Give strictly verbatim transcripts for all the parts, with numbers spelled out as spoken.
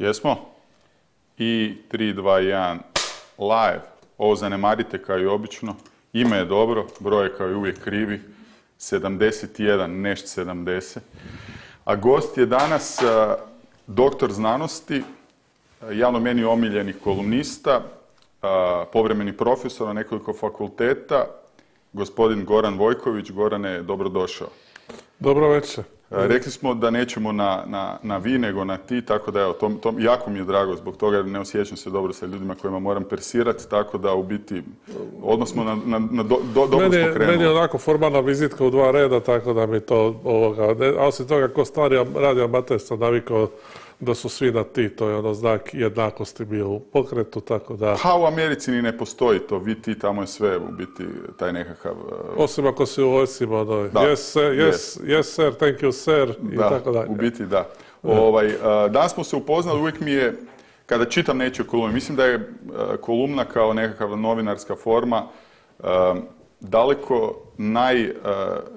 Jesmo? I tri, dva, jedan, live. Ovo zanemarite kao i obično. Ime je dobro, broj je kao i uvijek krivi. sedamdeset jedan, nešt sedamdeset. A gost je danas uh, doktor znanosti, uh, javno meni omiljeni kolumnista, uh, povremeni profesor na nekoliko fakulteta, gospodin Goran Vojković. Gorane, dobrodošao. Dobro večer. Rekli smo da nećemo na, na, na vi, nego na ti, tako da evo, to, to, jako mi je drago zbog toga, ne osjećam se dobro sa ljudima kojima moram persirati, tako da u biti odmah smo na, na, na do, do, dobro meni, smo krenuli. Meni je onako formalna vizitka u dva reda, tako da mi to ovoga, ne, a osim toga ko stari radi amater sam navikao da su svi na ti, to je ono znak jednakosti bio u pokretu, tako da... Ha, u Americi ni ne postoji to, vi ti, tamo je sve u biti taj nekakav... Uh... Osim ako si u vojscima, ono, yes, sir, yes, yes. yes sir, thank you sir, i da, tako dalje. U biti da. Ovaj, uh, danas smo se upoznali, uvijek mi je, kada čitam nečiju kolumnu, mislim da je uh, kolumna kao nekakva novinarska forma uh, daleko, naj, uh,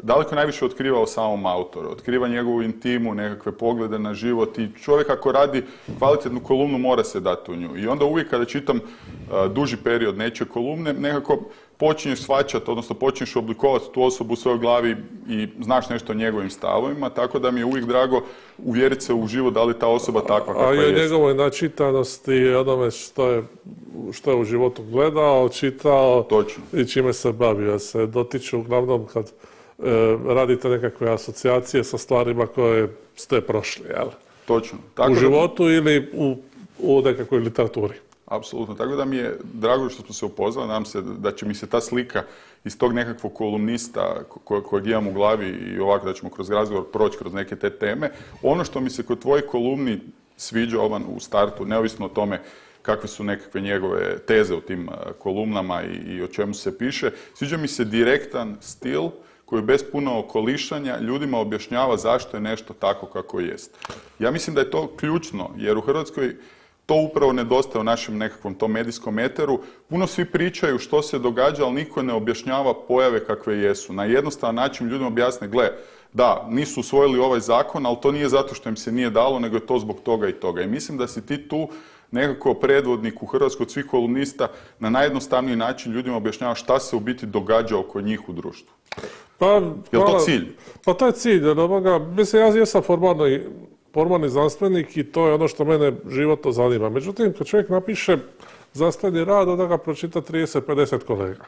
daleko najviše otkriva o samom autoru. Otkriva njegovu intimu, nekakve poglede na život i čovjek ako radi kvalitetnu kolumnu mora se dati u nju. I onda uvijek kada čitam uh, duži period nečije kolumne, nekako počinješ shvaćati, odnosno počinješ oblikovati tu osobu u svojoj glavi i znaš nešto o njegovim stavovima, tako da mi je uvijek drago uvjeriti se u život da li ta osoba takva kakva jest. A i o njegovoj načitanosti i onome što je, što je u životu gledao, čitao. Točno. I čime se bavio. Se dotiču uglavnom kad e, radite nekakve asocijacije sa stvarima koje ste prošli, jel? Točno. Tako u da... životu ili u, u nekakvoj literaturi. Apsolutno. Tako da mi je drago što smo se upoznali. Nadam se da će mi se ta slika iz tog nekakvog kolumnista ko, kojeg imam u glavi i ovako da ćemo kroz razgovor proći kroz neke te teme. Ono što mi se kod tvojih kolumni sviđa ovan u startu, neovisno o tome kakve su nekakve njegove teze u tim kolumnama i, i o čemu se piše, sviđa mi se direktan stil koji bez puno okolišanja ljudima objašnjava zašto je nešto tako kako jest. Ja mislim da je to ključno, jer u Hrvatskoj to upravo nedostaje u našem nekakvom tom medijskom eteru. Puno svi pričaju što se događa, ali niko ne objašnjava pojave kakve jesu. Na jednostavan način ljudima objasne, gle, da, nisu usvojili ovaj zakon, ali to nije zato što im se nije dalo, nego je to zbog toga i toga. I mislim da si ti tu nekako predvodnik u Hrvatskoj od svih kolumnista na najjednostavniji način ljudima objašnjava šta se u biti događa oko njih u društvu. Pa, je li to cilj? Pa to je cilj. Ovoga, mislim, ja jesam formalni, formalni znanstvenik i to je ono što mene životno zanima. Međutim, kad čovjek napiše znanstveni rad, onda ga pročita trideset pedeset kolega.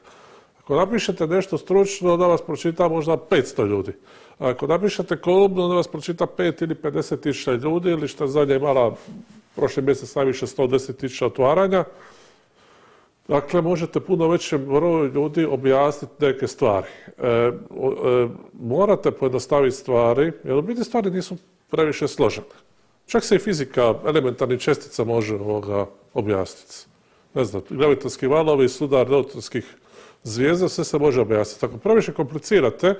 Ako napišete nešto stručno, onda vas pročita možda petsto ljudi. A ako napišete kolumnu, onda vas pročita pet ili pedeset tisuća ljudi, ili što je zadnje imala prošli mjesec najviše sto deset tisuća otvaranja. Dakle, možete puno većem broju ljudi objasniti neke stvari. E, e, morate pojednostaviti stvari, jer u biti stvari nisu previše složene. Čak se i fizika elementarnih čestica može ovoga objasniti. Ne znam, gravitonski valovi, sudar neutronskih zvijezda, sve se može objasniti. Ako previše komplicirate,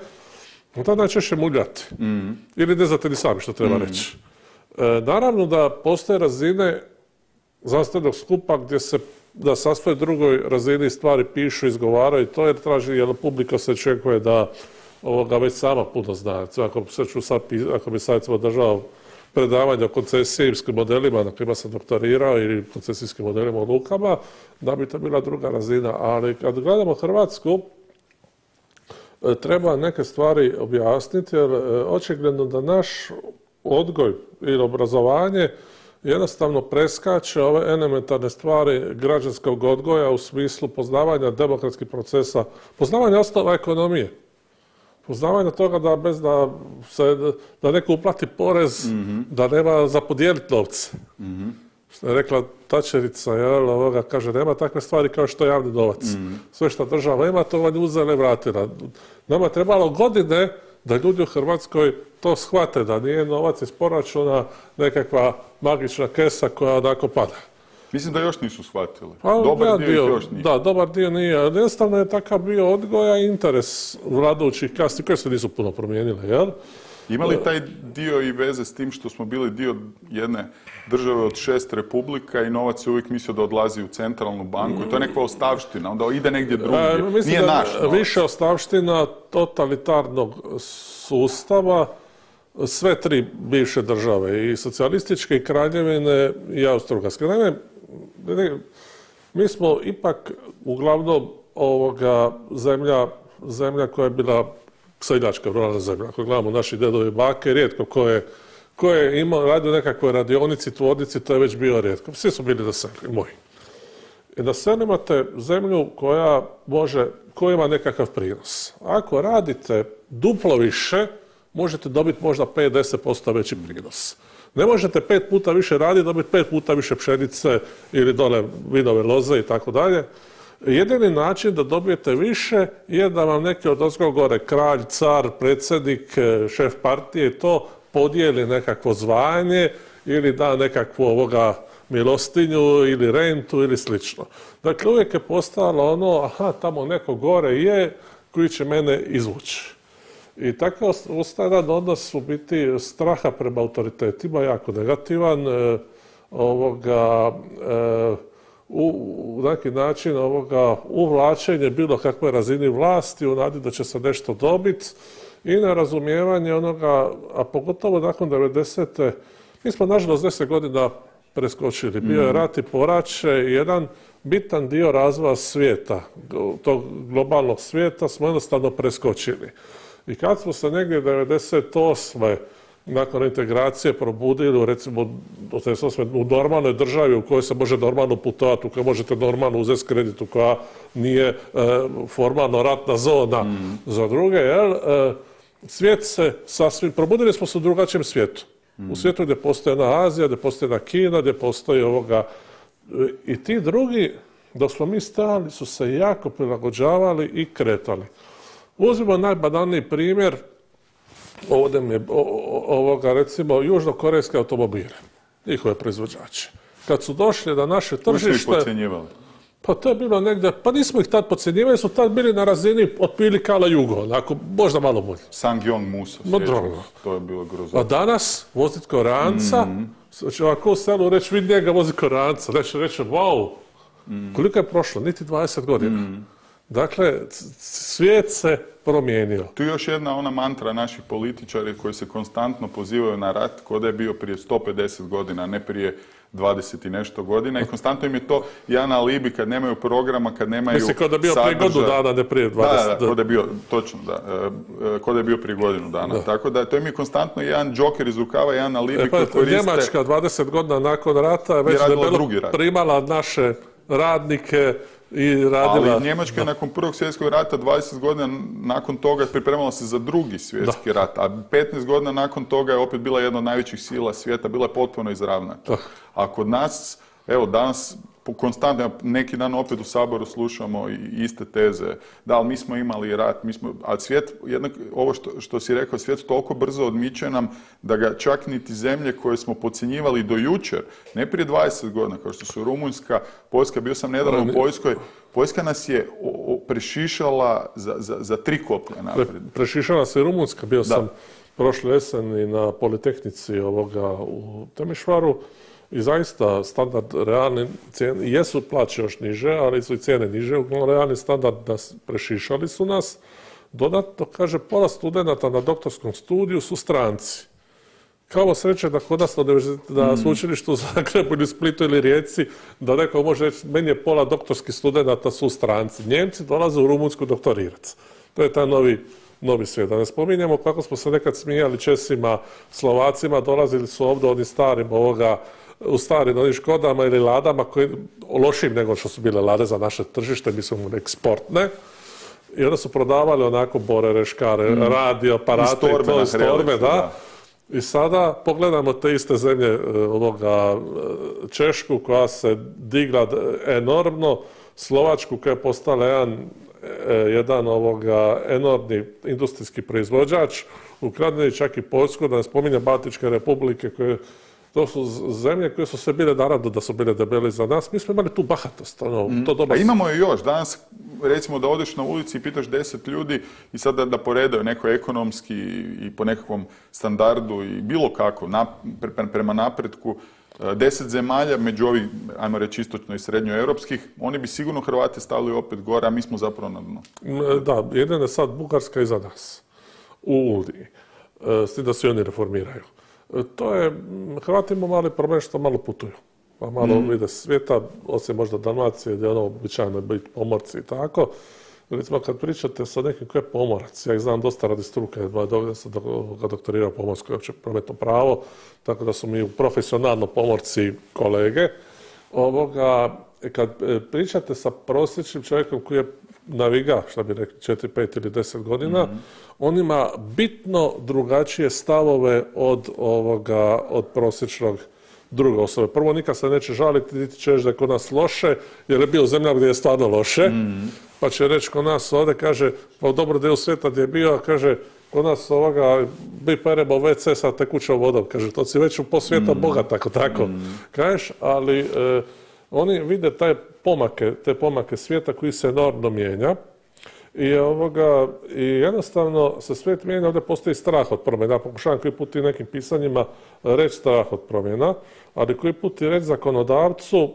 onda najčešće muljate. Mm. Ili ne znate ni sami što treba mm. reći. E, naravno da postoje razine znanstvenog skupa gdje se na sasvim drugoj razini stvari pišu, izgovaraju to, jer traži, jer publika se očekuje da ovoga već sama puno zna. Ako, sad, ako bi sad održao predavanje o koncesijskim modelima na kojima sam doktorirao ili koncesijskim modelima o lukama, da bi to bila druga razina. Ali kad gledamo Hrvatsku, treba neke stvari objasniti, jer očigledno da naš odgoj ili obrazovanje jednostavno preskače ove elementarne stvari građanskog odgoja u smislu poznavanja demokratskih procesa, poznavanja osnova ekonomije, poznavanja toga da bez da se da neko uplati porez, mm-hmm. da nema za podijeliti novce. Mm-hmm. Što je rekla Tačerica, jel, ovoga, kaže, nema takve stvari kao što je javni novac. Mm-hmm. Sve što država ima, to vam je uzela i vratila. Nama je trebalo godine da ljudi u Hrvatskoj to shvate, da nije novac iz proračuna nekakva magična kesa koja onako pada. Mislim da još nisu shvatili. Pa, dobar ja dio, dio još nije. Da, dobar dio nije. Jednostavno je takav bio odgoja i interes vladajućih kasti koje se nisu puno promijenile, jel? Ima li taj dio i veze s tim što smo bili dio jedne države od šest republika i novac je uvijek mislio da odlazi u centralnu banku i to je nekakva ostavština, onda ide negdje drugdje, e, nije naš novac. Više ostavština totalitarnog sustava sve tri bivše države, i socijalističke, i kraljevine, i Austro-Ugarske. Naime, mi smo ipak uglavnom ovoga zemlja, zemlja koja je bila seljačka, ruralna zemlja. Ako gledamo naši dedovi i bake, rijetko ko je, ko je imao, radio nekakvoj radionici, tvornici, to je već bio rijetko. Svi su bili na selu, moji. I na selu imate zemlju koja može, koja ima nekakav prinos. Ako radite duplo više, možete dobiti možda pet do deset posto veći prinos. Ne možete pet puta više raditi, dobiti pet puta više pšenice ili dole vinove loze i tako dalje. Jedini način da dobijete više je da vam neki od ozgo gore, kralj, car, predsjednik, šef partije i to podijeli nekakvo zvanje ili da nekakvu ovoga milostinju ili rentu ili slično. Dakle, uvijek je postalo ono, aha, tamo neko gore je koji će mene izvući. I takav ustajan odnos u biti straha prema autoritetima jako negativan, e, ovoga, e, u neki način ovoga uvlačenje bilo kakve razini vlasti u nadi da će se nešto dobiti i nerazumijevanje onoga, a pogotovo nakon devedesete. Mi smo nažalost deset godina preskočili. Bio je rat i poraće i jedan bitan dio razvoja svijeta, tog globalnog svijeta smo jednostavno preskočili. I kad smo se negdje devedeset osme nakon integracije probudili, recimo u normalnoj državi u kojoj se može normalno putovati, u kojoj možete normalno uzeti kredit, u koja nije e, formalno ratna zona mm. za druge, jel? E, svijet se sasvim, probudili smo se u drugačijem svijetu. Mm. U svijetu gdje postoji jedna Azija, gdje postoji jedna Kina, gdje postoji ovoga. E, I ti drugi, dok smo mi stajali, su se jako prilagođavali i kretali. Uzmimo najbanalniji primjer, ovdje mi je ovoga, recimo, južnokorejske automobile, njihove proizvođače. Kad su došli na naše tržište... Nismo ih podcjenjivali. Pa to je bilo negdje, pa nismo ih tad podcjenjivali, su tad bili na razini otprilike ala Jugo, onako, možda malo bolje. Sangyong Musa, to je bilo grozno. A danas voziti Koreanca, mm. znači ovako u selu reći, vidi njega vozi Koreanca, reći, reći, wow, mm. koliko je prošlo, niti dvadeset godina. Mm. Dakle, svijet se promijenio. Tu je još jedna ona mantra naših političari koji se konstantno pozivaju na rat, ko da je bio prije sto pedeset godina, ne prije dvadeset i nešto godina. I konstantno im je to jedan alibi kad nemaju programa, kad nemaju sadržaja. Mislim, ko da je bio prije godinu dana, ne prije dvadeset. Da, da, ko da je bio, točno, da. Ko da je bio prije godinu dana. Da. Tako da to im je konstantno jedan džoker iz rukava, jedan alibi e, pa, koji koriste. Njemačka dvadeset godina nakon rata je već debelo primala naše radnike i radila... Ali Njemačka je nakon Prvog svjetskog rata dvadeset godina nakon toga pripremala se za Drugi svjetski da. rat, a petnaest godina nakon toga je opet bila jedna od najvećih sila svijeta, bila je potpuno izravnata. A kod nas, evo danas, konstantno, neki dan opet u Saboru slušamo i iste teze, da, ali mi smo imali rat, mi smo, a svijet, jednak, ovo što, što si rekao, svijet toliko brzo odmiče nam da ga čak niti zemlje koje smo podcjenjivali do jučer, ne prije dvadeset godina, kao što su Rumunjska, Poljska, bio sam nedavno u Poljskoj, Poljska nas je o, o, prešišala za, za, za tri koplja naprijed. Pre, prešišala se i Rumunjska, bio da. sam prošle jeseni na Politehnici ovoga u Temišvaru. I zaista standard realni cijene, jesu plaće još niže, ali su i cijene niže, uglavnom realni standard nas prešišali su nas. Dodatno, kaže, pola studenata na doktorskom studiju su stranci. Kao sreće da kod nas na sveučilištu u Zagrebu ili Splitu ili Rijeci, da neko može reći, meni je pola doktorskih studenata su stranci. Njemci dolaze u Rumunjsku doktorirati. To je taj novi novi svijet. Da ne spominjemo kako smo se nekad smijali Česima, Slovacima, dolazili su ovdje onim starim ovoga, u starim onim Škodama ili Ladama, koji lošim nego što su bile Lade za naše tržište, mislim eksportne. I onda su prodavali onako bore, reškare, mm. radio, aparate i to iz torbe, da. da. I sada pogledamo te iste zemlje ovoga Češku koja se digla enormno, Slovačku koja je postala jedan jedan ovoga enormni industrijski proizvođač, ukradeni čak i Poljsku, da ne spominjem Baltičke republike, koje, to su zemlje koje su se bile, naravno da su bile debeli za nas, mi smo imali tu bahatost. Ono, mm. to doba... A imamo je još, danas recimo da odeš na ulici i pitaš deset ljudi i sad da, da poredaju neko ekonomski i po nekakvom standardu i bilo kako, na, pre, prema napretku, deset zemalja, među ovih, ajmo reći, istočno i srednjoeuropskih, oni bi sigurno Hrvate stavili opet gore, a mi smo zapravo na dnu. Da, jedino je sad Bugarska iza nas, u Uniji. s tim da se oni reformiraju. To je, Hrvati imaju mali problem što malo putuju, pa malo mm. vide svijeta, osim možda Dalmacije gdje je ono običajno biti pomorci i tako. Recimo kad pričate sa nekim ko je pomorac, ja ih znam dosta radi struke, dovoljno sam ga doktorirao pomorsko i opće prometno pravo, tako da su mi profesionalno pomorci kolege. Ovoga, kad pričate sa prosječnim čovjekom koji je naviga, šta bi rekli, četiri, pet ili deset godina, mm-hmm. on ima bitno drugačije stavove od ovoga, od prosječnog druge osobe. Prvo, nikad se neće žaliti, niti će reći da je kod nas loše, jer je bio zemlja gdje je stvarno loše, mm-hmm. pa će reći kod nas ovdje, kaže, pa u dobro delu svijeta gdje je bio, kaže, kod nas ovoga, bi peremo ve ce sa tekućom vodom, kaže, to si već u po svijeta mm-hmm. bogat, tako, tako, mm-hmm. kažeš, ali e, oni vide taj pomake, te pomake svijeta koji se enormno mijenja i, ovoga, i jednostavno se svijet mijenja, ovdje postoji strah od promjena. Ja pokušavam koji put i nekim pisanjima reći strah od promjena, ali koji put i reći zakonodavcu,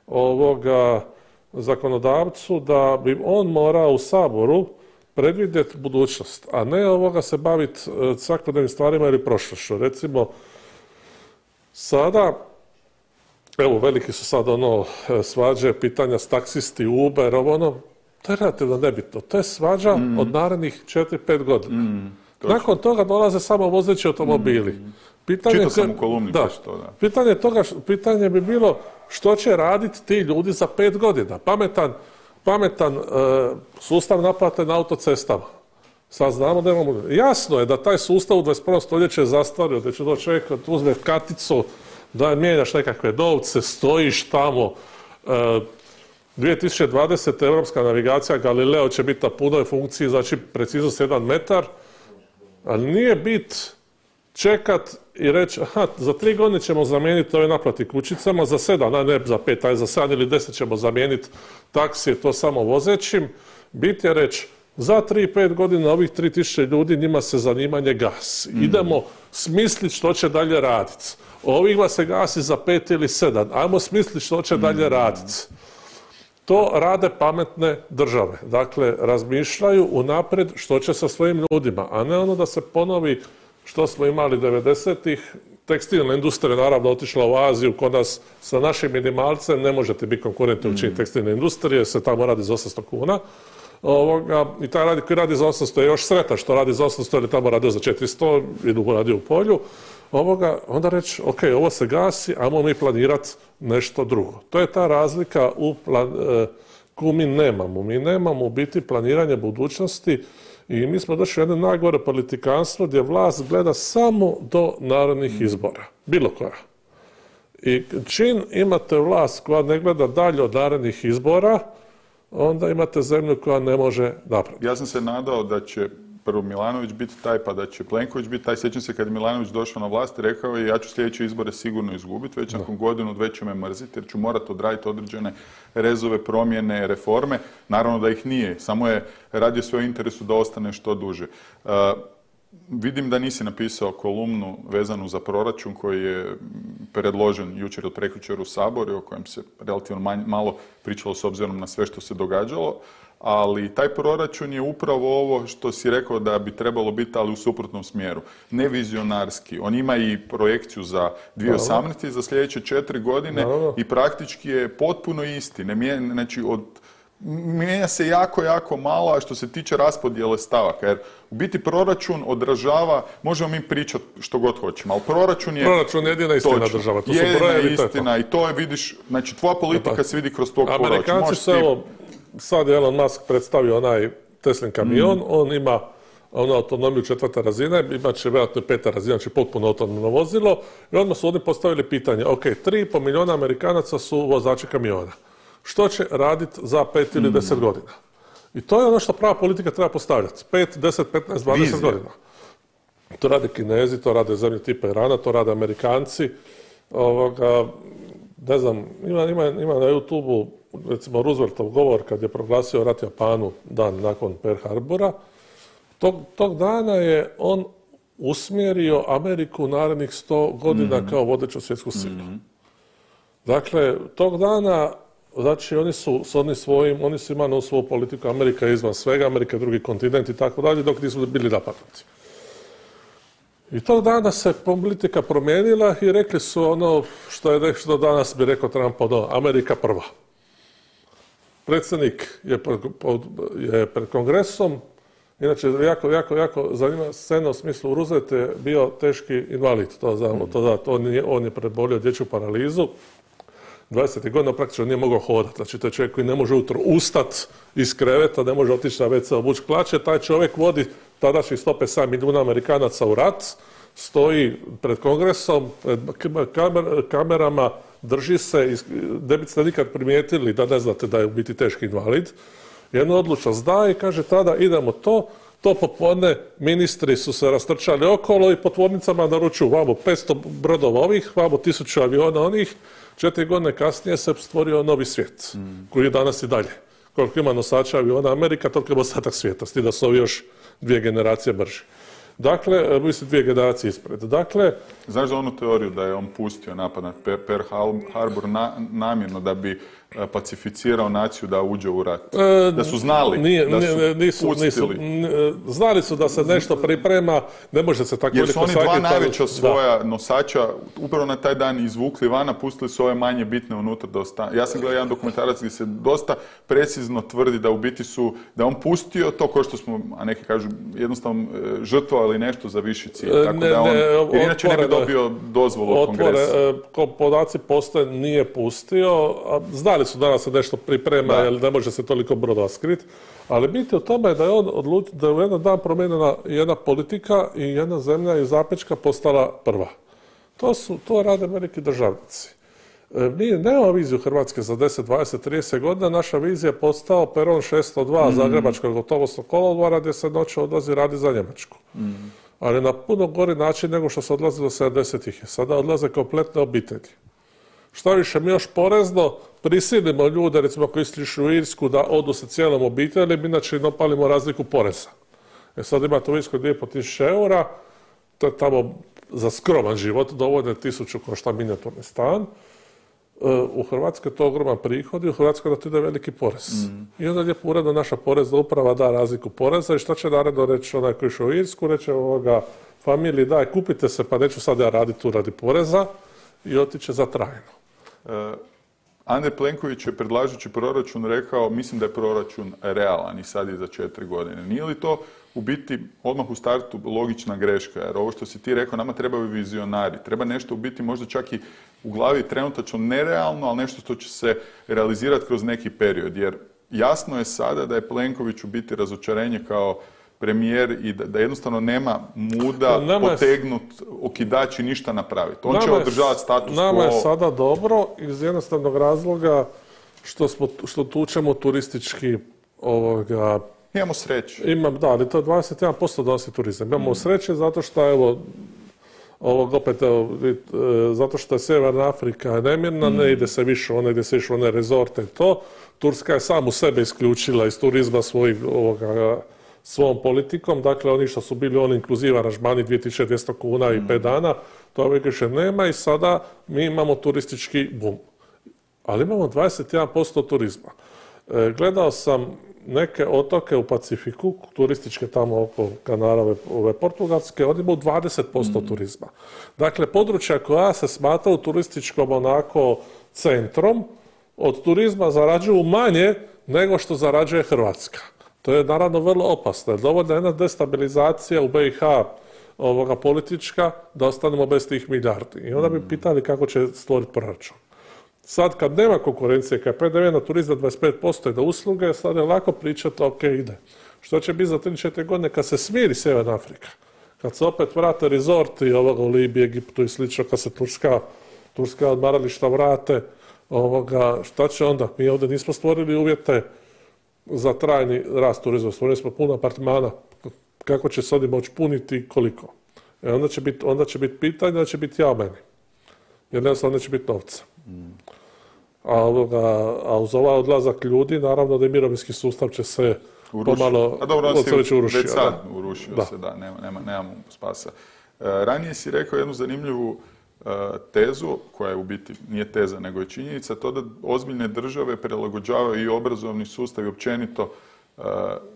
ovoga, zakonodavcu da bi on morao u Saboru predvidjeti budućnost, a ne ovoga se baviti svakodnevnim stvarima ili prošlošću. Recimo, sada evo, veliki su sad ono svađe, pitanja s taksisti, Uber, ovo ono, to je relativno nebitno. To je svađa mm. od narednih četiri pet godina. Mm, Nakon toga dolaze samo vozeći automobili. Mm. Pitanje, Čito sam u kolumni da, što, da. Pitanje, toga, pitanje bi bilo što će raditi ti ljudi za pet godina. Pametan, pametan uh, sustav naplate na autocestama. Sad znamo da imamo... Jasno je da taj sustav u dvadeset prvom stoljeću je zastario, da će doći čovjek uzme karticu, da mijenjaš nekakve novce, stojiš tamo. E, dvije tisuće dvadesete. Europska navigacija Galileo će biti na punoj funkciji, znači preciznost jedan metar, ali nije bit čekat i reći, aha, za tri godine ćemo zamijeniti ove naplati kućicama, za sedam, a ne za pet, aj za sedam ili deset ćemo zamijeniti taksije, to samo vozećim. Bit je reći, za tri pet godina ovih tri tisuće ljudi njima se zanimanje gasi. Mm. Idemo smisliti što će dalje raditi. Ovima se gasi za pet ili sedam. Ajmo smisliti što će dalje raditi. To rade pametne države. Dakle, razmišljaju unaprijed što će sa svojim ljudima, a ne ono da se ponovi što smo imali devedesetih. Tekstilna industrija naravno otišla u Aziju, kod nas sa našim minimalcem ne možete biti konkurentni u čini tekstilne industrije, se tamo radi za osamsto kuna. Ovoga, i taj radi, koji radi za osamsto je još sretan što radi za osamsto ili tamo radio za četiristo i dugo radi u polju. Ovoga, onda reći, ok, ovo se gasi, ajmo mi planirati nešto drugo. To je ta razlika u plan, e, koju mi nemamo. Mi nemamo u biti planiranje budućnosti i mi smo došli u jedno najgore politikanstvo gdje vlast gleda samo do narodnih izbora. Bilo koja. I čim imate vlast koja ne gleda dalje od narodnih izbora, onda imate zemlju koja ne može napraviti. Ja sam se nadao da će prvo Milanović biti taj, pa da će Plenković biti taj. Sjećam se kad je Milanović došao na vlast i rekao je ja ću sljedeće izbore sigurno izgubiti, već nakon godinu, dve će me mrziti jer ću morati odraditi određene rezove, promjene, reforme. Naravno da ih nije, samo je radio sve u interesu da ostane što duže. Uh, Vidim da nisi napisao kolumnu vezanu za proračun koji je predložen jučer ili prekjučer u Saboru, o kojem se relativno manj, malo pričalo s obzirom na sve što se događalo, ali taj proračun je upravo ovo što si rekao da bi trebalo biti, ali u suprotnom smjeru. Nevizionarski. On ima i projekciju za dvije tisuće osamnaeste. i za sljedeće četiri godine i praktički je potpuno isti. Ne mijenja, znači od mijenja se jako, jako malo, a što se tiče raspodjele stavaka. Jer u biti proračun odražava, možemo mi pričati što god hoćemo, ali proračun je... Proračun je jedina istina točno, država. To jedina su brojevi, istina i to je, vidiš, znači tvoja politika pa, se vidi kroz tog proračuna. Amerikanci su, evo, sad je Elon Musk predstavio onaj Teslin kamion, mm. on ima onu autonomiju četvrta razina, imat će vjerojatno peta razina, znači potpuno autonomno vozilo i odmah su oni postavili pitanje, ok, tri i pol milijuna Amerikanaca su vozači kamiona. Što će raditi za pet ili deset godina? I to je ono što prava politika treba postavljati. Pet, deset, petnaest, dvadeset godina. To rade Kinezi, to rade zemlje tipa Irana, to rade Amerikanci. Ovoga, ne znam, ima, ima, ima na YouTubeu recimo Rooseveltov govor kad je proglasio rat Japanu dan nakon Pearl Harbora. Tog, tog dana je on usmjerio Ameriku u narednih sto godina mm. kao vodeću svjetsku silu. Mm. Dakle, tog dana znači oni su s onim svojim, oni su imali svoju politiku, Amerika je izvan svega, Amerika je drugi kontinent i tako dalje, dok nisu bili napadnuti. I tog dana se politika promijenila i rekli su ono što je što danas bi rekao Trump, ono, Amerika prva. Predsjednik je pred, je pred kongresom, inače jako, jako, jako zanima scena u smislu Roosevelt je bio teški invalid, to znamo, to da, to on, je, on je prebolio dječju paralizu, dvadeset godina praktično nije mogao hodati, znači to je čovjek koji ne može ujutro ustat iz kreveta, ne može otići na ve ce obući hlače, taj čovjek vodi tadašnji sto pedeset sedam milijuna Amerikanaca u rat, stoji pred kongresom, pred kamer, kamerama, drži se, ne biste nikad primijetili da ne znate da je u biti teški invalid. Jednu odlučnost daje i kaže tada idemo to, to popodne ministri su se rastrčali okolo i po tvornicama naručuju vamo petsto brodova ovih, vamo tisuću aviona onih, četiri godine kasnije se stvorio novi svijet, mm. koji je danas i dalje. Koliko ima nosača aviona Amerika, toliko ima ostatak svijeta, s tim da su ovi još dvije generacije brži. Dakle, mislim dvije generacije ispred. Dakle, znaš za onu teoriju da je on pustio napad na Pearl Harbor na, namjerno da bi pacificirao naciju da uđe u rat? E, da su znali, nije, da su nije, nisu, nisu, znali su da se nešto priprema, ne može se tako jer su oni dva najveća svoja da. nosača upravo na taj dan izvukli vana, pustili su ove manje bitne unutra da ostane. Ja sam gledao jedan dokumentarac gdje se dosta precizno tvrdi da u biti su, da on pustio to ko što smo, a neki kažu jednostavno žrtvovali nešto za viši cilj. Tako ne, da on, jer inače ne bi dobio dozvolu od kongresa. Ko podaci postoje, nije pustio, a znali su danas se nešto priprema, da. jer ne može se toliko brodova skriti, ali biti u tome da je on odlučio, da je u jedan dan promijenjena jedna politika i jedna zemlja iz Zapečka postala prva. To su, to rade veliki državnici. E, mi nemamo viziju Hrvatske za deset, dvadeset, trideset godina, naša vizija je postao peron šesto dva mm. Zagrebačkog gotovostnog kolodvora gdje se noće odlazi radi za Njemačku. Mm. Ali na puno gori način nego što se odlazi do sedamdesetih. Sada odlaze kompletne obitelji. Šta više, mi još porezno prisilimo ljude, recimo koji išli u Irsku, da odu sa cijelom obitelji, inače im opalimo razliku poreza. E sad imate u Irskoj dvije i pol tisuće eura, to je tamo za skroman život, dovoljno tisuću košta minijaturni stan. U Hrvatskoj je to ogroman prihod i u Hrvatskoj da to ide veliki porez. Mm. I onda lijepo uredno naša porezna uprava da razliku poreza i šta će naredno reći onaj koji išao u Irsku, reće ovoga familiji daj kupite se pa neću sad ja raditi tu radi poreza i otiće za trajno. Uh, Andrej Plenković je predlažući proračun rekao mislim da je proračun realan i sad je za četiri godine. Nije li to u biti odmah u startu logična greška? Jer ovo što si ti rekao, nama trebaju vizionari. Treba nešto u biti možda čak i u glavi trenutačno nerealno, ali nešto što će se realizirati kroz neki period. Jer jasno je sada da je Plenković u biti razočarenje kao premijer i da, da jednostavno nema muda nama potegnut okidač i ništa napraviti. On će održavati status quo. Nama je sada dobro iz jednostavnog razloga što, smo, što tučemo turistički ovoga... Imamo sreće. Imam, da, ali to dvadeset jedan posto donosi turizam. Imamo mm. sreće zato što, evo, ovog opet, evo, zato što je Sjeverna Afrika nemirna, mm. ne ide se više one gdje se više one rezorte i to. Turska je samu sebe isključila iz turizma svojih ovoga, svom politikom, dakle oni što su bili oni inkluziva aranžmani dvije tisuće dvjesto kuna i pet dana, to više nema i sada mi imamo turistički bum. Ali imamo dvadeset jedan posto turizma. E, gledao sam neke otoke u Pacifiku, turističke tamo oko kanala ove, ove portugalske, oni imaju dvadeset posto mm. turizma. Dakle, područja koja se smatraju turističkom onako centrom, od turizma zarađuju manje nego što zarađuje Hrvatska. To je naravno vrlo opasno. Dovoljna jedna destabilizacija u be i ha ovoga politička da ostanemo bez tih milijardi. I onda bi pitali kako će stvoriti proračun. Sad kad nema konkurencije, kad je pe de ve na turizam dvadeset pet posto i da usluge, sad je lako pričati, ok, ide. Što će biti za tri četiri godine kad se smiri Sjeverna Afrika? Kad se opet vrate rezorti ovoga u Libiji, Egiptu i slično, kad se Turska, Turska odmarališta vrate, ovoga, šta će onda? Mi ovdje nismo stvorili uvjete za trajni rast turizma. Stvorili smo puno apartmana. Kako će se oni moći puniti i koliko? E onda će biti onda će biti pitanje, da će biti ja meni. Jer jednostavno neće biti novca. Mm. A, ovoga, a uz ovaj odlazak ljudi, naravno da i mirovinski sustav će se urušio. pomalo... A dobro, on si urušio, već sad da. urušio da. se, da, nema, nema, nemamo spasa. E, ranije si rekao jednu zanimljivu e, tezu, koja je u biti nije teza, nego je činjenica, to da ozbiljne države prilagođavaju i obrazovni sustav i općenito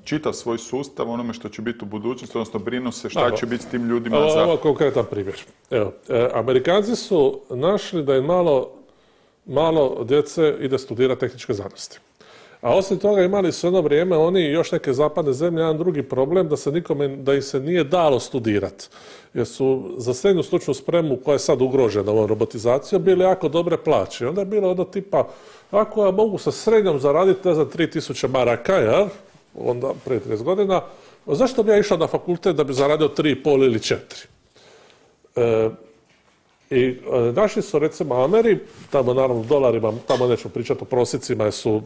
čitav svoj sustav onome što će biti u budućnosti, odnosno brinu se šta Evo, će biti s tim ljudima. Evo, za... Ovo je konkretan primjer. Evo, e, Amerikanci su našli da je malo, malo djece ide studirati tehničke znanosti. A osim toga imali su jedno vrijeme oni i još neke zapadne zemlje jedan drugi problem da se nikome, da im se nije dalo studirati. Jer su za srednju stručnu spremu koja je sad ugrožena ovom robotizacijom bili jako dobre plaće. Onda je bilo ono tipa, ako ja mogu sa srednjom zaraditi, ne znam, tri tisuće maraka, ja, onda prije trideset godina, zašto bi ja išao na fakultet da bi zaradio tri i pol ili četiri? E, I e, naši su recimo Ameri, tamo naravno u dolarima, tamo nećemo pričati o prosjecima jer su,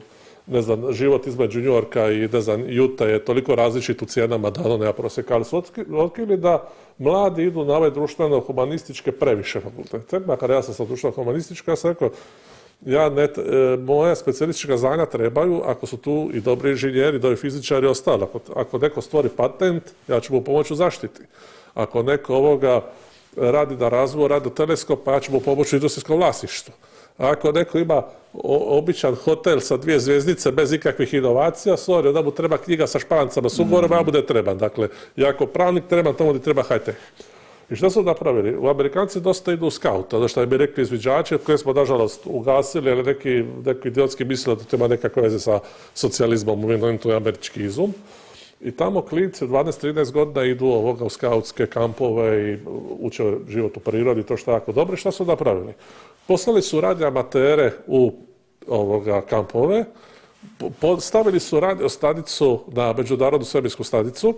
ne znam, život između New Yorka i, ne znam, Utah je toliko različit u cijenama da ono nema prosjeka, ali su otkrili da mladi idu na ove društveno-humanističke previše fakultete. Makar ja sam sa društveno-humanistička, ja sam rekao, ja ne, e, moja specijalistička znanja trebaju ako su tu i dobri inženjeri, dobri fizičari i ostali. Ako, ako neko stvori patent, ja ću mu pomoći u zaštiti. Ako neko ovoga radi na razvoju radioteleskopa, ja ću mu pomoći u industrijskom vlasništvu. Ako neko ima običan hotel sa dvije zvjezdice bez ikakvih inovacija, sorry, onda mu treba knjiga sa špancama s ugovorom, ja mu ne trebam. Dakle, ja ako pravnik trebam, tomu ti treba high-tech. I što su napravili? U Amerikanci dosta idu u scout, ono što bi rekli izviđači, koje smo, nažalost, ugasili, ali neki, neki idiotski misle da to ima nekakve veze sa socijalizmom, u to je američki izum. I tamo klinci dvanaest trinaest godina idu ovoga u skautske kampove i uče život u prirodi, to što je jako dobro. I šta su napravili? Poslali su radio amatere u ovoga kampove, stavili su radio stanicu na međunarodnu svemirsku stanicu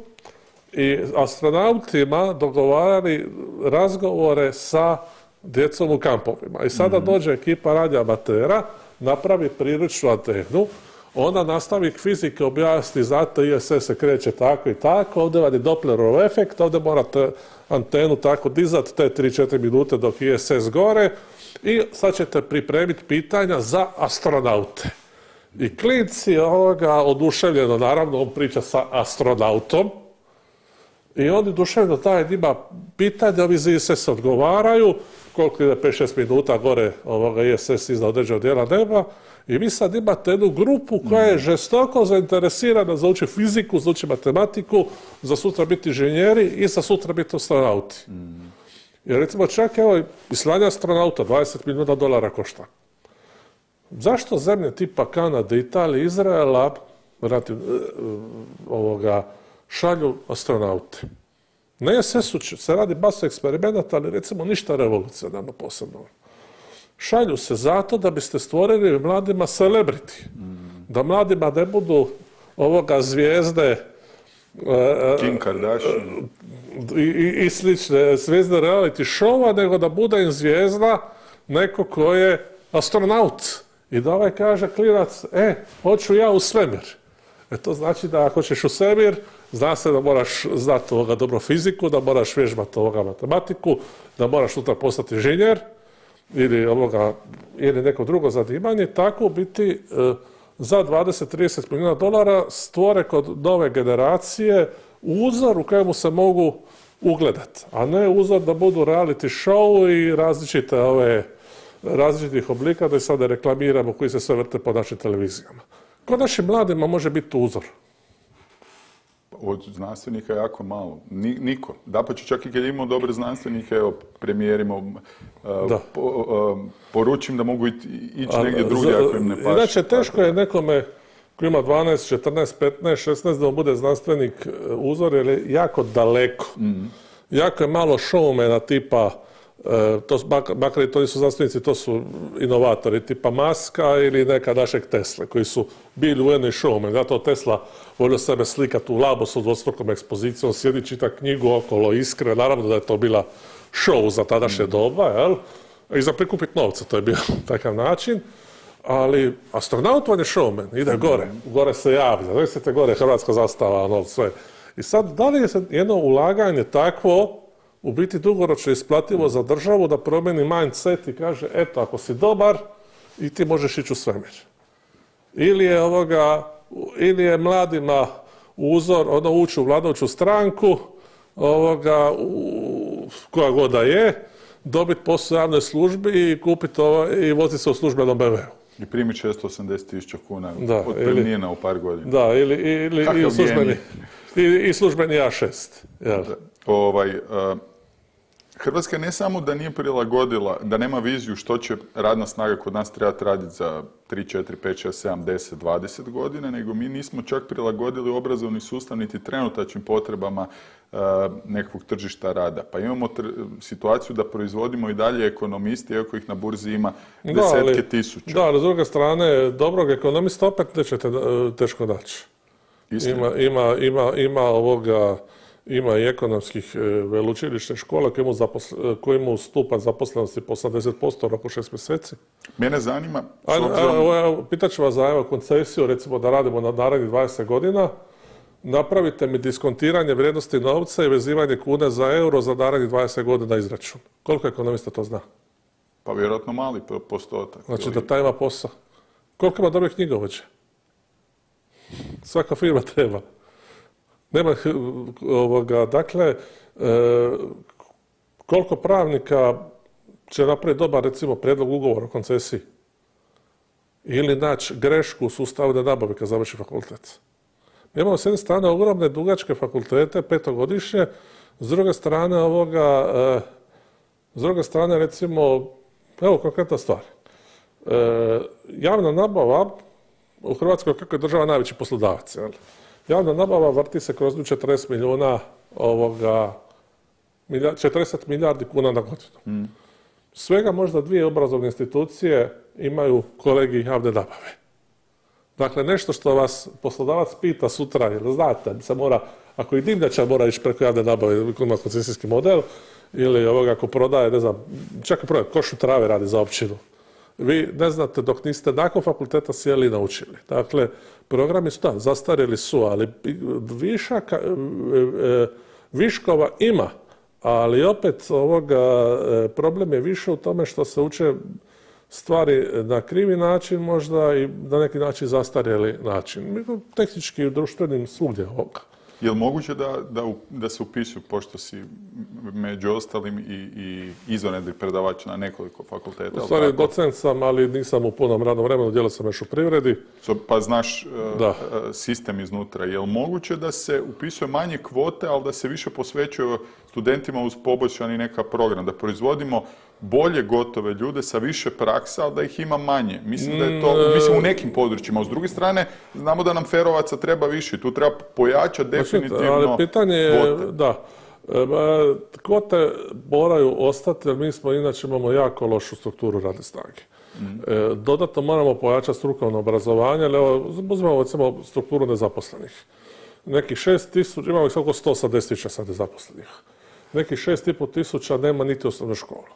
i astronautima dogovarali razgovore sa djecom u kampovima. I sada dođe ekipa radio amatera, napravi priručnu antenu, ona nastavi fizike objasni, znate, I S S se kreće tako i tako, ovdje vam je Dopplerov efekt, ovdje morate antenu tako dizati te tri četiri minute dok I S S gore i sad ćete pripremiti pitanja za astronaute. I klinci ovoga oduševljeno, naravno, on priča sa astronautom i oni oduševljeno taj ima pitanja, ovi iz I S S odgovaraju, koliko ide pet šest minuta gore ovoga I S S iznad određenog dijela neba. I vi sad imate jednu grupu koja je žestoko zainteresirana za uči fiziku, za uči matematiku, za sutra biti inženjeri i za sutra biti astronauti. Mm. Jer recimo čak evo i slanje astronauta dvadeset milijuna dolara košta. Zašto zemlje tipa Kanade, Italije, Izraela rati, ovoga, šalju astronaute? Na I S S-u se radi baš eksperimenata, ali recimo ništa revolucionarno posebno. Šalju se zato da biste stvorili mladima celebrity. Mm. Da mladima ne budu ovoga zvijezde Kim Kardashian i, i, i slične zvijezde reality showa, nego da bude im zvijezda neko ko je astronaut. I da ovaj kaže klinac, e, hoću ja u svemir. E to znači da ako ćeš u svemir, zna se da moraš znati ovoga dobro fiziku, da moraš vježbati ovoga matematiku, da moraš sutra postati inženjer, ili, ovoga, ili neko drugo zanimanje, tako biti e, za dvadeset trideset milijuna dolara stvore kod nove generacije uzor u kojemu se mogu ugledati, a ne uzor da budu reality show i različite ove, različitih oblika, da i sada reklamiramo koji se sve vrte po našim televizijama. Kod našim mladima može biti uzor. Od znanstvenika jako malo. Niko. Dapače, čak i kad imamo dobre znanstvenike, evo, premijerima, uh, po, uh, poručim da mogu ići negdje drugdje ako im ne paše. Inače, teško je nekome koji ima dvanaest, četrnaest, petnaest, šesnaest da on bude znanstvenik uzor, jer je jako daleko. Mm. Jako je malo showmana tipa, uh, to, makar i to nisu znanstvenici, to su inovatori tipa Muska ili neka našeg Tesle, koji su bili u jednoj showman. Zato Tesla volio sebe slikati u Labosu dvostrukom ekspozicijom, sjedi čita knjigu okolo Iskre, naravno da je to bila show za tadašnje mm. doba, jel? I za prikupiti novce, to je bio takav način. Ali astronaut on je showman, ide gore, gore se javlja, zamislite gore hrvatska zastava, ono sve. I sad, da li je jedno ulaganje takvo u biti dugoročno isplativo za državu da promijeni mindset i kaže, eto, ako si dobar, i ti možeš ići u svemir. Ili je ovoga, ili je mladima uzor, ono ući u vladajuću stranku, ovoga, u, koja god da je, dobiti posao u javnoj službi i kupiti ovo, i voziti se u službenom B M W-u. I primi šesto osamdeset tisuća kuna otpremnina u par godina. Da, ili, ili, ili službeni, i, i službeni A šest. Jel? Ovaj, uh, Hrvatska ne samo da nije prilagodila, da nema viziju što će radna snaga kod nas trebati raditi za tri, četiri, pet, šest, sedam, deset, dvadeset godina, nego mi nismo čak prilagodili obrazovni sustav niti trenutačnim potrebama uh, nekakvog tržišta rada. Pa imamo situaciju da proizvodimo i dalje ekonomisti, iako ih na burzi ima desetke da, ali, tisuća. Da, ali s druge strane, dobrog ekonomista opet nećete teško naći. Ima, ima, ima, ima ovoga... Ima i ekonomskih veleučilišnih škola koji imaju, zaposle, koji imaju stupanj zaposlenosti po osamdeset posto oko šest mjeseci. Mene zanima... Obzirom... Pitat ću vas za evo, koncesiju, recimo da radimo na narednih dvadeset godina. Napravite mi diskontiranje vrijednosti novca i vezivanje kune za euro za narednih dvadeset godina izračun. Koliko ekonomista to zna? Pa vjerojatno mali postotak. Znači da taj ima posao. Koliko ima dobrih knjigovođa? Svaka firma treba. Nema ovoga, dakle, e, koliko pravnika će napraviti dobar, recimo, prijedlog ugovora o koncesiji ili naći grešku u sustavu da nabave kad završi fakultet. Mi imamo s jedne strane ogromne dugačke fakultete, petogodišnje, s druge strane ovoga, e, s druge strane, recimo, evo konkretna stvar. E, javna nabava u Hrvatskoj, kako je država najveći poslodavac, jel? Javna nabava vrti se kroz četrdeset milijuna ovoga, četrdeset milijardi kuna na godinu. Mm. Svega možda dvije obrazovne institucije imaju kolegij javne nabave. Dakle, nešto što vas poslodavac pita sutra, jer znate, se mora, ako i dimnjačar mora ići preko javne nabave, ako ima koncesijski model, ili ovoga ako prodaje, ne znam, čak i prodaje, košu trave radi za općinu. Vi ne znate dok niste nakon fakulteta sjeli i naučili. Dakle, programi su da, zastarjeli su, ali višaka, viškova ima, ali opet ovoga, problem je više u tome što se uče stvari na krivi način možda i na neki način zastarjeli način. Tehnički i društvenim svugdje ovoga. Je li moguće da, da, da se upisuju, pošto si među ostalim i, i izvanredni predavač na nekoliko fakulteta? U stvari docent sam, ali nisam u punom radnom vremenu, djelao sam još u privredi. So, pa znaš uh, sistem iznutra. Je li moguće da se upisuje manje kvote, ali da se više posvećuje studentima uz poboljšani neka program, da proizvodimo bolje gotove ljude sa više praksa, ali da ih ima manje. Mislim da je to, mislim u nekim područjima. S druge strane, znamo da nam ferovaca treba više. Tu treba pojačati definitivno ali pitanje je, kvote. Da, kvote moraju ostati, jer mi smo inače imamo jako lošu strukturu radne snage. Mm. Dodatno moramo pojačati strukovno obrazovanje, ali evo, uzmemo recimo strukturu nezaposlenih. Nekih šest tisuća, imamo ih oko sto osamdeset tisuća sad nezaposlenih. Nekih šest i pol tisuća nema niti osnovnu školu.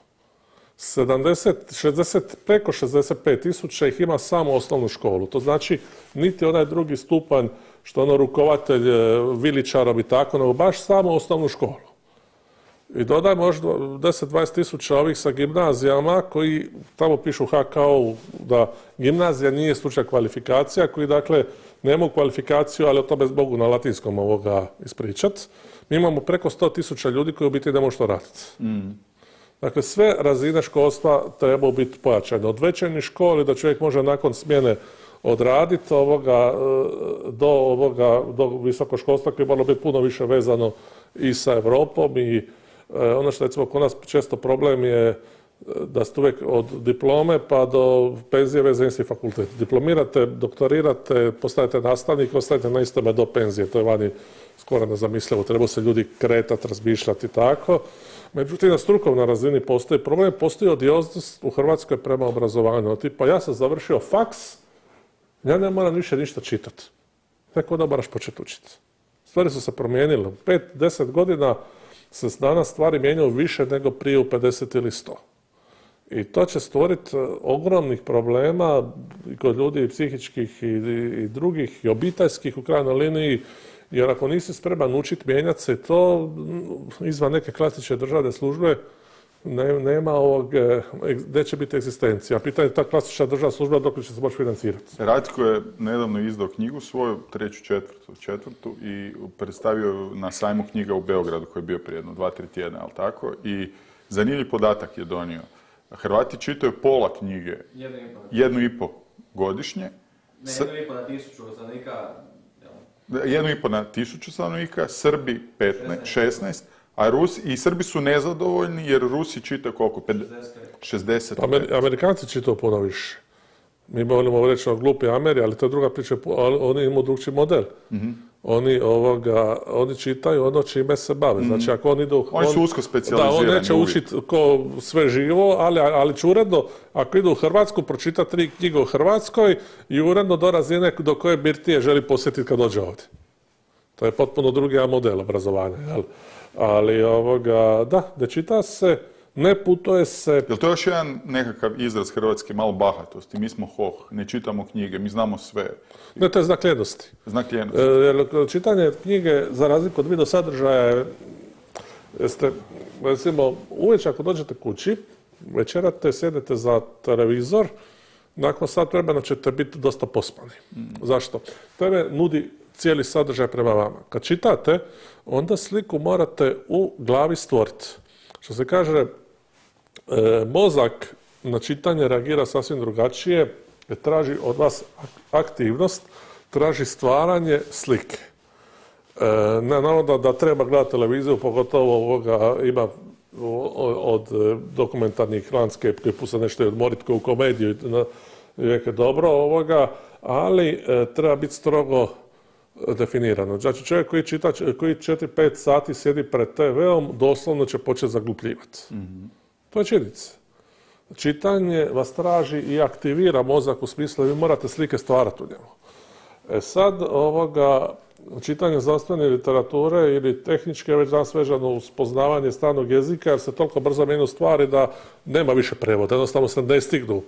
sedamdeset, šezdeset, preko šezdeset pet tisuća ih ima samo osnovnu školu. To znači niti onaj drugi stupanj što ono rukovatelj viličarom i tako, nego baš samo osnovnu školu. I dodaj možda deset do dvadeset tisuća ovih sa gimnazijama koji tamo pišu ha ka o da gimnazija nije stručna kvalifikacija, koji dakle nemaju kvalifikaciju, ali o tome mogu na latinskom ovoga ispričati. Mi imamo preko sto tisuća ljudi koji u biti ne mogu što raditi. Mm. Dakle, sve razine školstva trebaju biti pojačane. Od večernjih školi da čovjek može nakon smjene odraditi ovoga, do, ovoga, do visokoškolstva koje je moralo biti puno više vezano i sa Europom i e, ono što recimo kod nas često problem je da ste uvijek od diplome pa do penzije vezani isti fakultet. Diplomirate, doktorirate, postajete nastavnik, ostajete na istome do penzije. To je vani skoro nezamislivo. Treba se ljudi kretati, razmišljati i tako. Međutim, na strukovnoj razini postoji problem, postoji odioznost u Hrvatskoj prema obrazovanju. Tipa, ja sam završio faks, ja ne moram više ništa čitati. Tek onda moraš početi učiti. Stvari su se promijenile. U pet, deset godina se danas stvari mijenjaju više nego prije u pedeset ili sto. I to će stvoriti ogromnih problema i kod ljudi psihičkih i, i drugih i obiteljskih u krajnjoj liniji. Jer ako nisi spreman učiti, mijenjati se, to izvan neke klasične državne službe ne, nema ovog, gdje će biti egzistencija. Pitanje je ta klasična državna služba dok će se moći financirati. Ratko je nedavno izdao knjigu svoju, treću, četvrtu, četvrtu i predstavio na sajmu knjiga u Beogradu koji je bio prije jedno dva, tri tjedna, ali tako? I zanimljiv podatak je donio. Hrvati čitaju pola knjige, jednu i po. godišnje. Ne, jedno i po na tisuću stanovnika. Jedno i po na tisuću stanovnika, Srbi petnaest, šesnaest, a Rusi, i Srbi su nezadovoljni jer Rusi čitaju koliko? šezdeset. Amer, Amerikanci čitaju puno više. Mi volimo reći o glupi Ameri, ali to je druga priča, oni imaju drugčiji model. Mm-hmm. Oni, ovoga, oni čitaju ono čime se bave. Znači, ako oni idu... Oni su usko specijalizirani. Da, on neće učiti ko sve živo, ali, ali će uredno, ako idu u Hrvatsku, pročita tri knjige u Hrvatskoj i uredno do razine do koje birtije želi posjetiti kad dođe ovdje. To je potpuno drugi model obrazovanja. Jel? Ali, ovoga, da, ne čita se, ne putuje se... Jel to još jedan nekakav izraz hrvatske malo bahatosti? Mi smo hoh, ne čitamo knjige, mi znamo sve. Ne, to je znak ljenosti. Znak ljenosti. E, čitanje knjige, za razliku od video sadržaja, jeste, recimo, uvijek ako dođete kući, večerate, sjedete za televizor, nakon sat vremena ćete biti dosta pospani. Mm. Zašto? Tebe nudi cijeli sadržaj prema vama. Kad čitate, onda sliku morate u glavi stvoriti. Što se kaže, e, mozak na čitanje reagira sasvim drugačije, jer traži od vas aktivnost, traži stvaranje slike. E, ne naravno da treba gledati televiziju, pogotovo ovoga ima od dokumentarnih landscape koji puste nešto odmoriti kao u komediju, je dobro ovoga, ali e, treba biti strogo definirano. Znači čovjek koji čita, koji četiri pet sati sjedi pred te veom, doslovno će početi zaglupljivati. Mm-hmm. To je činjenica. Čitanje vas traži i aktivira mozak u smislu vi morate slike stvarati u njemu. E sad, ovoga, čitanje znanstvene literature ili tehničke već danas vezano uz poznavanje stranog jezika, jer se toliko brzo mijenjaju stvari da nema više prevoda. Jednostavno se ne stignu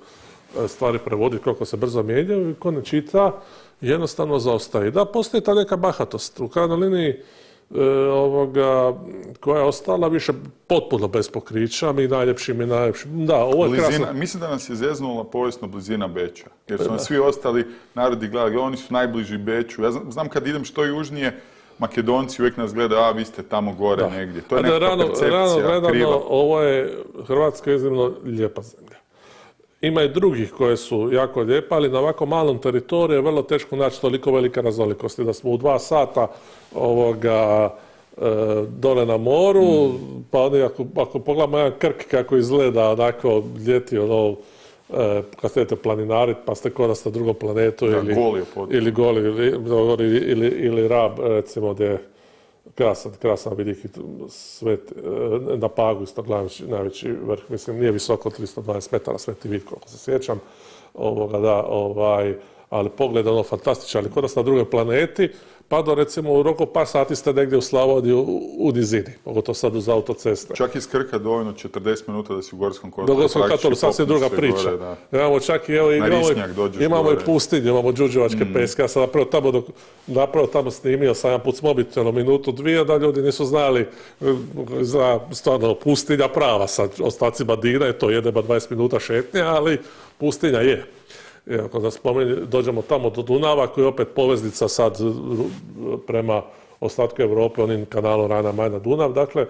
stvari prevoditi koliko se brzo mijenjaju i ko ne čita, jednostavno zaostaje. Da, postoji ta neka bahatost. U krajnjoj liniji e, ovoga, koja je ostala više potpuno bez pokrića, mi najljepši, mi najljepši. Da, ovo je blizina, krasno. Mislim da nas je zeznula povijesno blizina Beča, jer su nas svi ostali narodi gledali, oni su najbliži Beču. Ja znam, znam kad idem što južnije, Makedonci uvijek nas gledaju, a vi ste tamo gore da. Negdje. To je neka rano, percepcija rano gledano, kriva. Ovo je Hrvatska iznimno lijepa zemlja. Ima i drugih koje su jako lijepe, ali na ovako malom teritoriju je vrlo teško naći toliko velike raznolikosti. Da smo u dva sata ovoga, e, dole na moru, mm. pa oni ako, ako pogledamo jedan Krk kako izgleda onako ljeti, ono, e, kad ste planinarit, pa ste kod da ste na drugom planetu, da, ili, goli ili goli, ili, ili, ili Rab, recimo, gdje je krasan, krasan vidik svet, na Pagu isto najveći, najveći vrh, mislim, nije visoko tristo dvadeset metara Sveti vid, koliko se sjećam, ovoga, da, ovaj, ali pogled ono fantastičan, ali kod nas na drugoj planeti, pa do recimo u roku par sati ste negdje u Slavoniji u, u nizini, pogotovo sad uz autoceste. Čak iz Krka dovoljno četrdeset minuta da si u Gorskom kotaru. Do Gorskom kotaru, sasvim druga priča. Gore, da. Imamo čak i, evo, imamo, imamo i pustinju, imamo Đurđevačke mm. peske, ja sam napravo tamo, dok, napravo tamo snimio, sam jedan put s mobitelom minutu, dvije, da ljudi nisu znali, za stvarno pustinja prava, sa ostacima Dina je to jedeba dvadeset minuta šetnje, ali pustinja je. I ako da spomeni, dođemo tamo do Dunava, koji je opet poveznica sad prema ostatku Europe, onim kanalom Rajna-Majna-Dunav. Dakle,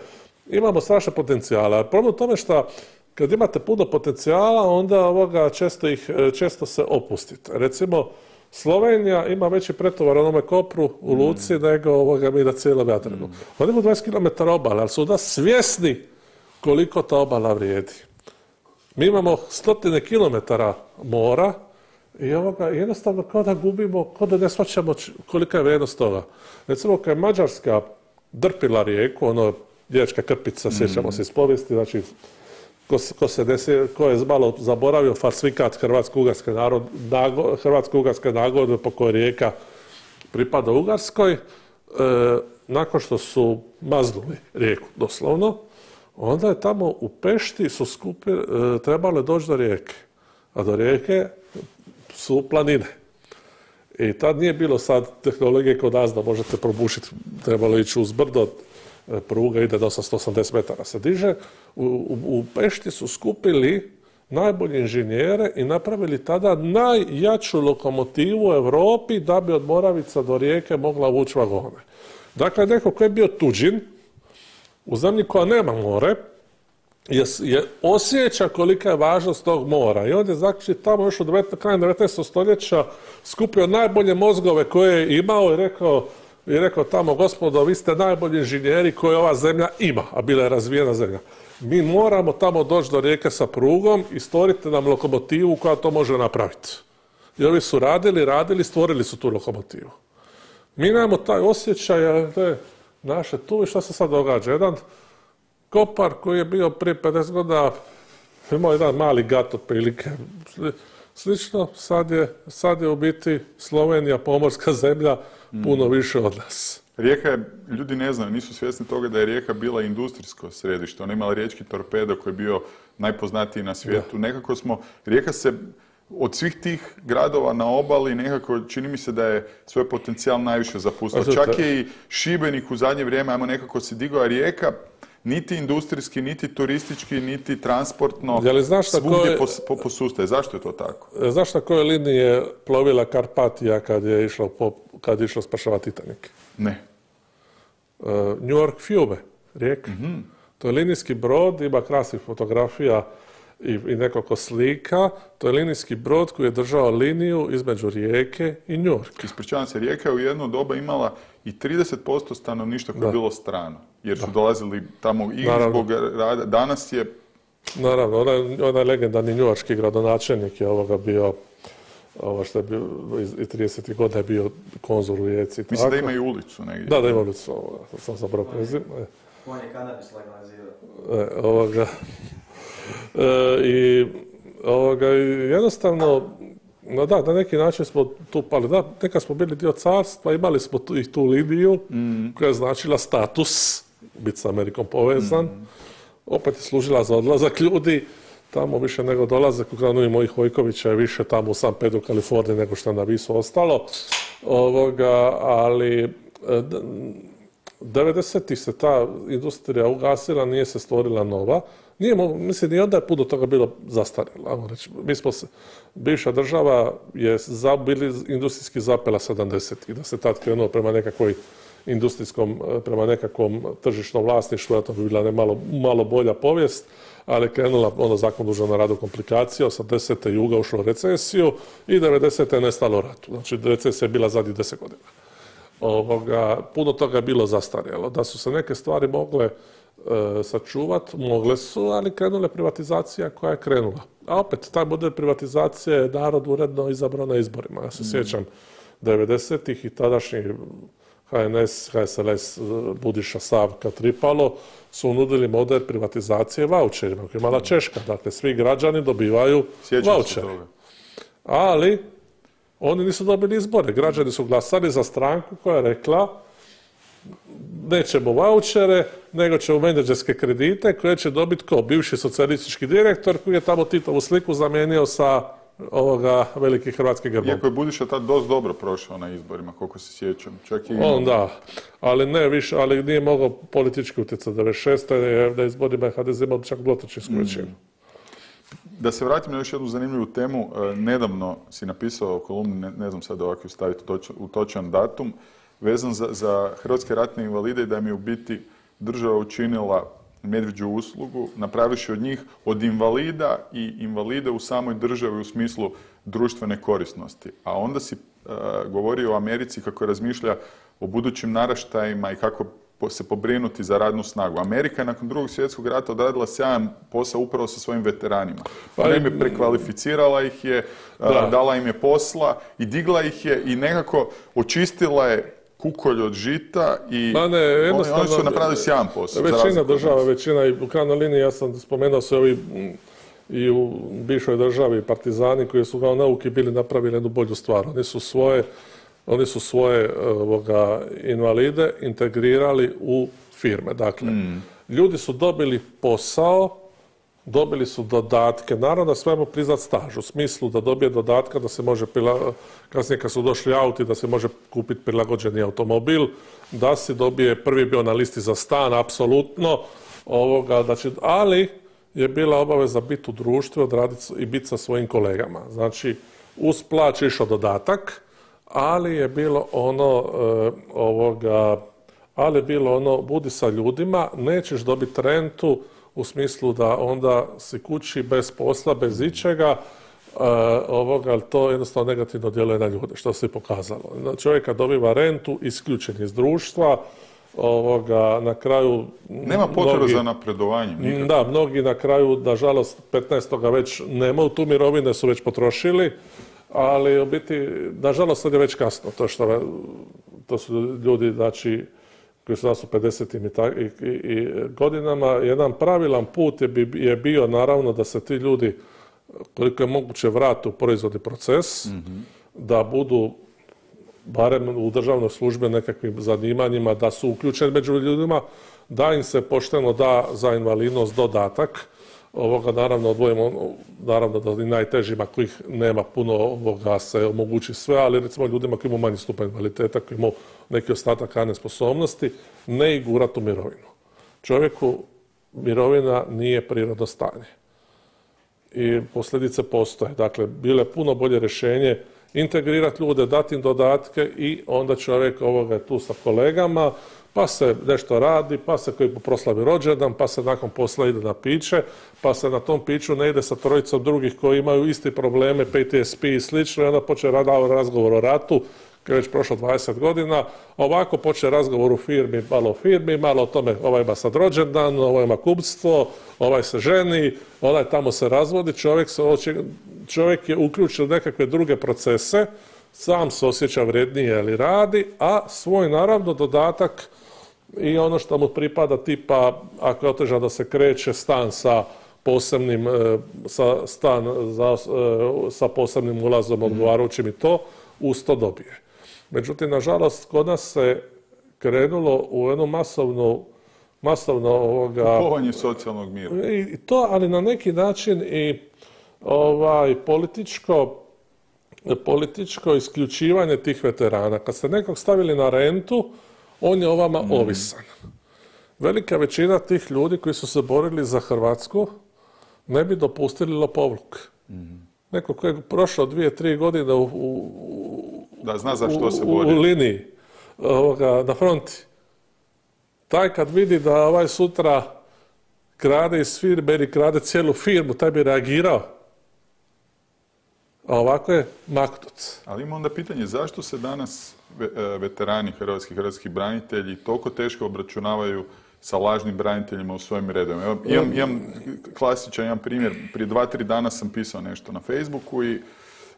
imamo strašne potencijale. A problem u tome što kad imate puno potencijala, onda ovoga često, ih, često se opustite. Recimo, Slovenija ima veći pretovar onome Kopru u Luci mm. nego ovoga mi na cijelom Jadranu. Mm. Oni imaju dvadeset kilometara obale, ali su da svjesni koliko ta obala vrijedi. Mi imamo stotine kilometara mora, i ovoga, jednostavno kao da gubimo, kao da ne shvaćamo kolika je vrijednost toga. Recimo, kad je Mađarska drpila rijeku, ono, Riječka krpica, sjećamo mm. se iz povijesti, znači, ko, ko, se desi, ko je malo zaboravio falsifikat Hrvatsko-Ugarske narod, nago, Hrvatsko-Ugarske nagodbe po kojoj rijeka pripada Ugarskoj, e, nakon što su maznuli rijeku, doslovno, onda je tamo u Pešti su skupi, e, trebale doći do rijeke. A do rijeke su planine. I tad nije bilo sad tehnologije kod nas da možete probušiti, trebalo ići uz brdo, pruga ide do osamsto osamdeset metara se diže. U, u, u Pešti su skupili najbolje inženjere i napravili tada najjaču lokomotivu u Europi da bi od Moravica do Rijeke mogla vući vagone. Dakle, neko ko je bio tuđin, u zemlji koja nema more, je, je osjeća kolika je važnost tog mora. I on je znači tamo još u krajem devetnaestog stoljeća skupio najbolje mozgove koje je imao i rekao, i rekao tamo, gospodo, vi ste najbolji inženjeri koje ova zemlja ima, a bila je razvijena zemlja. Mi moramo tamo doći do rijeke sa prugom i stvorite nam lokomotivu koja to može napraviti. I ovi su radili, radili, stvorili su tu lokomotivu. Mi nemamo taj osjećaj, da naše tu i što se sad događa. Jedan kopar koji je bio prije pedeset godina, imao jedan mali gat otprilike. Slično, sad je, sad je u biti Slovenija, pomorska zemlja, puno više od nas. Rijeka je, ljudi ne znaju, nisu svjesni toga da je Rijeka bila industrijsko središte. Ona je imala riječki torpedo koji je bio najpoznatiji na svijetu. Da. Nekako smo, Rijeka se od svih tih gradova na obali nekako čini mi se da je svoj potencijal najviše zapustila. Čak je i Šibenik u zadnje vrijeme, ajmo nekako se digao, a Rijeka niti industrijski, niti turistički, niti transportno, svugdje posustaje. Zašto je to tako? Znaš na kojoj liniji je plovila Karpatija kad je išlo, kad je išlo spašavati Titanic? Ne. Uh, New York Fiume, Rijeka. Mm-hmm. To je linijski brod, ima krasnih fotografija i, i nekoliko slika. To je linijski brod koji je držao liniju između Rijeke i New Yorka. Ispričavam se, Rijeka je u jedno doba imala i trideset posto stanovništva koje je bilo strano, jer su da. dolazili tamo i zbog rada. Danas je... Naravno, onaj, onaj legendarni njujorški gradonačelnik je ovoga bio, ovo što je bio, iz tridesetih godina je bio konzul u Rijeci. Mislim da ima i ulicu negdje. Da, da ima ulicu, ovoga, sam zapravo prezim. On je kanabis legalizirao. E, ovoga... E, I ovoga, jednostavno, no da, na neki način smo tu pali. Da, nekad smo bili dio carstva, imali smo tu, i tu liniju mm. koja je značila status, biti s Amerikom povezan. Mm. Opet je služila za odlazak ljudi. Tamo više nego dolaze, kako i mojih Vojkovića je više tamo u San Pedro, Kaliforniji, nego što na Visu ostalo. Ovoga, ali devedesetih se ta industrija ugasila, nije se stvorila nova. Nije, mislim, ni onda je puno toga bilo zastarjelo. Mi smo se, bivša država je za, bili industrijski zapela sedamdesetih, da se tad krenuo prema nekakvoj industrijskom, prema nekakvom tržišnom vlasništvu, to bi bila ne malo, malo bolja povijest, ali krenula ono zakon dužan na radu komplikacija, osamdesete juga ušlo u recesiju i devedesete je nestalo u ratu. Znači, recesija je bila zadnjih deset godina. Ovoga, puno toga je bilo zastarjelo. Da su se neke stvari mogle e, sačuvati, mogle su, ali krenula privatizacija koja je krenula. A opet, taj model privatizacije je narod uredno izabrao na izborima. Ja se mm. sjećam devedesetih i tadašnji H N S, H S L S, Budiša, Savka, Tripalo su nudili model privatizacije vaučerima, koji je imala Češka. Dakle, svi građani dobivaju vaučere. Ali oni nisu dobili izbore. Građani su glasali za stranku koja je rekla nećemo vaučere, nego ćemo menadžerske kredite koje će dobiti ko? Bivši socijalistički direktor koji je tamo Titovu sliku zamijenio sa ovoga veliki hrvatski grbom. Iako je Budiša tad dosta dobro prošao na izborima, koliko se sjećam. Čak i on da, ali ne više, ali nije mogao politički utjecati. devedeset šeste je na izborima H D Z imao čak dvotrećinsku većinu. Da se vratim na još jednu zanimljivu temu. Nedavno si napisao kolumnu, ne, ne znam sad ovako staviti u točan datum, vezan za, za hrvatske ratne invalide i da mi u biti država učinila medvjeđu uslugu, napraviši od njih od invalida i invalide u samoj državi u smislu društvene korisnosti. A onda si uh, govorio o Americi kako razmišlja o budućim naraštajima i kako se pobrinuti za radnu snagu. Amerika je nakon drugog svjetskog rata odradila sjajan posao upravo sa svojim veteranima. Ona im je prekvalificirala ih je, da. dala im je posla i digla ih je i nekako očistila je kukolj od žita i Ma ne, oni, oni su napravili sjajan posao. Većina država, većina i u krajnjoj liniji, ja sam spomenuo se ovi i u bivšoj državi partizani koji su kao nauki bili napravili jednu bolju stvar. Oni su svoje Oni su svoje ovoga, invalide integrirali u firme. Dakle, mm. ljudi su dobili posao, dobili su dodatke. Naravno da svemu priznat staž, u smislu da dobije dodatka, da se može, kasnije kad su došli auti, da se može kupiti prilagođeni automobil, da si dobije, prvi bio na listi za stan, apsolutno, ovoga, znači, ali je bila obaveza biti u društvu odraditi i biti sa svojim kolegama. Znači, uz plać išao dodatak, ali je bilo ono e, ovoga, ali je bilo ono, budi sa ljudima, nećeš dobiti rentu u smislu da onda si kući bez posla, bez ičega, ovoga, ali to jednostavno negativno djeluje na ljude, što se i pokazalo. Čovjek kad dobiva rentu, isključen iz društva, ovoga, na kraju... Nema potrebe za napredovanjem. Nikako. Da, mnogi na kraju, nažalost, petnaestoga već nemaju tu mirovine, su već potrošili, ali u biti, nažalost, sad je već kasno. To, što, to su ljudi, znači, koji su nas u pedesetim i, i, i godinama. Jedan pravilan put je, je bio, naravno, da se ti ljudi, koliko je moguće, vrate u proizvodni proces, mm-hmm. da budu barem u državnoj službi nekakvim zanimanjima, da su uključeni među ljudima, da im se pošteno da za invalidnost dodatak. Ovoga naravno odvojimo, naravno da i najtežima kojih nema puno ovoga se omogući sve, ali recimo ljudima koji imaju manji stupanj invaliditeta, koji imaju neki ostatak radne sposobnosti, ne ih gurati u mirovinu. Čovjeku mirovina nije prirodno stanje. I posljedice postoje. Dakle, bilo je puno bolje rješenje integrirati ljude, dati im dodatke i onda čovjek ovoga je tu sa kolegama, pa se nešto radi, pa se koji proslavi rođendan, pa se nakon posla ide na piće, pa se na tom piću ne ide sa trojicom drugih koji imaju isti probleme, P T S P i slično, i onda počne razgovor o ratu, koji je već prošlo dvadeset godina, ovako počne razgovor u firmi, malo o firmi, malo o tome, ovaj ima sad rođendan, ovaj ima kupstvo, ovaj se ženi, onaj tamo se razvodi, čovjek, se, čovjek je uključen u nekakve druge procese, sam se osjeća vrednije ali radi, a svoj naravno dodatak i ono što mu pripada tipa, ako je otežan da se kreće, stan sa posebnim, sa, stan za, sa posebnim ulazom odgovarajućim i to, uz to dobije. Međutim, nažalost, kod nas se krenulo u jednu masovnu, masovno ovoga... Kupovanje socijalnog mira. I to, ali na neki način i ovaj, političko, političko isključivanje tih veterana. Kad ste nekog stavili na rentu, on je o vama mm. ovisan. Velika većina tih ljudi koji su se borili za Hrvatsku ne bi dopustili lopovluk. Mm. Neko koji je prošao dvije, tri godine u, u, da, zna za što se bori. U, u liniji ovoga, na fronti. Taj kad vidi da ovaj sutra krade iz firme ili krade cijelu firmu, taj bi reagirao. A ovako je maknut. Ali ima onda pitanje, zašto se danas veterani hrvatski, hrvatski branitelji toliko teško obračunavaju sa lažnim braniteljima u svojim redovima? Imam, imam klasičan jedan primjer. Prije dva, tri dana sam pisao nešto na Facebooku i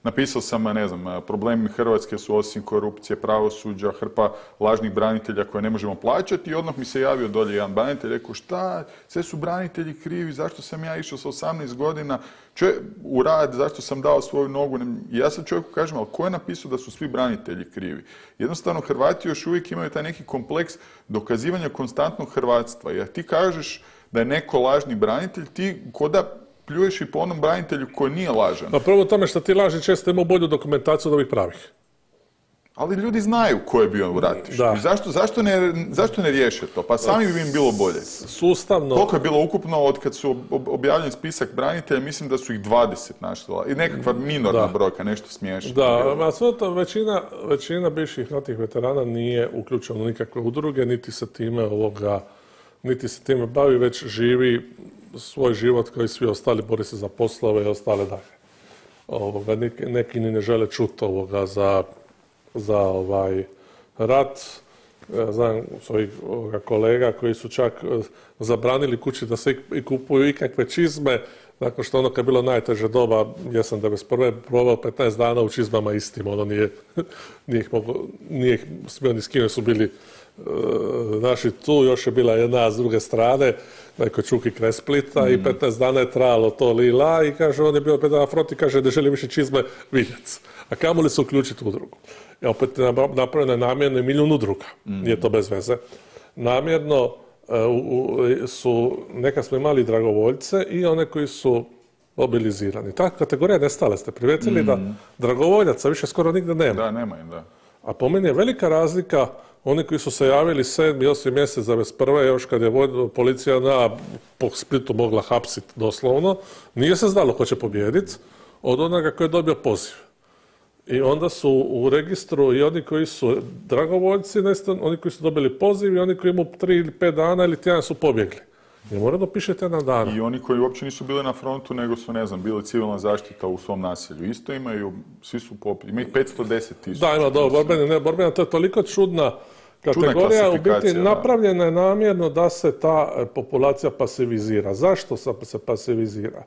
napisao sam, ne znam, problemi Hrvatske su osim korupcije, pravosuđa, hrpa lažnih branitelja koje ne možemo plaćati i odmah mi se javio dolje jedan branitelj, rekao šta, sve su branitelji krivi, zašto sam ja išao sa osamnaest godina Če, u rad, zašto sam dao svoju nogu. I ja sad čovjeku kažem, ali ko je napisao da su svi branitelji krivi? Jednostavno, Hrvati još uvijek imaju taj neki kompleks dokazivanja konstantnog hrvatstva. Jer ti kažeš da je neko lažni branitelj, ti ko da pljuješ i po onom branitelju koji nije lažan. Pa prvo tome što ti lažni često imaju bolju dokumentaciju od ovih pravih. Ali ljudi znaju ko je bio u ratištu. Zašto, zašto, ne, zašto ne riješe to? Pa sami bi im bilo bolje. Sustavno... Koliko je bilo ukupno od kad su objavljen spisak branitelja, mislim da su ih dvadeset našla. I nekakva minorna da. brojka, nešto smiješno. Da, a sve to većina, većina bivših ratnih veterana nije uključena u nikakve udruge, niti se time ovoga, niti se time bavi, već živi svoj život kao i svi ostali, bori se za poslove i ostale dalje. Ovoga, neki, neki ni ne žele čuti ovoga za, za ovaj rat. Ja znam svojih kolega koji su čak zabranili kući da se i kupuju ikakve čizme, nakon što ono kad je bilo najteže doba, ja sam devedeset prve proveo petnaest dana u čizmama istim, ono nije, nije ih mogo, nije ih smio ni s kime su bili naši tu, još je bila jedna s druge strane, neko Čuki kraj Splita mm. i petnaest dana je trajalo to lila i kaže, on je bio opet na fronti, kaže, ne želi više čizme vidjeti. A kamoli se uključiti u udrugu. I opet napravljeno je namjerno i milijun udruga, mm. nije to bez veze. Namjerno uh, su, neka smo imali dragovoljce i one koji su mobilizirani. Ta kategorija nestale, ste primijetili mm. da dragovoljaca više skoro nigdje nema. Da, nema im, da. A po meni je velika razlika oni koji su se javili sedmi, osmi mjesec devedeset prve još kad je policija na po Splitu mogla hapsiti doslovno, nije se znalo ko će pobijediti, od onoga koji je dobio poziv. I onda su u registru i oni koji su dragovoljci, oni koji su dobili poziv i oni koji imaju tri ili pet dana ili tjedan su pobjegli. I uredno piše tjedan dana. I oni koji uopće nisu bili na frontu, nego su, ne znam, bili civilna zaštita u svom naselju. Isto imaju, svi su popis, ima ih petsto deset tisuća. Da, ima dobro, borbeni, ne, borbena, to je toliko čudna kategorija, u biti napravljena je namjerno da se ta populacija pasivizira. Zašto se pasivizira?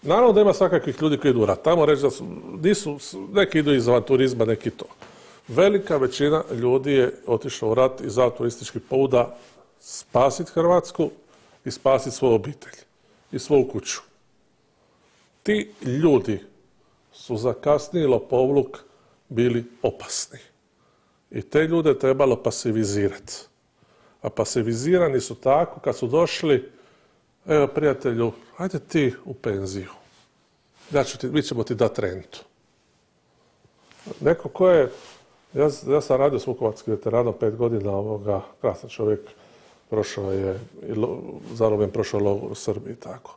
Naravno da ima svakakvih ljudi koji idu u rat. Tamo reći da su, nisu, neki idu iz avanturizma, neki to. Velika većina ljudi je otišla u rat iz avanturističkih pobuda spasiti Hrvatsku i spasiti svoju obitelj i svoju kuću. Ti ljudi su za kasniji lopovluk bili opasni. I te ljude trebalo pasivizirati. A pasivizirani su tako kad su došli, evo prijatelju, ajde ti u penziju. Ja ću ti, mi ćemo ti dati rentu. Neko ko je, ja, ja sam radio s vukovarskim veteranom pet godina ovoga, krasan čovjek, prošao je, zarobljen prošao logor u Srbiji i tako.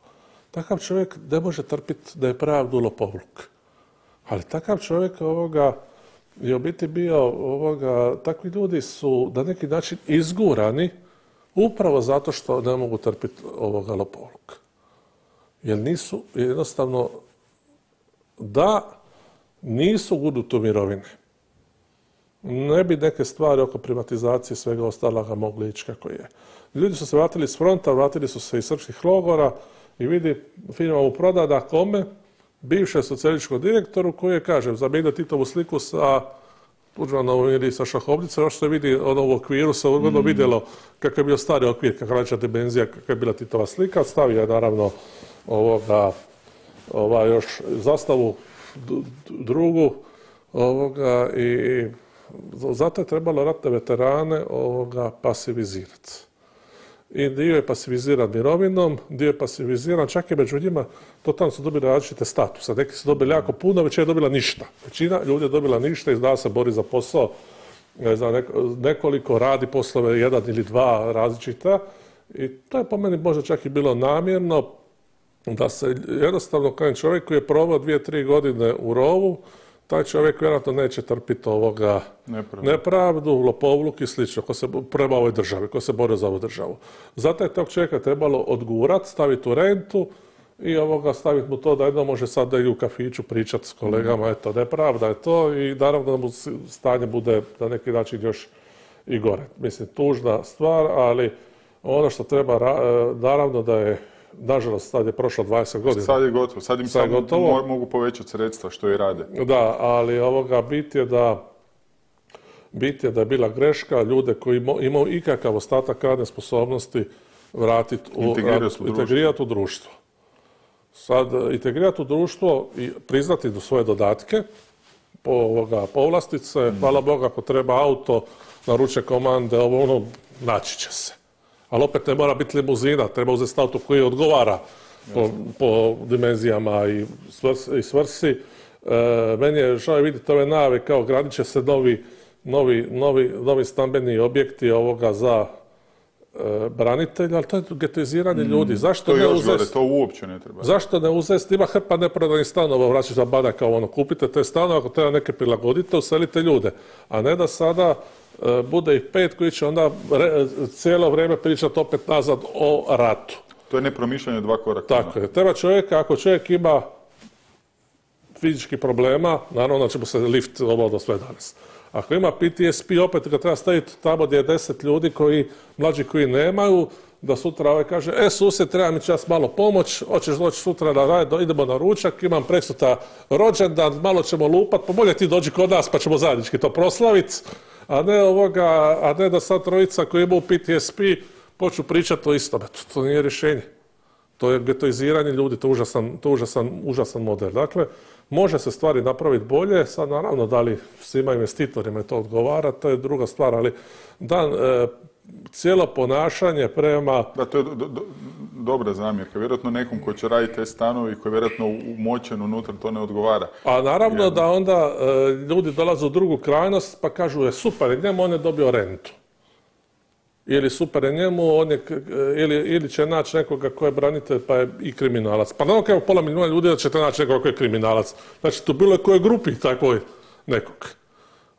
Takav čovjek ne može trpiti da je pravdu lopovluk. Ali takav čovjek ovoga, je u biti bio ovoga, takvi ljudi su na neki način izgurani upravo zato što ne mogu trpiti ovoga lopovluka. Jer nisu jednostavno, da nisu gurnuti u mirovine, ne bi neke stvari oko privatizacije svega ostaloga mogli ići kako je. Ljudi su se vratili s fronta, vratili su se iz srpskih logora i vidi, firma mu proda kome? Bivšem socijalističkom direktoru koji je, kažem, zamijenio Titovu sliku sa Tuđmanovom ili sa Šahovnicom, još se vidi ono u okviru, se uredno mm. vidjelo kakav je bio stari okvir, kakva veća dimenzija, kakva je bila Titova slika. Stavio je naravno ovoga, ova još zastavu drugu ovoga, i zato je trebalo ratne veterane ovoga pasivizirati. I dio je pasiviziran mirovinom, dio je pasiviziran, čak i među njima, totalno su dobili različite statuse. Neki su dobili jako puno, većina je dobila ništa. Većina ljudi je dobila ništa i zna se bori za posao. Zna, nekoliko radi poslove, jedan ili dva različita. I to je po meni možda čak i bilo namjerno da se jednostavno kao čovjek koji je proveo dvije, tri godine u rovu, taj čovjek vjerojatno neće trpiti ovoga nepravdu, nepravdu lopovluk i slično, ko se prema ovoj državi, ko se bori za ovu državu. Zato je tog čovjeka trebalo odgurati, staviti u rentu i ovoga staviti mu to da jedno može sad da i u kafiću pričati s kolegama, eto, nepravda je to i naravno da mu stanje bude na neki način još i gore. Mislim, tužna stvar, ali ono što treba, naravno da je, nažalost, sad je prošlo dvadeset godina. Sad je gotovo, sad im sad samo mogu povećati sredstva što i rade. Da, ali ovoga bit je da bit je da je bila greška ljude koji imaju ikakav ostatak radne sposobnosti vratiti u, integrirati u, integrirati u društvo. Sad, integrirati u društvo i priznati do svoje dodatke, po ovoga povlastice, mm. hvala Boga, ako treba auto, naruče komande, ovo ono, naći će se. Ali opet ne mora biti limuzina, treba uzeti auto koji odgovara po, po dimenzijama i svrsi. I svrsi. E, meni je žao vidjeti ove najave kao gradit će se novi, novi, novi, novi stambeni objekti ovoga za e, branitelja, ali to je getoiziranje mm, ljudi. Zašto to ne još uzeti? Glede, to uopće ne treba. Zašto ne uzeti? Ima hrpa neprodanih stanova, vraćaš za bana kao ono, kupite te stanove, ako treba neke prilagodite, uselite ljude. A ne da sada bude ih pet koji će onda re, cijelo vrijeme pričati opet nazad o ratu. To je nepromišljanje dva koraka. Tako je. Treba čovjeka, ako čovjek ima fizičkih problema, naravno da će mu se lift obavljati sve danas. Ako ima P T S P, opet ga treba staviti tamo gdje je deset ljudi koji, mlađi koji nemaju, da sutra ovaj kaže, e susjed, treba mi čas malo pomoć, hoćeš doći sutra na rad, idemo na ručak, imam preksutra rođendan, malo ćemo lupat, pa bolje ti dođi kod nas pa ćemo zajednički to proslaviti. A ne ovoga, a ne da sad trojica koji imaju P T S P počnu pričati o istome. To, to nije rješenje. To je getoiziranje ljudi, to je užasan, to užasan, užasan model. Dakle, može se stvari napraviti bolje, sad naravno da li svima investitorima to odgovara, to je druga stvar, ali da, e, cijelo ponašanje prema... Da, to je do, do, dobra zamjerka. Vjerojatno nekom ko će raditi te stanovi, koji je vjerojatno umočen unutra, to ne odgovara. A naravno Jer... da onda e, ljudi dolaze u drugu krajnost pa kažu, je super, njemu on je dobio rentu. Ili super je njemu, on je, ili, ili će naći nekoga ko je branitelj pa je i kriminalac. Pa naravno kao pola milijuna ljudi da ćete naći nekoga ko je kriminalac. Znači, to bilo je koje grupi takvoj nekog.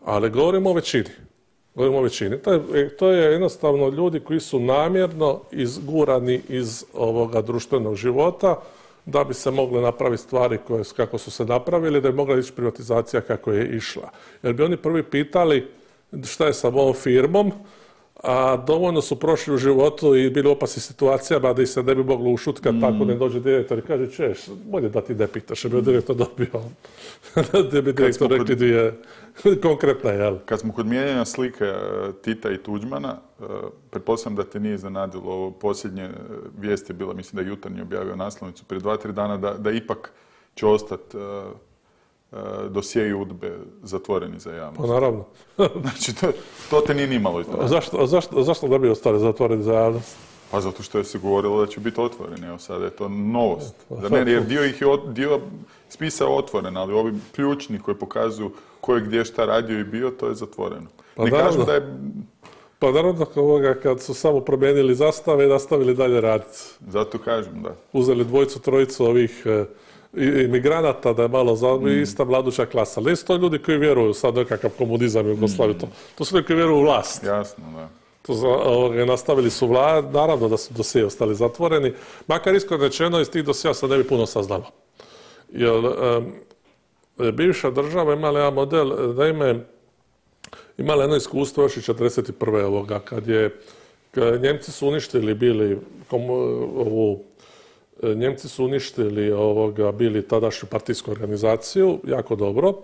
Ali govorimo o većini. Govorimo o većini. To je, to je jednostavno ljudi koji su namjerno izgurani iz ovoga društvenog života da bi se mogle napraviti stvari koje, kako su se napravili, da bi mogla ići privatizacija kako je išla. Jer bi oni prvi pitali šta je sa ovom firmom, a dovoljno su prošli u životu i bili u opasnim situacijama da ih se ne bi moglo ušutkati, mm. tako ne dođe direktor i kaže, češ, bolje da ti ne pitaš, jer bi direktor dobio. Da bi direktor rekli kod... dvije konkretna, jel? Kad smo kod mijenjanja slike Tita i Tuđmana, pretpostavljam da te nije iznenadilo ovo posljednje vijest je bila, mislim da je Jutarnji objavio naslovnicu prije dva, tri dana, da, da ipak će ostati dosjei UDBE zatvoreni za javnost. Pa naravno. Znači, to, to te nije nimalo iznenadilo. Zašto, zašto, zašto da bi ostali zatvoreni za javnost? Pa zato što je se govorilo da će biti otvoreni, evo sada je to novost. Da ne, jer dio ih je, dio spisa otvoren, ali ovi ključni koji pokazuju ko je gdje šta radio i bio, to je zatvoreno. Pa ne kažem da je... Pa naravno ovoga kad su samo promijenili zastave i nastavili dalje raditi. Zato kažem, da. Uzeli dvojicu, trojicu ovih e, imigranata da je malo za mm. ista mladuća klasa. Ali nisu to ljudi koji vjeruju sad nekakav komunizam i Jugoslaviju. Mm. To, to su ljudi koji vjeruju u vlast. Jasno, da. To za, ovoga, nastavili su vlad, naravno da su dosije ostali zatvoreni. Makar iskreno rečeno iz tih dosija se ne bi puno saznalo. Jer e, bivša država imala jedan model, naime, imala jedno iskustvo još i četrdeset prve ovoga, kad je kad Njemci su uništili bili komu, ovu, Njemci su uništili ovoga, bili tadašnju partijsku organizaciju, jako dobro,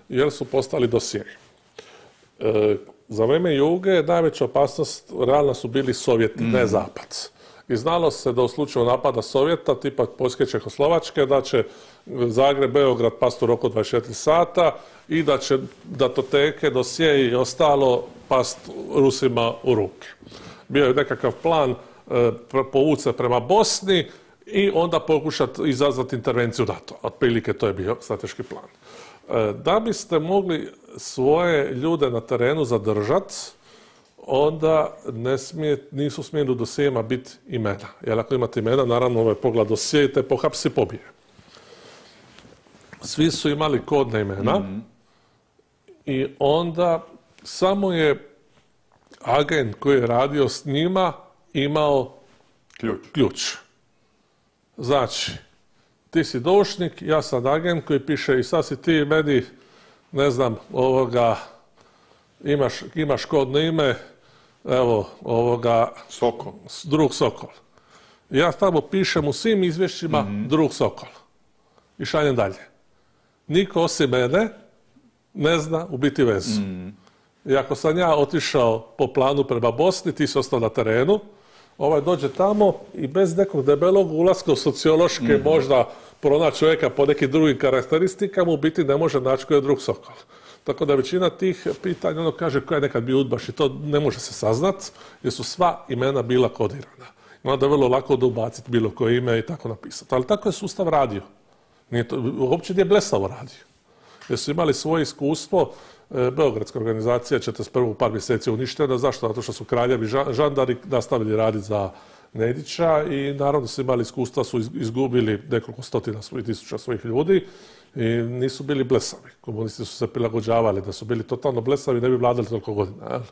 jer su postali dosjei. E, za vrijeme Juge najveća opasnost realno su bili Sovjeti, mm. ne Zapad. I znalo se da u slučaju napada Sovjeta, tipa Poljske, Čehoslovačke, da će Zagreb, Beograd pasti u roku dvadeset četiri sata i da će datoteke, dosjei i ostalo past Rusima u ruke. Bio je nekakav plan e, povući se prema Bosni i onda pokušati izazvati intervenciju NATO. Otprilike to je bio strateški plan. E, da biste mogli svoje ljude na terenu zadržati, onda ne smije, nisu smjeli u dosijema biti imena. Jer ako imate imena, naravno ovaj pogled dosije, te pohapsi pobije. Svi su imali kodne imena mm-hmm. i onda samo je agent koji je radio s njima imao ključ. ključ. Znači, ti si doušnik, ja sam agent koji piše i sad si ti meni, ne znam, ovoga, imaš, imaš kodno ime, evo, ovoga... Sokol. Drug Sokol. Ja tamo pišem u svim izvješćima mm-hmm. Drug Sokol. I šaljem dalje. Niko osim mene ne zna u biti vezu. Mm. I ako sam ja otišao po planu prema Bosni, ti si ostao na terenu, ovaj dođe tamo i bez nekog debelog ulaska u sociološke mm. možda pronaći čovjeka po nekim drugim karakteristikama, u biti ne može naći koji je Drug Sokol. Tako da većina tih pitanja, ono kaže ko je nekad bio udbaš i to ne može se saznat, jer su sva imena bila kodirana. I onda je vrlo lako da ubaciti bilo koje ime i tako napisati. Ali tako je sustav radio. Nije to, uopće nije blesavo radio. Jer su imali svoje iskustvo, e, Beogradska organizacija četrdeset prve par mjeseci uništena. Zašto? Zato što su kraljevi žandari nastavili raditi za Nedića i naravno su imali iskustva, su izgubili nekoliko stotina svojih tisuća svojih ljudi i nisu bili blesavi. Komunisti su se prilagođavali, da su bili totalno blesavi ne bi vladali toliko godina. Jel?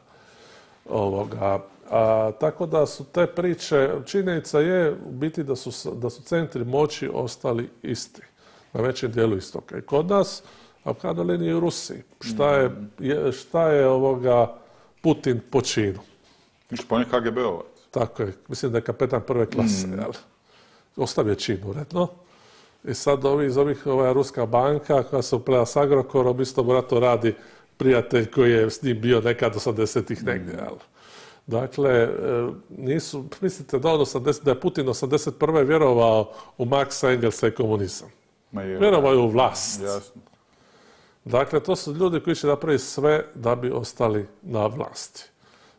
Ovoga. A, tako da su te priče, činjenica je u biti da su, da su centri moći ostali isti. Na većem dijelu istoka. I kod nas, a u krajnjoj liniji u Rusiji. Šta je, je, šta je ovoga Putin po činu? Ništa, pa on je K G B-ovac. Tako je. Mislim da je kapetan prve klase. Mm. Ostavio čin uredno. I sad ovi, iz ovih, ova Ruska banka koja se upleda s Agrokorom, isto mora to radi prijatelj koji je s njim bio nekad osamdesetih negdje. Mm. Dakle, nisu, mislite da, on osamdeset, da je Putin osamdeset prve vjerovao u Marksa, Engelsa i komunizam. Vjerovao je u vlast. Jasno. Dakle, to su ljudi koji će napraviti sve da bi ostali na vlasti.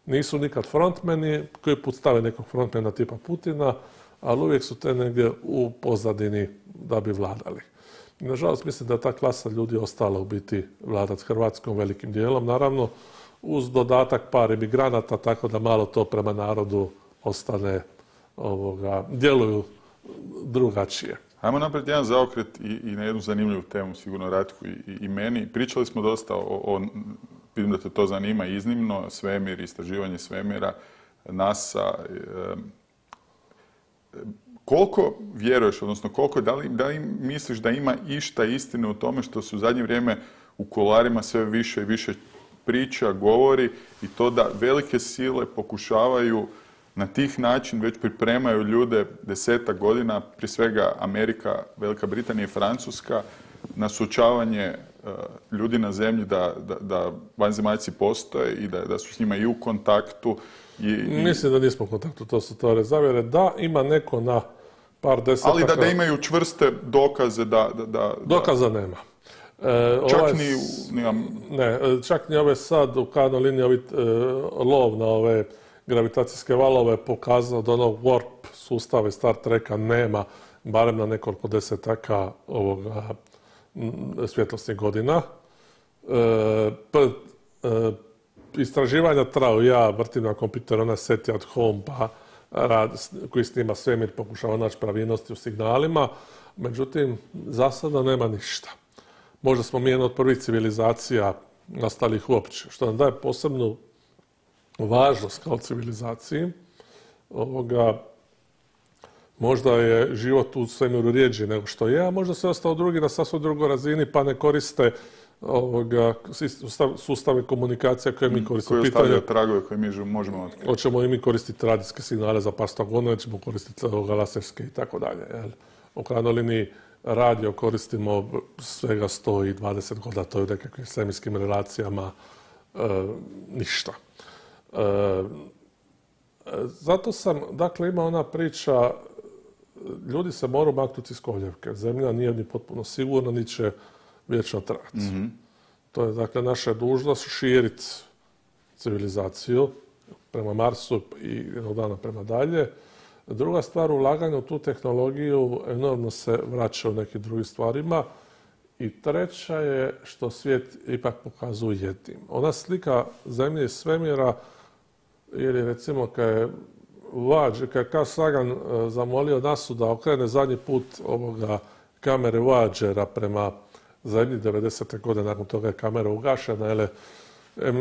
Nisu nikad frontmeni, koji put stave nekog frontmena tipa Putina, ali uvijek su te negdje u pozadini da bi vladali. I nažalost, mislim da je ta klasa ljudi ostala u biti vladati Hrvatskom velikim dijelom, naravno uz dodatak par imigranata, tako da malo to prema narodu ostane, ovoga, djeluju drugačije. Ajmo napraviti jedan zaokret i, i na jednu zanimljivu temu, sigurno Ratku i, i, i meni. Pričali smo dosta o, o vidim da te to zanima iznimno, svemir, istraživanje svemira, NASA. Koliko vjeruješ, odnosno koliko, da li, da li misliš da ima išta istine u tome što su u zadnje vrijeme u kuloarima sve više i više priča, govori i to da velike sile pokušavaju na tih način već pripremaju ljude desetak godina, prije svega Amerika, Velika Britanija i Francuska, na suočavanje uh, ljudi na zemlji da, da, da vanzemaljci postoje i da, da su s njima i u kontaktu. I, i... Mislim da nismo u kontaktu, to su teorije zavjere. Da, ima neko na par desetaka... Ali da, da imaju čvrste dokaze da... da, da Dokaza nema. E, čak ovaj, ni... Nimam... Ne, čak ni ove sad u kanoj liniji ovi, e, lov na ove gravitacijske valove pokazao da onog warp sustava iz Star Treka nema, barem na nekoliko desetaka ovoga svjetlosnih godina. E, p, e, istraživanja traju, ja vrtim na kompjuteru onaj SETI at home, pa rad, koji snima svemir, pokušava naći pravilnosti u signalima, međutim, za sada nema ništa. Možda smo mi jedna od prvih civilizacija nastalih uopće, što nam daje posebnu važnost kao civilizaciji. Ovoga, možda je život u svemiru rijeđi nego što je, a možda se ostao drugi na sasvim drugoj razini pa ne koriste ovoga, sustave komunikacija koje mi koristimo. Koje ostavljaju tragove koje mi možemo otkriti. Hoćemo i mi koristiti radijske signale za par sto godina, ćemo koristiti laserske i tako dalje. U krajnjoj liniji radio koristimo svega sto dvadeset godina, to je u nekakvim svemirskim relacijama e, ništa. E, zato sam, dakle, ima ona priča, ljudi se moraju maknuti iz koljevke. Zemlja nije ni potpuno sigurna, ni će vječno trajati. Mm-hmm. To je, dakle, naša dužnost širiti civilizaciju prema Marsu i jednog dana prema dalje. Druga stvar, ulaganje u tu tehnologiju enormno se vraća u nekim drugim stvarima. I treća je što svijet ipak pokazuje jednim. Ona slika zemlje i svemira, ili recimo kad je Voyager, kad je Carl Sagan zamolio nasu da okrene zadnji put ovoga kamere Voyagera prema zemlji devedesete godine, nakon toga je kamera ugašena, jer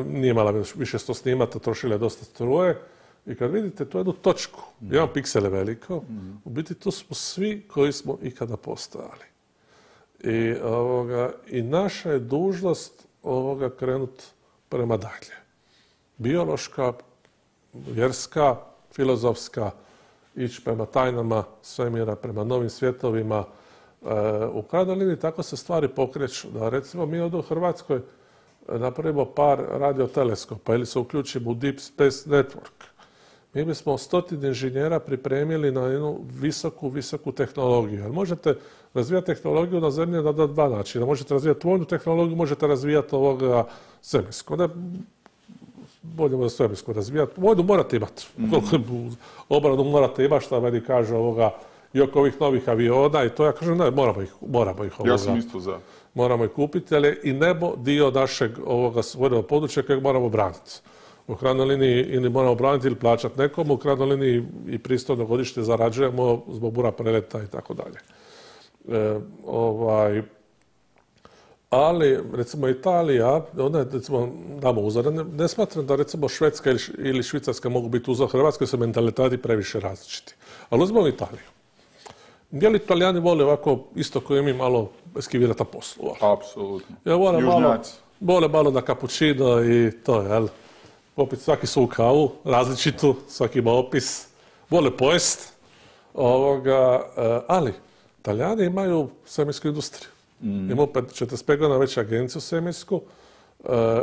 nije imala više sto snimata, trošila je dosta struje. I kad vidite tu jednu točku, mm. jedan piksel je veliko, mm. u biti tu smo svi koji smo ikada postojali. I, ovoga, i naša je dužnost ovoga krenuti prema dalje. Biološka, vjerska, filozofska, ići prema tajnama svemira, prema novim svjetovima. E, u krajnjoj liniji tako se stvari pokreću. Da recimo mi ovdje u Hrvatskoj napravimo par radioteleskopa ili se uključimo u Deep Space Network. Mi bismo stotine inženjera pripremili na jednu visoku, visoku tehnologiju. Jer možete razvijati tehnologiju na zemlji na dva načina. Možete razvijati vojnu tehnologiju, možete razvijati ovoga svemirsku. Ne, bolje da svemirsku razvijati. Vojnu morate imati. Mm-hmm. Obranu morate imati, što meni kaže ovoga, i oko ovih novih aviona i to ja kažem, ne, moramo ih, moramo ih ovoga. Ja sam isto za. Moramo ih kupiti, ali je i nebo dio našeg ovoga vojnog područja kojeg moramo braniti. U krajnjoj liniji ili moramo braniti ili plaćati nekomu, u krajnjoj liniji i pristojno godišnje zarađujemo zbog bura preleta i tako dalje. E, ovaj, ali, recimo, Italija, ona je, recimo, damo uzor, ne, ne smatram da, recimo, Švedska ili, ili Švicarska mogu biti uzor Hrvatskoj, su mentaliteti previše različiti. Ali uzmemo Italiju. Je li Italijani vole ovako, isto koji mi, malo eskivirati na poslu? Apsolutno. Ja vole malo, vole malo na kapućino i to, jel? Opet svaki su u kavu, različitu, svaki ima opis, vole pojest, ovoga, ali Italijani imaju svemirsku industriju. Mm. Imaju četrdeset pet godina već agenciju svemirsku,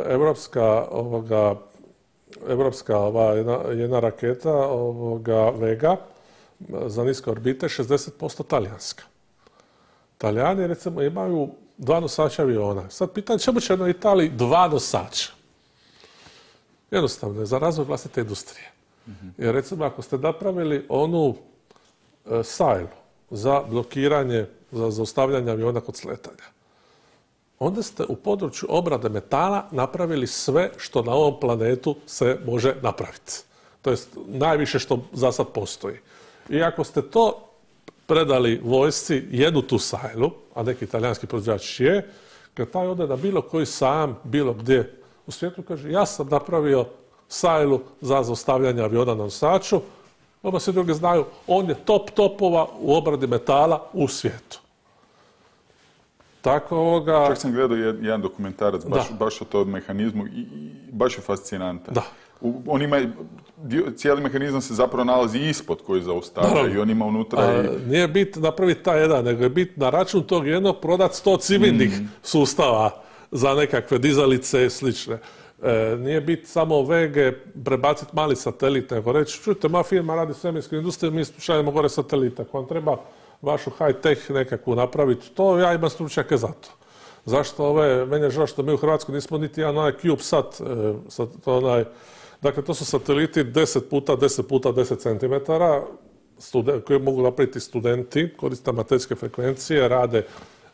evropska, ovoga, evropska ova, jedna, jedna raketa ovoga, Vega za niske orbite, šezdeset posto talijanska. Talijani, recimo, imaju dva nosača aviona. Sad pitanje, čemu će na Italiji dva nosača? Jednostavno je za razvoj vlastite industrije. Mm-hmm. Jer recimo ako ste napravili onu e, sajlu za blokiranje, za zaustavljanje aviona kod sletanja, onda ste u području obrade metala napravili sve što na ovom planetu se može napraviti. To jest najviše što za sad postoji. I ako ste to predali vojsci, jednu tu sajlu, a neki italijanski proizvođač je, kad taj ode na bilo koji sajam, bilo gdje u svijetu, kaže, ja sam napravio sajlu za zaustavljanje aviona na nosaču, oba svi drugi znaju, on je top topova u obradi metala u svijetu. Tako ovoga... Čak sam gledao jedan dokumentarac baš, baš o tom mehanizmu i, i baš je fascinantan. Da. U, on ima, dio, cijeli mehanizam se zapravo nalazi ispod koji zaustavlja i on ima unutra A, i... Nije bit napraviti taj jedan, nego je bit na račun tog jednog prodat sto civilnih mm. sustava za nekakve dizalice i slične. E, nije bit samo V G prebaciti mali satelit, nego reći, čujte, moja firma radi svemirsku industriju, mi šaljemo gore satelita, ako vam treba vašu high-tech nekakvu napraviti, to ja imam stručnjake za to. Zašto ove, meni je žao što mi u Hrvatskoj nismo niti jedan onaj CubeSat, e, sat, onaj, dakle to su sateliti deset puta deset puta deset centimetara, koji mogu napraviti studenti, koriste amaterske frekvencije, rade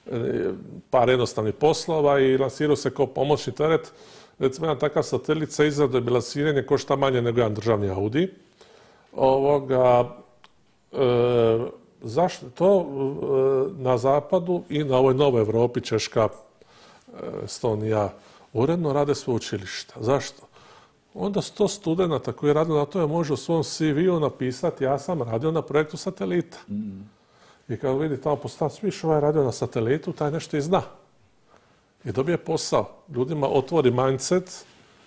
e, par jednostavnih poslova i lansiraju se kao pomoćni teret. Recimo, jedan takav satelit sa izradom i lansiranje košta manje nego jedan državni Audi. Ovoga, e, zašto? To e, na zapadu i na ovoj novoj Europi, Češka, Estonija, uredno rade sveučilišta. Zašto? Onda sto studenata koji rade na tome može u svom C V-u napisati ja sam radio na projektu satelita. Mm. I kad vidi tamo postav, sviš ovaj radio na satelitu, taj nešto i zna. I dobije posao. Ljudima otvori mindset,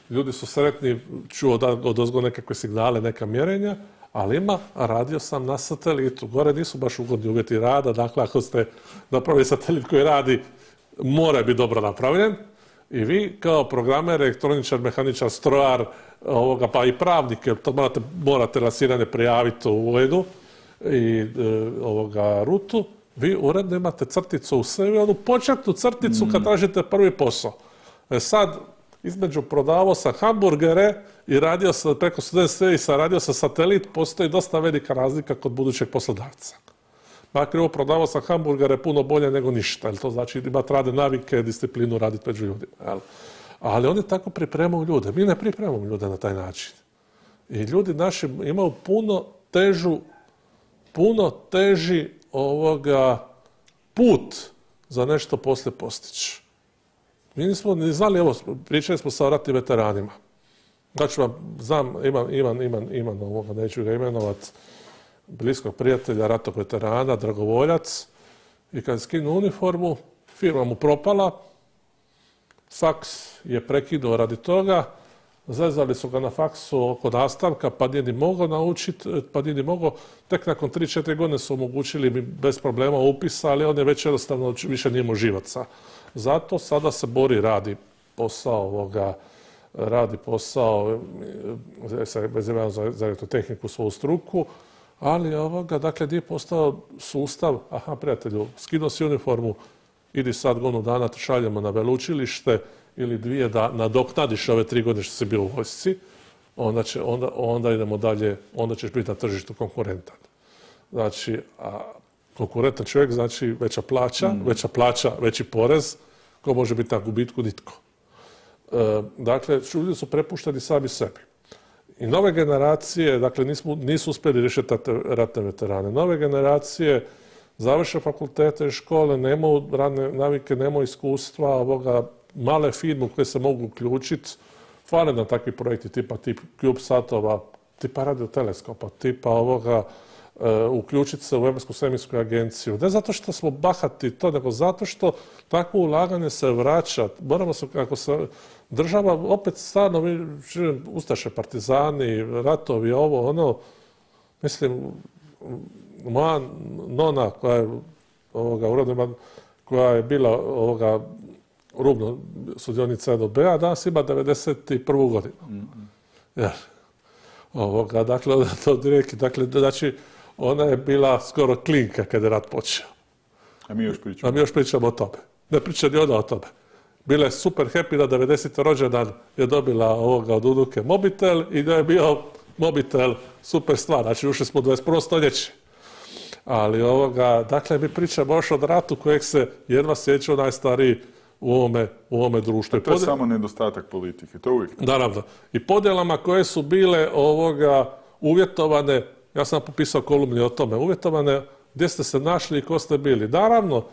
ljudi su sretni, čuo da od ozgo nekakve signale, neka mjerenja, ali ima, radio sam na satelitu. Gore nisu baš ugodni uvjeti rada, dakle ako ste napravili satelit koji radi, mora biti dobro napravljen. I vi kao programer, elektroničar, mehaničar, strojar, ovoga, pa i pravnik, jer to morate, morate lansiranje prijaviti u uredu i e, ovoga rutu, vi uredno imate crticu u sebi, onu početnu crticu kad tražite prvi posao. E sad, između prodavao sam hamburgere i radio sam preko student servisa, radio sam satelit, postoji dosta velika razlika kod budućeg poslodavca. Makar ovo prodavao sam hamburgere puno bolje nego ništa, jer to znači imati rade navike, disciplinu raditi među ljudima. Jel? Ali oni tako pripremaju ljude. Mi ne pripremamo ljude na taj način. I ljudi naši imaju puno težu, puno teži ovoga put za nešto poslije postići. Mi nismo ni znali, evo, pričali smo sa ratnim veteranima. Znači vam, znam, imam, imam, imam, imam ovoga, neću ga imenovati, bliskog prijatelja, ratnog veterana, dragovoljac, i kad je skinuo uniformu, firma mu propala, faks je prekinuo radi toga, zezali su ga na faksu oko nastavka, pa nije ni mogao naučiti, pa nije ni mogao, tek nakon tri četiri godine su omogućili mi bez problema upisa, ali on je već jednostavno više nije imao živaca. Zato sada se bori, radi posao ovoga, radi posao vezano za, za elektrotehniku, svoju struku, ali ovoga, dakle, nije postao sustav, aha, prijatelju, skinuo si uniformu, idi sad godinu dana, te šaljemo na veleučilište ili dvije da nadoknadiš ove tri godine što si bio u vojsci, onda, će, onda, onda idemo dalje, onda ćeš biti na tržištu konkurentan. Znači, a konkurentan čovjek znači veća plaća, mm. veća plaća, veći porez, ko može biti na gubitku, nitko. E, dakle, ljudi su prepušteni sami sebi. I nove generacije, dakle, nismo, nisu uspjeli riješiti ratne veterane. Nove generacije završe fakultete i škole, nemaju radne navike, nemaju iskustva, ovoga, male firme koje se mogu uključiti, fale nam takvi projekti tipa tip CubeSatova, tipa radioteleskopa, tipa ovoga, uh, uključiti se u Europsku svemirsku agenciju. Ne zato što smo bahati to, nego zato što takvo ulaganje se vraća. Moramo se, kako se država, opet stvarno, ustaše, partizani, ratovi, ovo, ono, mislim, moja nona koja je ovoga, uredno, koja je bila ovoga, rubno sudionica N O B-a, danas ima devedeset prvu godinu. Mm-hmm. Ja. Ovoga, dakle, to direktno, dakle, znači, ona je bila skoro klinka kada je rat počeo. A mi još pričamo. A mi još pričamo o tome. Ne priča ni ona o tome. Bila je super happy da devedeseti rođendan je dobila ovoga od unuke mobitel i da je bio mobitel super stvar. Znači, ušli smo u dvadeset prvo stoljeće. Ali ovoga, dakle, mi pričamo još od ratu kojeg se jedva sjeća najstariji u ovome, u ovome društvu. To je Podjel... samo nedostatak politike, to uvijek. Naravno. I podjelama koje su bile ovoga uvjetovane, ja sam popisao kolumni o tome, uvjetovane gdje ste se našli i ko ste bili. Naravno,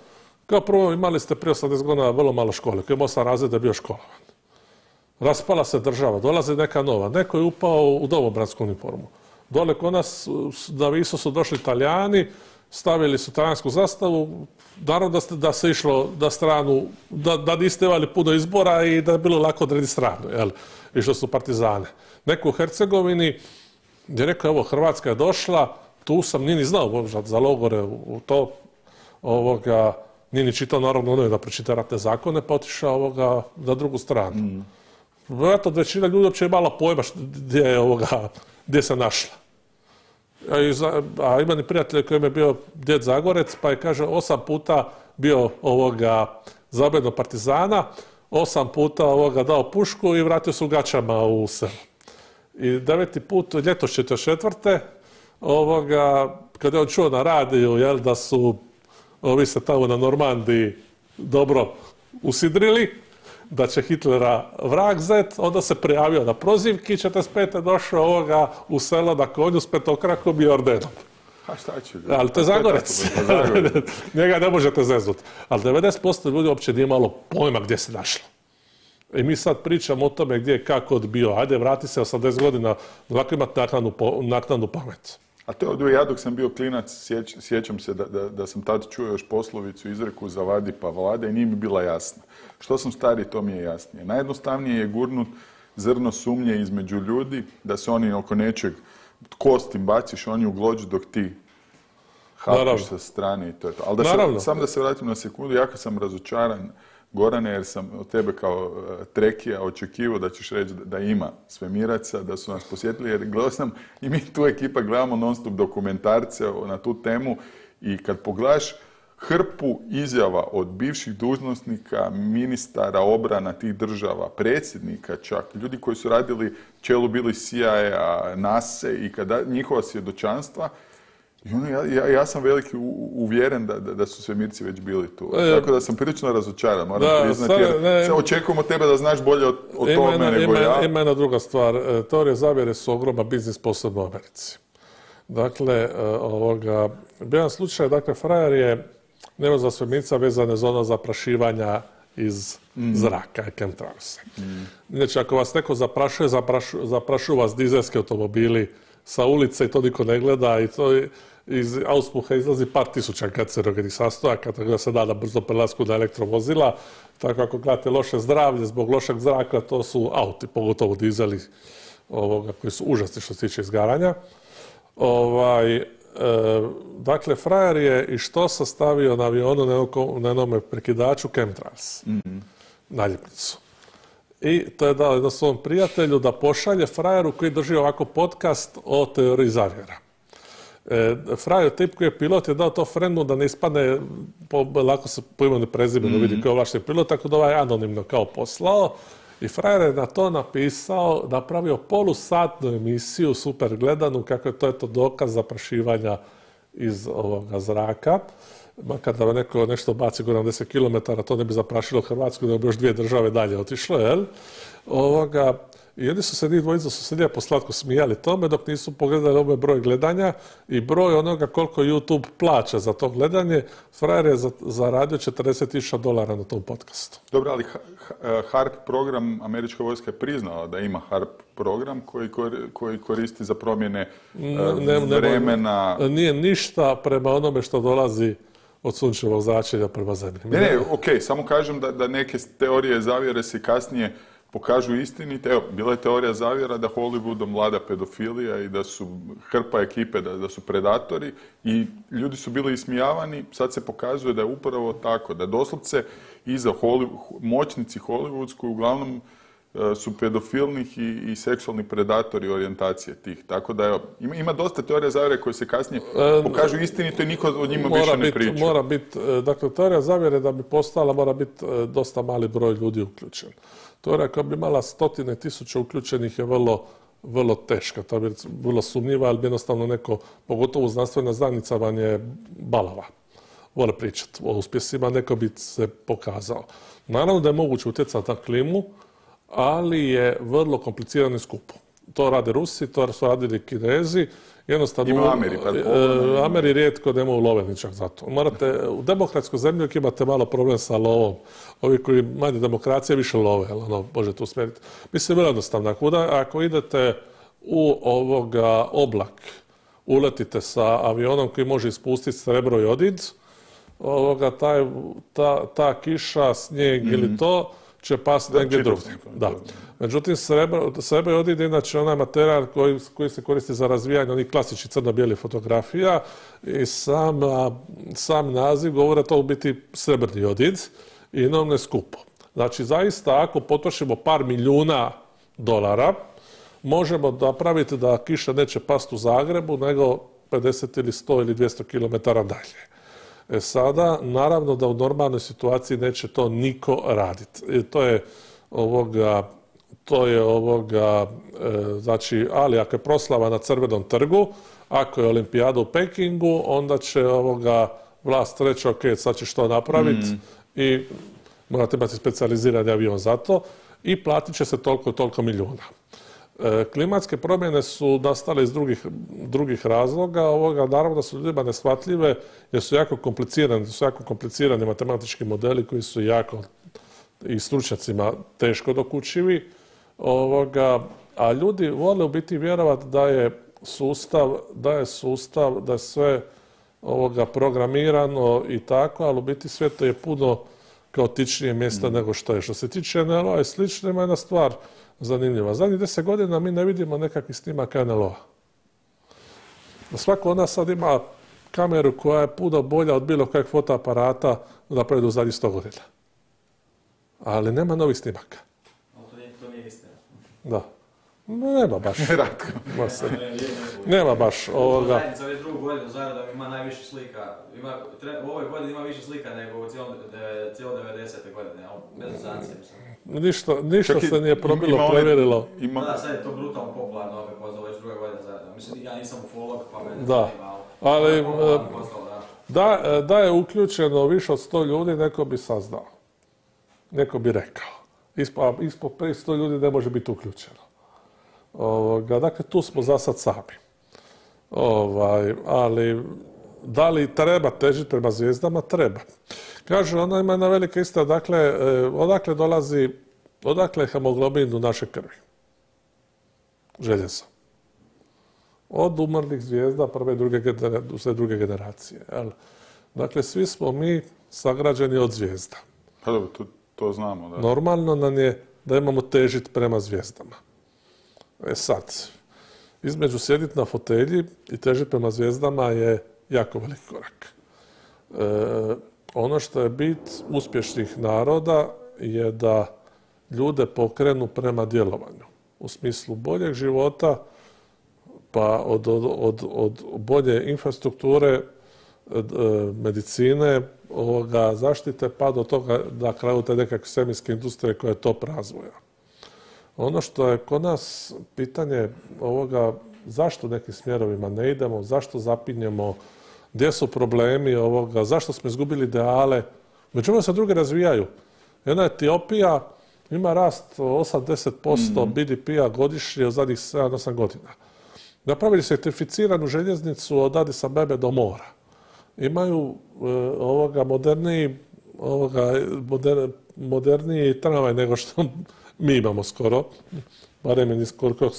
kao prvo imali ste prije osamdeset godina vrlo malo škole, koji je osam razreda bio školovan. Raspala se država, dolazi neka nova. Neko je upao u domobransku uniformu. Dole kod nas na Visu su došli Italijani, stavili su talijansku zastavu, naravno da, da se išlo da stranu, da, da niste imali puno izbora i da je bilo lako odrediti stranu, jel? Išlo su partizane. Neko u Hercegovini je rekao, evo, Hrvatska je došla, tu sam, nije ni znao možda za logore u to, ovoga, nije ni čitao naravno ono da pročita ratne zakone, pa otišao ovoga na drugu stranu. Mm. Vjerojatno većina ljudi uopće je imala pojma gdje je ovoga, gdje se našla. A, za, a ima ni prijatelj kojem je bio djed Zagorec, pa je, kaže, osam puta bio ovoga zabedo partizana, osam puta ovoga dao pušku i vratio se u gaćama u selo. I deveti put, ljeto četrdeset četvrte ovoga, kada je on čuo na radiju, jel, da su ovi se tamo na Normandiji dobro usidrili, da će Hitlera vrag zet, onda se prijavio na prozivki, četrdeset pete došao ovoga u selo na konju s petokrakom i ordenom. A šta će? Ali to je Zagorec. Njega ne možete zeznuti. Ali devedeset posto ljudi uopće nije imalo pojma gdje se našlo. I mi sad pričamo o tome gdje je kako odbio. Ajde, vrati se osamdeset godina, ovako imati naknadnu pamet. A to je od ja dok sam bio klinac, sjeć, sjećam se da, da, da sam tad čuo još poslovicu, izreku zavadi pa vlada i nije mi bila jasna. Što sam stariji, to mi je jasnije. Najjednostavnije je gurnut zrno sumnje između ljudi, da se oni oko nečeg kost im baciš, oni u glođu dok ti hapiš sa strane i to je to. Ali da se, sam da se vratim na sekundu, jako sam razočaran, Gorane, jer sam od tebe kao trekija očekivao da ćeš reći da ima svemiraca, da su nas posjetili, jer gledao sam i mi tu ekipa gledamo non stop dokumentarce na tu temu i kad pogledaš hrpu izjava od bivših dužnosnika, ministara obrana tih država, predsjednika čak, ljudi koji su radili čelu bili C I A, nase i kada njihova svjedočanstva, i ono, ja, ja, ja sam veliki uvjeren da, da, da su svemirci već bili tu. E, Tako da sam prilično razočaran, moram da, priznati, jer ne, očekujemo tebe da znaš bolje o, o tome ima, nego ima, ja. Ima jedna druga stvar. Teorije zavjere su ogroman biznis, posebno u Americi. Dakle, ovoga, jedan slučaj, dakle, frajer je nervozna svemirca vezane za ono zaprašivanja iz mm. zraka, chemtrails. Mm. Znači, ako vas neko zaprašuje, zaprašu, zaprašuju vas dizelski automobili sa ulice i to niko ne gleda i to iz auspuha izlazi par tisuća kancerogenih sastojaka, tako da se da na brzo prelasku na elektrovozila. Tako ako gledate loše zdravlje zbog lošeg zraka, to su auti, pogotovo dizeli ovoga, koji su užasni što se tiče izgaranja. Ovaj, e, dakle, frajer je i što sastavio na avionu na jednome prekidaču chemtrails, mm-hmm. naljepnicu. I to je dao jednom svom prijatelju da pošalje frajeru koji drži ovako podcast o teoriji zavjera. E, frajer, tip koji je pilot, je dao to frendu da ne ispadne, po, lako se po imenu prezimenu mm-hmm. vidi kao ovlašteni pilot, tako da ovaj anonimno kao poslao. I frajer je na to napisao, napravio polusatnu emisiju, super gledanu, kako je to eto dokaz zaprašivanja iz ovoga zraka. Makar da neko nešto baci gore na deset kilometara, to ne bi zaprašilo Hrvatsku, da bi još dvije države dalje otišlo, jel? Ovoga, i oni su se njih dvojica su se lijepo slatko smijali tome, dok nisu pogledali ovaj broj gledanja i broj onoga koliko YouTube plaća za to gledanje. Frajer je zaradio četrdeset tisuća dolara na tom podcastu. Dobro, ali HARP program, američka vojska je priznala da ima HARP program koji, koji koristi za promjene ne, ne, vremena. Ne, nije ništa prema onome što dolazi od sunčevog zračenja prema zemlji. Ne, ne, ok, samo kažem da, da neke teorije zavjere se kasnije pokažu istinite. Evo, bila je teorija zavjera da Hollywoodom vlada pedofilija i da su hrpa ekipe, da, da su predatori i ljudi su bili ismijavani. Sad se pokazuje da je upravo tako, da doslovce iza Hollywood, moćnici hollywoodskoj uglavnom su pedofilnih i, i seksualni predatori orijentacije tih. Tako da evo, ima, ima dosta teorija zavjere koje se kasnije pokažu istinito i niko o njima mora više ne bit, priča. Mora biti, dakle, teorija zavjere da bi postala mora biti dosta mali broj ljudi uključen. Teorija koja bi imala stotine tisuća uključenih je vrlo, vrlo teška. To bi vrlo sumnjiva, ali bi jednostavno neko, pogotovo znanstvena zajednica vam je balava. Vole pričati o uspjesima, neko bi se pokazao. Naravno da je moguće utjecati na klimu, ali je vrlo komplicirano i skupo. to rade Rusi, to su radili Kinezi. Jednostavno, ima Ameri, pa e, Ameri rijetko nemaju love ničak za to. Morate, u demokratskoj zemlji uvijek imate malo problem sa lovom. Ovi koji manje demokracije više love, ali ono, možete usmjeriti. Mislim, vrlo jednostavno. Ako, ako idete u ovoga oblak, uletite sa avionom koji može ispustiti srebro i odid, ovoga, taj, ta, ta kiša, snijeg mm. ili to će pasti negdje drugdje. Da. Međutim, srebro, srebro i odid je inače onaj materijal koji, koji se koristi za razvijanje onih klasičnih crno-bijelih fotografija i sam, sam naziv govori to u biti srebrni odid i enormno je skupo. Znači, zaista, ako potrošimo par milijuna dolara, možemo napraviti da kiša neće pasti u Zagrebu, nego pedeset ili sto ili dvjesto kilometara dalje. E sada, naravno da u normalnoj situaciji neće to niko raditi. I to je ovoga, to je ovoga, e, znači, ali ako je proslava na Crvenom trgu, ako je olimpijada u Pekingu, onda će ovoga vlast reći, ok, sad će što napraviti mm. i morate imati specijalizirani avion za to i platit će se toliko toliko milijuna. E, klimatske promjene su nastale iz drugih, drugih razloga. Ovoga, naravno da su ljudima neshvatljive jer su jako komplicirani, su jako komplicirani matematički modeli koji su jako i stručnjacima teško dokučivi. Ovoga, a ljudi vole u biti vjerovati da je sustav, da je sustav, da je sve ovoga programirano i tako, ali u biti sve to je puno kaotičnije mjesta mm. nego što je. Što se tiče en el o-a i slično, ima jedna stvar zanimljiva. Zadnjih deset godina mi ne vidimo nekakvih snimaka en el o-a. Svako od nas sad ima kameru koja je puno bolja od bilo kojeg fotoaparata napravljena u zadnjih sto godina. Ali nema novih snimaka. To nije, to nije istina. Da. Nema baš. Ratko. Nema baš ovoga. Zajednica već drugu godinu zaredom ima najviše slika. Ima, u ovoj godini ima više slika nego u cijelo devedesete godine. Bez zancije. Ništa, ništa se nije probilo, ima provjerilo. Ima... Da, sad je to brutalno popularno, opet poznao već druga godina zaredom. Mislim, ja nisam ufolog, pa me ne da. Ali da, da je uključeno više od sto ljudi, neko bi saznao. Neko bi rekao. Ispod, ispod sto ljudi ne može biti uključeno. Ovoga, dakle, tu smo za sad sami. Ovaj, ali da li treba težiti prema zvijezdama? Treba. Kaže, ona ima jedna velika istina, dakle, odakle dolazi, odakle je hemoglobin u našoj krvi? Željezo. Od umrlih zvijezda prve i druge, sve druge generacije. Jel? Dakle, svi smo mi sagrađeni od zvijezda. Pa dobro, to, to znamo. Da. Normalno nam je da imamo težiti prema zvijezdama. E sad, između sjediti na fotelji i težiti prema zvijezdama je jako veliki korak. E, ono što je bit uspješnih naroda je da ljude pokrenu prema djelovanju. U smislu boljeg života, pa od, od, od, od bolje infrastrukture, medicine, ovoga, zaštite, pa do toga na kraju te nekakve svemirske industrije koja je top razvoja. Ono što je kod nas pitanje ovoga, zašto nekim smjerovima ne idemo, zašto zapinjemo, gdje su problemi ovoga, zašto smo izgubili ideale, međutim se druge razvijaju. Jedna Etiopija ima rast osam do deset posto mm-hmm. be de pe-a godišnje u zadnjih sedam do osam godina. Napravili su elektrificiranu željeznicu od Adisa Bebe do mora. Imaju e, ovoga moderniji, ovoga, moder, moderniji tramvaj nego što mi imamo skoro, barem je koliko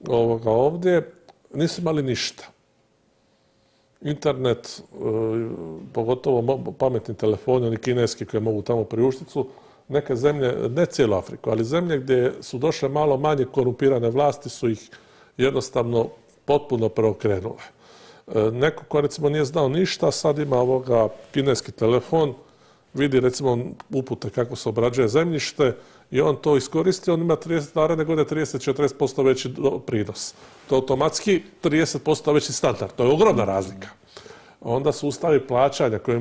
ovoga ovdje, nisu imali ništa. Internet, e, pogotovo pametni telefoni, oni kineski koji mogu tamo priuštiti su, neke zemlje, ne cijelu Afriku, ali zemlje gdje su došle malo manje korumpirane vlasti su ih jednostavno potpuno preokrenule. E, neko ko recimo nije znao ništa, sad ima ovoga kineski telefon, vidi recimo upute kako se obrađuje zemljište i on to iskoristi, on ima trideset, naredne godine trideset do četrdeset posto veći prinos. To je automatski trideset posto veći standard, to je ogromna razlika. Onda sustavi plaćanja koje,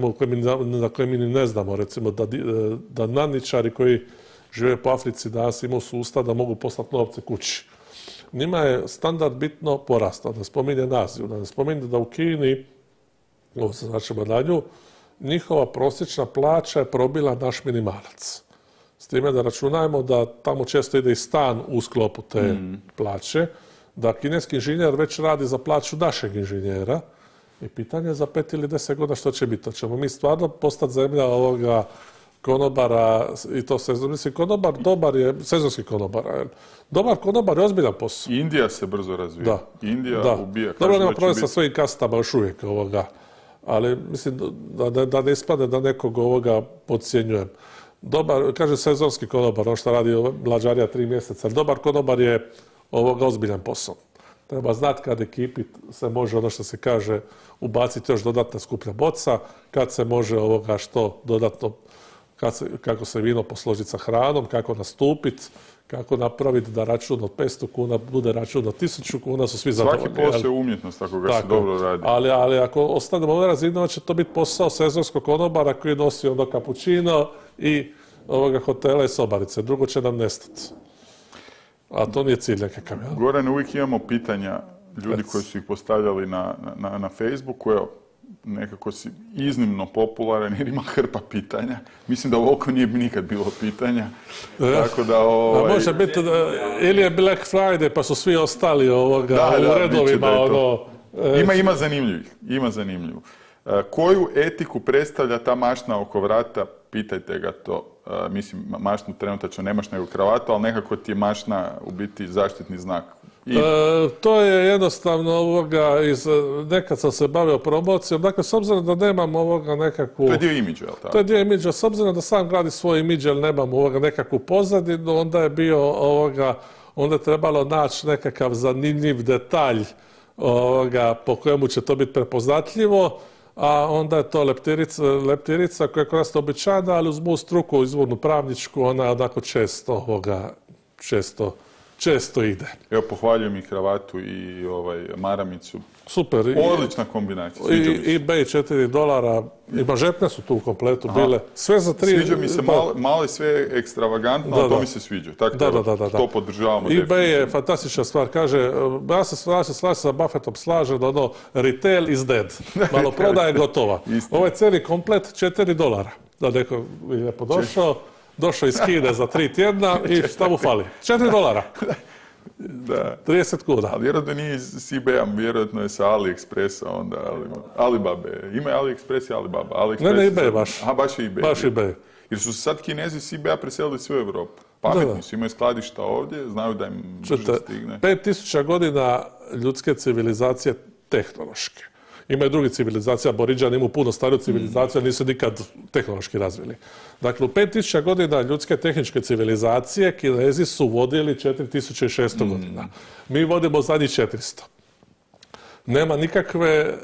na koje mi ne znamo, recimo da, da nadničari koji žive po Africi danas imaju sustav da mogu poslati novce kući. Njima je standard bitno porastao, da spominje Aziju, da ne spominje da u Kini, ovo se značimo na nju, njihova prosječna plaća je probila naš minimalac. S time da računajmo da tamo često ide i stan u sklopu te mm. plaće, da kineski inženjer već radi za plaću našeg inženjera i pitanje je za pet ili deset godina što će biti. To ćemo mi stvarno postati zemlja ovoga konobara i to sezon. Mislim, konobar dobar je, sezonski konobara. Dobar konobar je ozbiljan posao. Indija se brzo razvija. Da. Indija da. ubija. Dobro, nema problem sa svojim kastama još uvijek ovoga. Ali mislim da, da, da ne ispadne da nekog ovoga podcjenjujem. Dobar, kaže sezonski konobar, on što radi mlađarija tri mjeseca. Dobar konobar je ovoga ozbiljan posao. Treba znati kad ekipi se može, ono što se kaže, ubaciti još dodatna skuplja boca, kad se može ovoga što dodatno, kad se, kako se vino posložiti sa hranom, kako nastupiti, kako napraviti da račun od petsto kuna bude račun od tisuću kuna, su svi zadovoljni. Svaki posao je umjetnost ako ga se dobro radi. Ali, ali ako ostanemo ove razine, će to biti posao sezonskog konobara koji nosi onda kapućino i ovoga hotela i sobarice. Drugo će nam nestati. A to nije cilj nekakav. Ja? Gorane, uvijek imamo pitanja ljudi koji su ih postavljali na, na, na Facebooku. Evo, nekako si iznimno popularan jer ima hrpa pitanja. Mislim da ovoliko nije nikad bilo pitanja. E, Tako da, ovaj... može biti da, ili je Black Friday pa su svi ostali ovoga da, u da, redovima. Ono, e, ima, ima zanimljivih. Ima zanimljivu. E, koju etiku predstavlja ta mašna oko vrata? Pitajte ga to. Uh, mislim, mašnu trenutačno nemaš nego kravatu, ali nekako ti je mašna u biti zaštitni znak. I... E, to je jednostavno ovoga, iz, nekad sam se bavio promocijom, dakle, s obzirom da nemam ovoga nekakvu... To je dio imidža, je li tako? To je dio imidža, s obzirom da sam gradi svoj imidž, jer nemam ovoga nekakvu pozadinu, onda je bio ovoga, onda je trebalo naći nekakav zanimljiv detalj ovoga, po kojemu će to biti prepoznatljivo, a onda je to leptirica, leptirica koja je kod nas običajna, ali uz moju struku, izvornu pravničku, ona je onako često, ovoga, često, često ide. Evo, pohvaljujem i kravatu i ovaj, maramicu. Super. Odlična kombinacija. I eBay četiri dolara, i mažetne su tu u kompletu Aha. bile. Sve za tri... Sviđa mi se malo, malo i sve ekstravagantno, da, ali to da. mi se sviđa. Tako da, da, da, da. to podržavamo. eBay je fantastična stvar. Kaže, ja se slažem sa Buffettom slažem da ono, retail is dead. Malo prodaje gotova. Ovo je cijeli komplet četiri dolara. Da neko je lijepo došao, došao iz Kine za tri tjedna i šta mu fali? četiri dolara. Da. trideset kuna. Ali vjerojatno nije iz eBay-a, vjerojatno je sa AliExpressa onda, ali, Alibabe. Ima je AliExpress i Alibaba. AliExpress ne, ne, eBay baš. Aha, baš je eBay. Baš eBay. Jer su se sad Kinezi s eBay-a preselili sve u Europu. Pametni da, da. su, imaju skladišta ovdje, znaju da im brže stigne. pet tisuća godina ljudske civilizacije tehnološke. Ima i drugi civilizacija, Aboriđani imaju puno stariju civilizaciju, nisu nikad tehnološki razvili. Dakle, u pet tisuća godina ljudske tehničke civilizacije Kinezi su vodili četiri tisuće šesto mm. godina. Mi vodimo zadnjih četiristo. Nema nikakve e,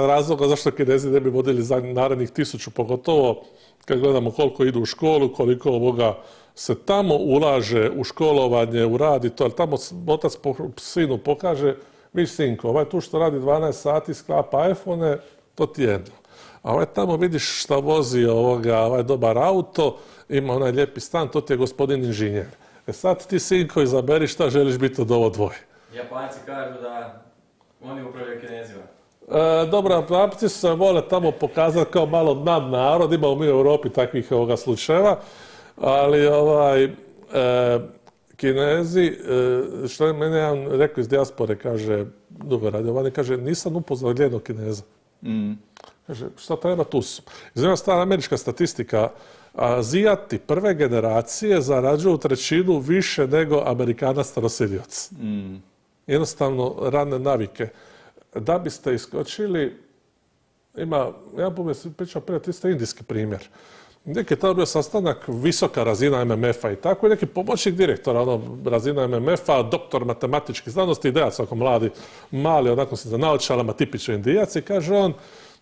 razloga zašto Kinezi ne bi vodili za narednih tisuću, pogotovo kad gledamo koliko idu u školu, koliko ovoga se tamo ulaže u školovanje, u rad i to, ali tamo otac po, sinu pokaže, viš sinko, ovaj tu što radi dvanaest sati, sklapa iPhone, to ti je jedno. A ovaj tamo vidiš šta vozi ovoga, ovaj dobar auto, ima onaj lijepi stan, to ti je gospodin inženjer. E sad ti sinko izaberi šta želiš biti od ovo dvoje. Japanci kažu da oni upravljaju Kinezima. E, dobro, Japanci se vole tamo pokazati kao malo nadnarod, imamo mi u Europi takvih ovoga slučajeva, ali ovaj... E, Kinezi, što je mene jedan rekao iz dijaspore, kaže, dugo radio vani, kaže, nisam upoznao jednog Kineza. Mm. Kaže, šta treba tu su? Izgleda stara američka statistika, Azijati prve generacije zarađuju trećinu više nego Amerikana staroselioc. Mm. Jednostavno, radne navike. Da biste iskočili, ima, ja bom je pričao prije, isto indijski primjer. Neki je tada bio sastanak, visoka razina M M F-a i tako, i neki pomoćnik direktora, ono, razina M M F-a, doktor matematičkih znanosti, idejac, ako mladi, mali, onako se za naočalama, tipično indijac, i kaže on,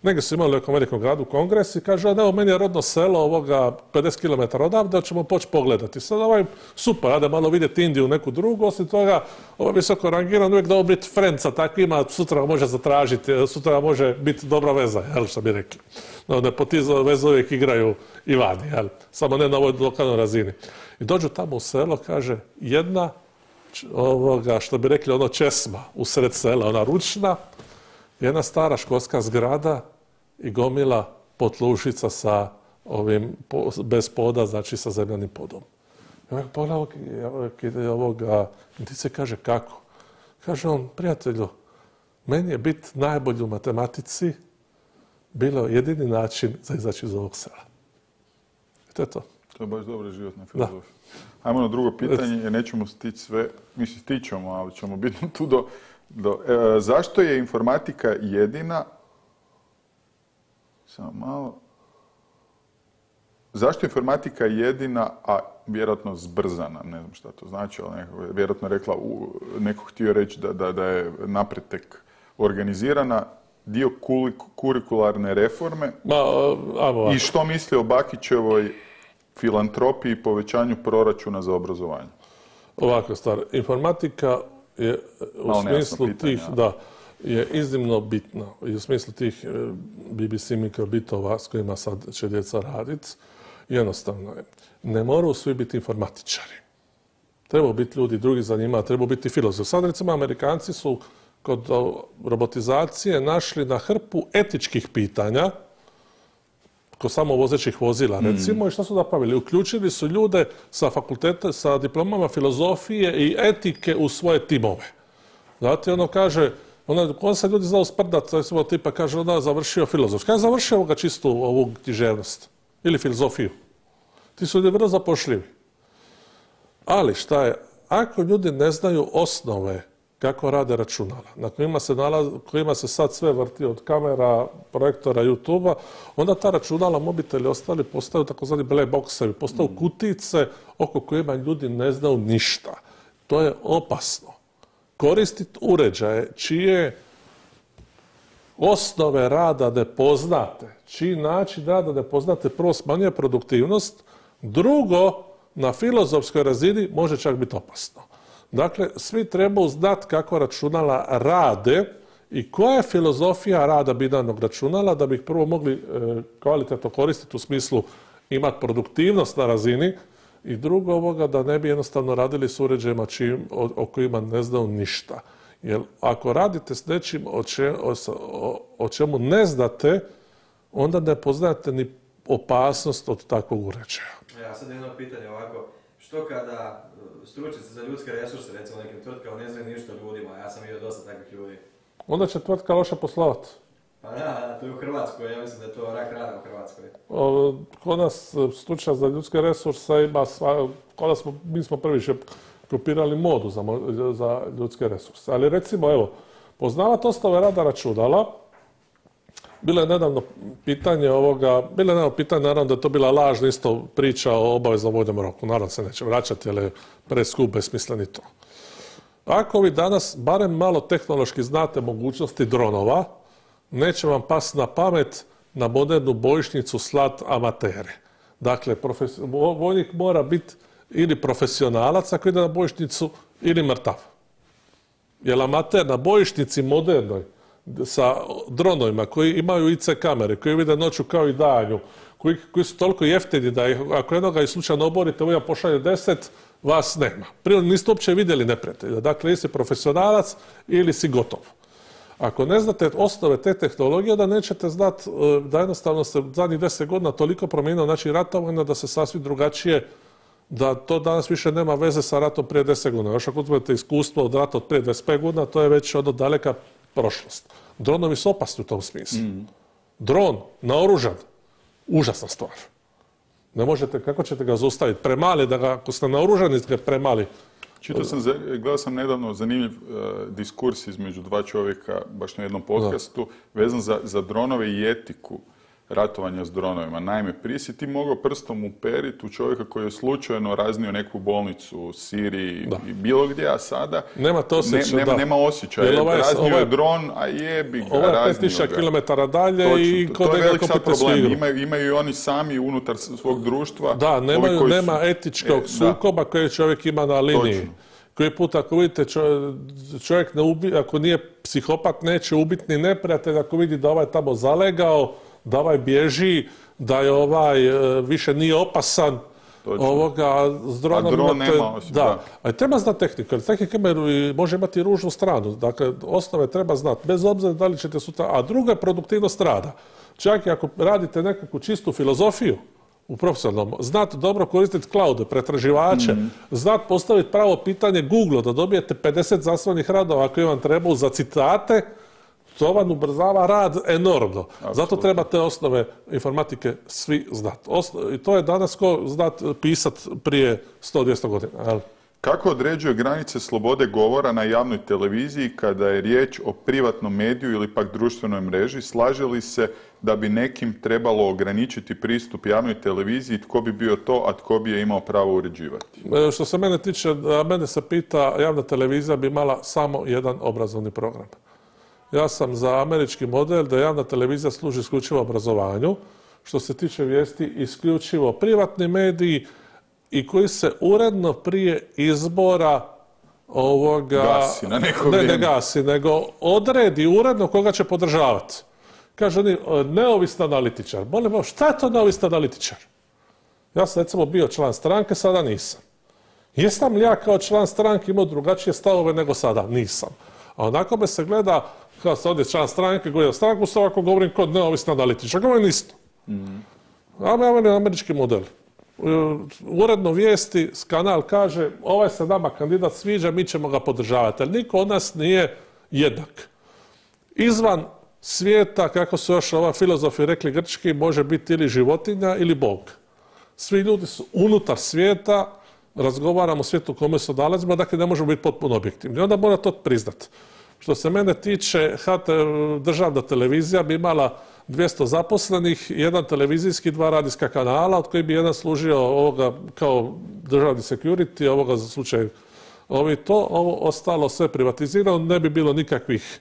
negdje su imali u nekom velikom gradu kongres i kaže on, evo, meni je rodno selo ovoga pedeset kilometara odavde, ćemo poći pogledati. Sad ovaj, super, ajde malo vidjeti Indiju, neku drugu, osim toga, ovaj visoko rangiran, uvijek da biti friendsa takvima, sutra može zatražiti, sutra može biti dobra veza, jel, što bi rekli. No, nepotizam veze uvijek igraju i vani, jel, samo ne na ovoj lokalnoj razini. I dođu tamo u selo, kaže, jedna, ovoga, što bi rekli, ono česma u sred sela, ona ručna, jedna stara školska zgrada i gomila potlušica sa ovim, bez poda, znači sa zemljanim podom. Pogledaj ovoga, ti se kaže kako. Kaže on, prijatelju, meni je biti najbolji u matematici bilo jedini način za izaći iz ovog sela. I to je to. To je baš dobra životna filozofija. Ajmo na drugo pitanje, jer nećemo stići sve, mislim stićemo, ali ćemo biti tu do... do e, zašto je informatika jedina... Samo malo... Zašto je informatika jedina, a vjerojatno zbrzana, ne znam šta to znači, ali neko, vjerojatno rekla, u, neko htio reći da, da, da je napretek organizirana, dio kurikularne reforme. Ma, ajmo, i što misli o Bakićevoj filantropiji i povećanju proračuna za obrazovanje? Ovakva stvar. Informatika je u Malo smislu pitanja, tih, da, je iznimno bitna. I u smislu tih B B C mikrobitova s kojima sad će djeca raditi, jednostavno je. Ne moraju svi biti informatičari. Trebaju biti ljudi drugi za njima, trebaju biti filozofi. Sad recimo Amerikanci su kod robotizacije našli na hrpu etičkih pitanja, kod samovozećih vozila, recimo, mm. i što su napravili? Uključili su ljude sa fakulteta, sa diplomama filozofije i etike u svoje timove. Znate, ono kaže, ono, on se ljudi znao sprdati, recimo, tipa kaže, onda završio filozof. Kada je završio ovoga čistu ovu književnost? Ili filozofiju? Ti su ljudi vrlo zapošljivi. Ali šta je, ako ljudi ne znaju osnove kako rade računala, na kojima se, nalaz, kojima se sad sve vrti od kamera, projektora, YouTube-a, onda ta računala, mobiteli ostali postaju takozvani black boxevi, postaju kutice oko kojima ljudi ne znaju ništa. To je opasno. Koristiti uređaje čije osnove rada ne poznate, čiji način rada ne poznate, prvo smanjuje produktivnost, drugo, na filozofskoj razini može čak biti opasno. Dakle, svi trebaju znati kako računala rade i koja je filozofija rada binarnog računala da bi ih prvo mogli e, kvalitetno koristiti u smislu imati produktivnost na razini i drugo ovoga da ne bi jednostavno radili s uređajima čim, o, o kojima ne znaju ništa. Jer ako radite s nečim o, če, o, o, o čemu ne znate, onda ne poznajete ni opasnost od takvog uređaja. Ja sad jedno pitanje ovako, što kada stručnjaci za ljudske resurse, recimo nekim tvrtkama, ne znaju ništa o ljudima, ja sam vidio dosta takvih ljudi. Onda će tvrtka loše poslovati. Pa da, to je u Hrvatskoj, ja mislim da je to rak rana u Hrvatskoj. O, kod nas stručnjak za ljudske resurse ima sva, kod nas smo, mi smo prvi še kopirali modu za, za ljudske resurse. Ali recimo, evo, poznavati osnove rada računala, bilo je nedavno pitanje ovoga, bilo je nedavno pitanje, naravno da je to bila lažna isto priča o obaveznom vojnom roku. Naravno se neće vraćati, jer je preskup, besmisleni to. Ako vi danas barem malo tehnološki znate mogućnosti dronova, neće vam pasti na pamet na modernu bojišnicu slat amatere. Dakle, vojnik mora biti ili profesionalac ako ide na bojišnicu ili mrtav. Jer amater na bojišnici modernoj sa dronovima koji imaju I C kamere, koji vide noću kao i danju, koji, koji su toliko jeftini da ih, ako jednoga i slučajno oborite, ovaj pošalje deset, vas nema. Prije niste uopće vidjeli neprijatelja. Dakle, ili si profesionalac ili si gotov. Ako ne znate osnove te tehnologije, da nećete znati da jednostavno se zadnjih deset godina toliko promijenilo znači ratovanja da se sasvim drugačije, da to danas više nema veze sa ratom prije deset godina. Još ako uzmete iskustvo od rata od prije dvadeset pet godina, to je već od daleka prošlost. Dronovi su opasni u tom smislu. Mm. Dron, naoružan, užasna stvar. Ne možete, kako ćete ga zaustaviti? Premali, da ga, ako ste naoružani, ste ga premali. Čitao sam, gledao sam nedavno zanimljiv uh, diskurs između dva čovjeka, baš na jednom podcastu, da. vezan za, za dronove i etiku ratovanja s dronovima. Naime, prije si ti mogao prstom uperiti u čovjeka koji je slučajno raznio neku bolnicu u Siriji da. i bilo gdje, a sada nema, to osjećaj, ne, nema, nema osjećaja. Ovaj, raznio ovaj, je dron, a jebi ga, ovo je raznio pet tisuća ga. kilometara dalje. Točno, i to, to je velik sad problem. Igru. Imaju, imaju i oni sami unutar svog društva. Da, nemaju, koji nema su, etičkog e, sukoba koje čovjek ima na liniji. Točno. Koji put ako vidite čovjek ne ubi, ako nije psihopat neće ubiti ni neprijatelj, ako vidi da ovaj tamo zalegao, da ovaj bježi, da je ovaj više nije opasan. Točno. Ovoga s dronom. A dron imate, nema osim, da. da. Ali treba znati tehniku, jer tehnika može imati i ružnu stranu. Dakle, osnove treba znati, bez obzira da li ćete sutra. A druga je produktivnost rada. Čak i ako radite nekakvu čistu filozofiju, u profesionalnom, znati dobro koristiti cloude, pretraživače, mm. znati postaviti pravo pitanje Google da dobijete pedeset znanstvenih radova koji vam trebaju za citate, to vam ubrzava rad enormno. Absolutno. Zato treba te osnove informatike svi znati. I to je danas ko znati pisati prije sto do dvjesto godina. Ali? Kako određuje granice slobode govora na javnoj televiziji kada je riječ o privatnom mediju ili pak društvenoj mreži? Slaže li se da bi nekim trebalo ograničiti pristup javnoj televiziji? Tko bi bio to, a tko bi je imao pravo uređivati? Što se mene tiče, mene se pita, javna televizija bi imala samo jedan obrazovni program. Ja sam za američki model da javna televizija služi isključivo obrazovanju. Što se tiče vijesti, isključivo privatni mediji i koji se uredno prije izbora ovoga... Gasi na neko ne, vrijeme. Ne gasi, nego odredi uredno koga će podržavati. Kaže oni, neovisni analitičar. Molim vas, šta je to neovisni analitičar? Ja sam recimo bio član stranke, sada nisam. Jesam li ja kao član stranke imao drugačije stavove nego sada? Nisam. A onako me se gleda, kao se ovdje član stranke, govorim stranku, se ovako govorim kod neovisni analitičar. Govorim isto. Mm. A ja američki model. Uredno vijesti, kanal kaže ovaj se nama kandidat sviđa, mi ćemo ga podržavati. Ali niko od nas nije jednak. Izvan svijeta, kako su još ova filozofi rekli grčki, može biti ili životinja ili Bog. Svi ljudi su unutar svijeta, razgovaramo o svijetu u kome se nalazimo, dakle ne možemo biti potpuno objektivni. Onda mora to priznati. Što se mene tiče, H T, državna televizija bi imala dvjesto zaposlenih, jedan televizijski, dva radijska kanala, od kojih bi jedan služio ovoga kao državni security, ovoga za slučaj ovi to, ovo ostalo sve privatizirano, ne bi bilo nikakvih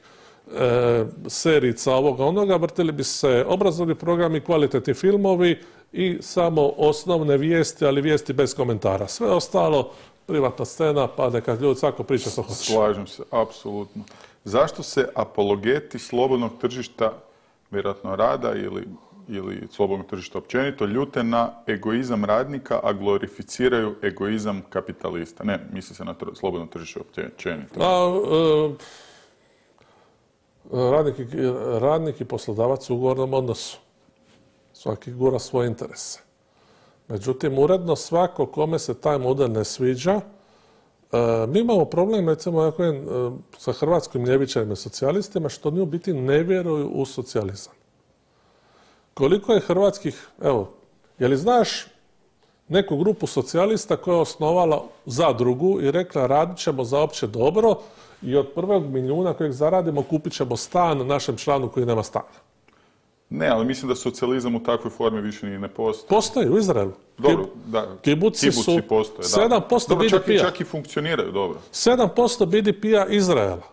e, serica ovoga onoga, vrtili bi se obrazovni programi, kvalitetni filmovi i samo osnovne vijesti, ali vijesti bez komentara. Sve ostalo privatna scena, pa neka ljudi svako priča što hoće. Slažem se, apsolutno. Zašto se apologeti slobodnog tržišta, vjerojatno rada ili, ili slobodnog tržišta općenito, ljute na egoizam radnika, a glorificiraju egoizam kapitalista? Ne, misli se na tr- slobodno tržište općenito. A, e, radnik, i, radnik i poslodavac u ugovornom odnosu. Svaki gura svoje interese. Međutim, uredno svako kome se taj model ne sviđa, e, mi imamo problem, recimo, e, sa hrvatskim ljevičarima i socijalistima, što oni u biti ne vjeruju u socijalizam. Koliko je hrvatskih, evo, je li znaš neku grupu socijalista koja je osnovala zadrugu i rekla radit ćemo za opće dobro i od prvog milijuna kojeg zaradimo kupit ćemo stan našem članu koji nema stana? Ne, ali mislim da socijalizam u takvoj formi više ni ne postoji. Postoji u Izraelu. Dobro, da. Kibuci, Kibuci su postoje, sedam posto dobro, B D P-a. čak, i, čak i funkcioniraju, dobro. sedam posto B D P-a Izraela.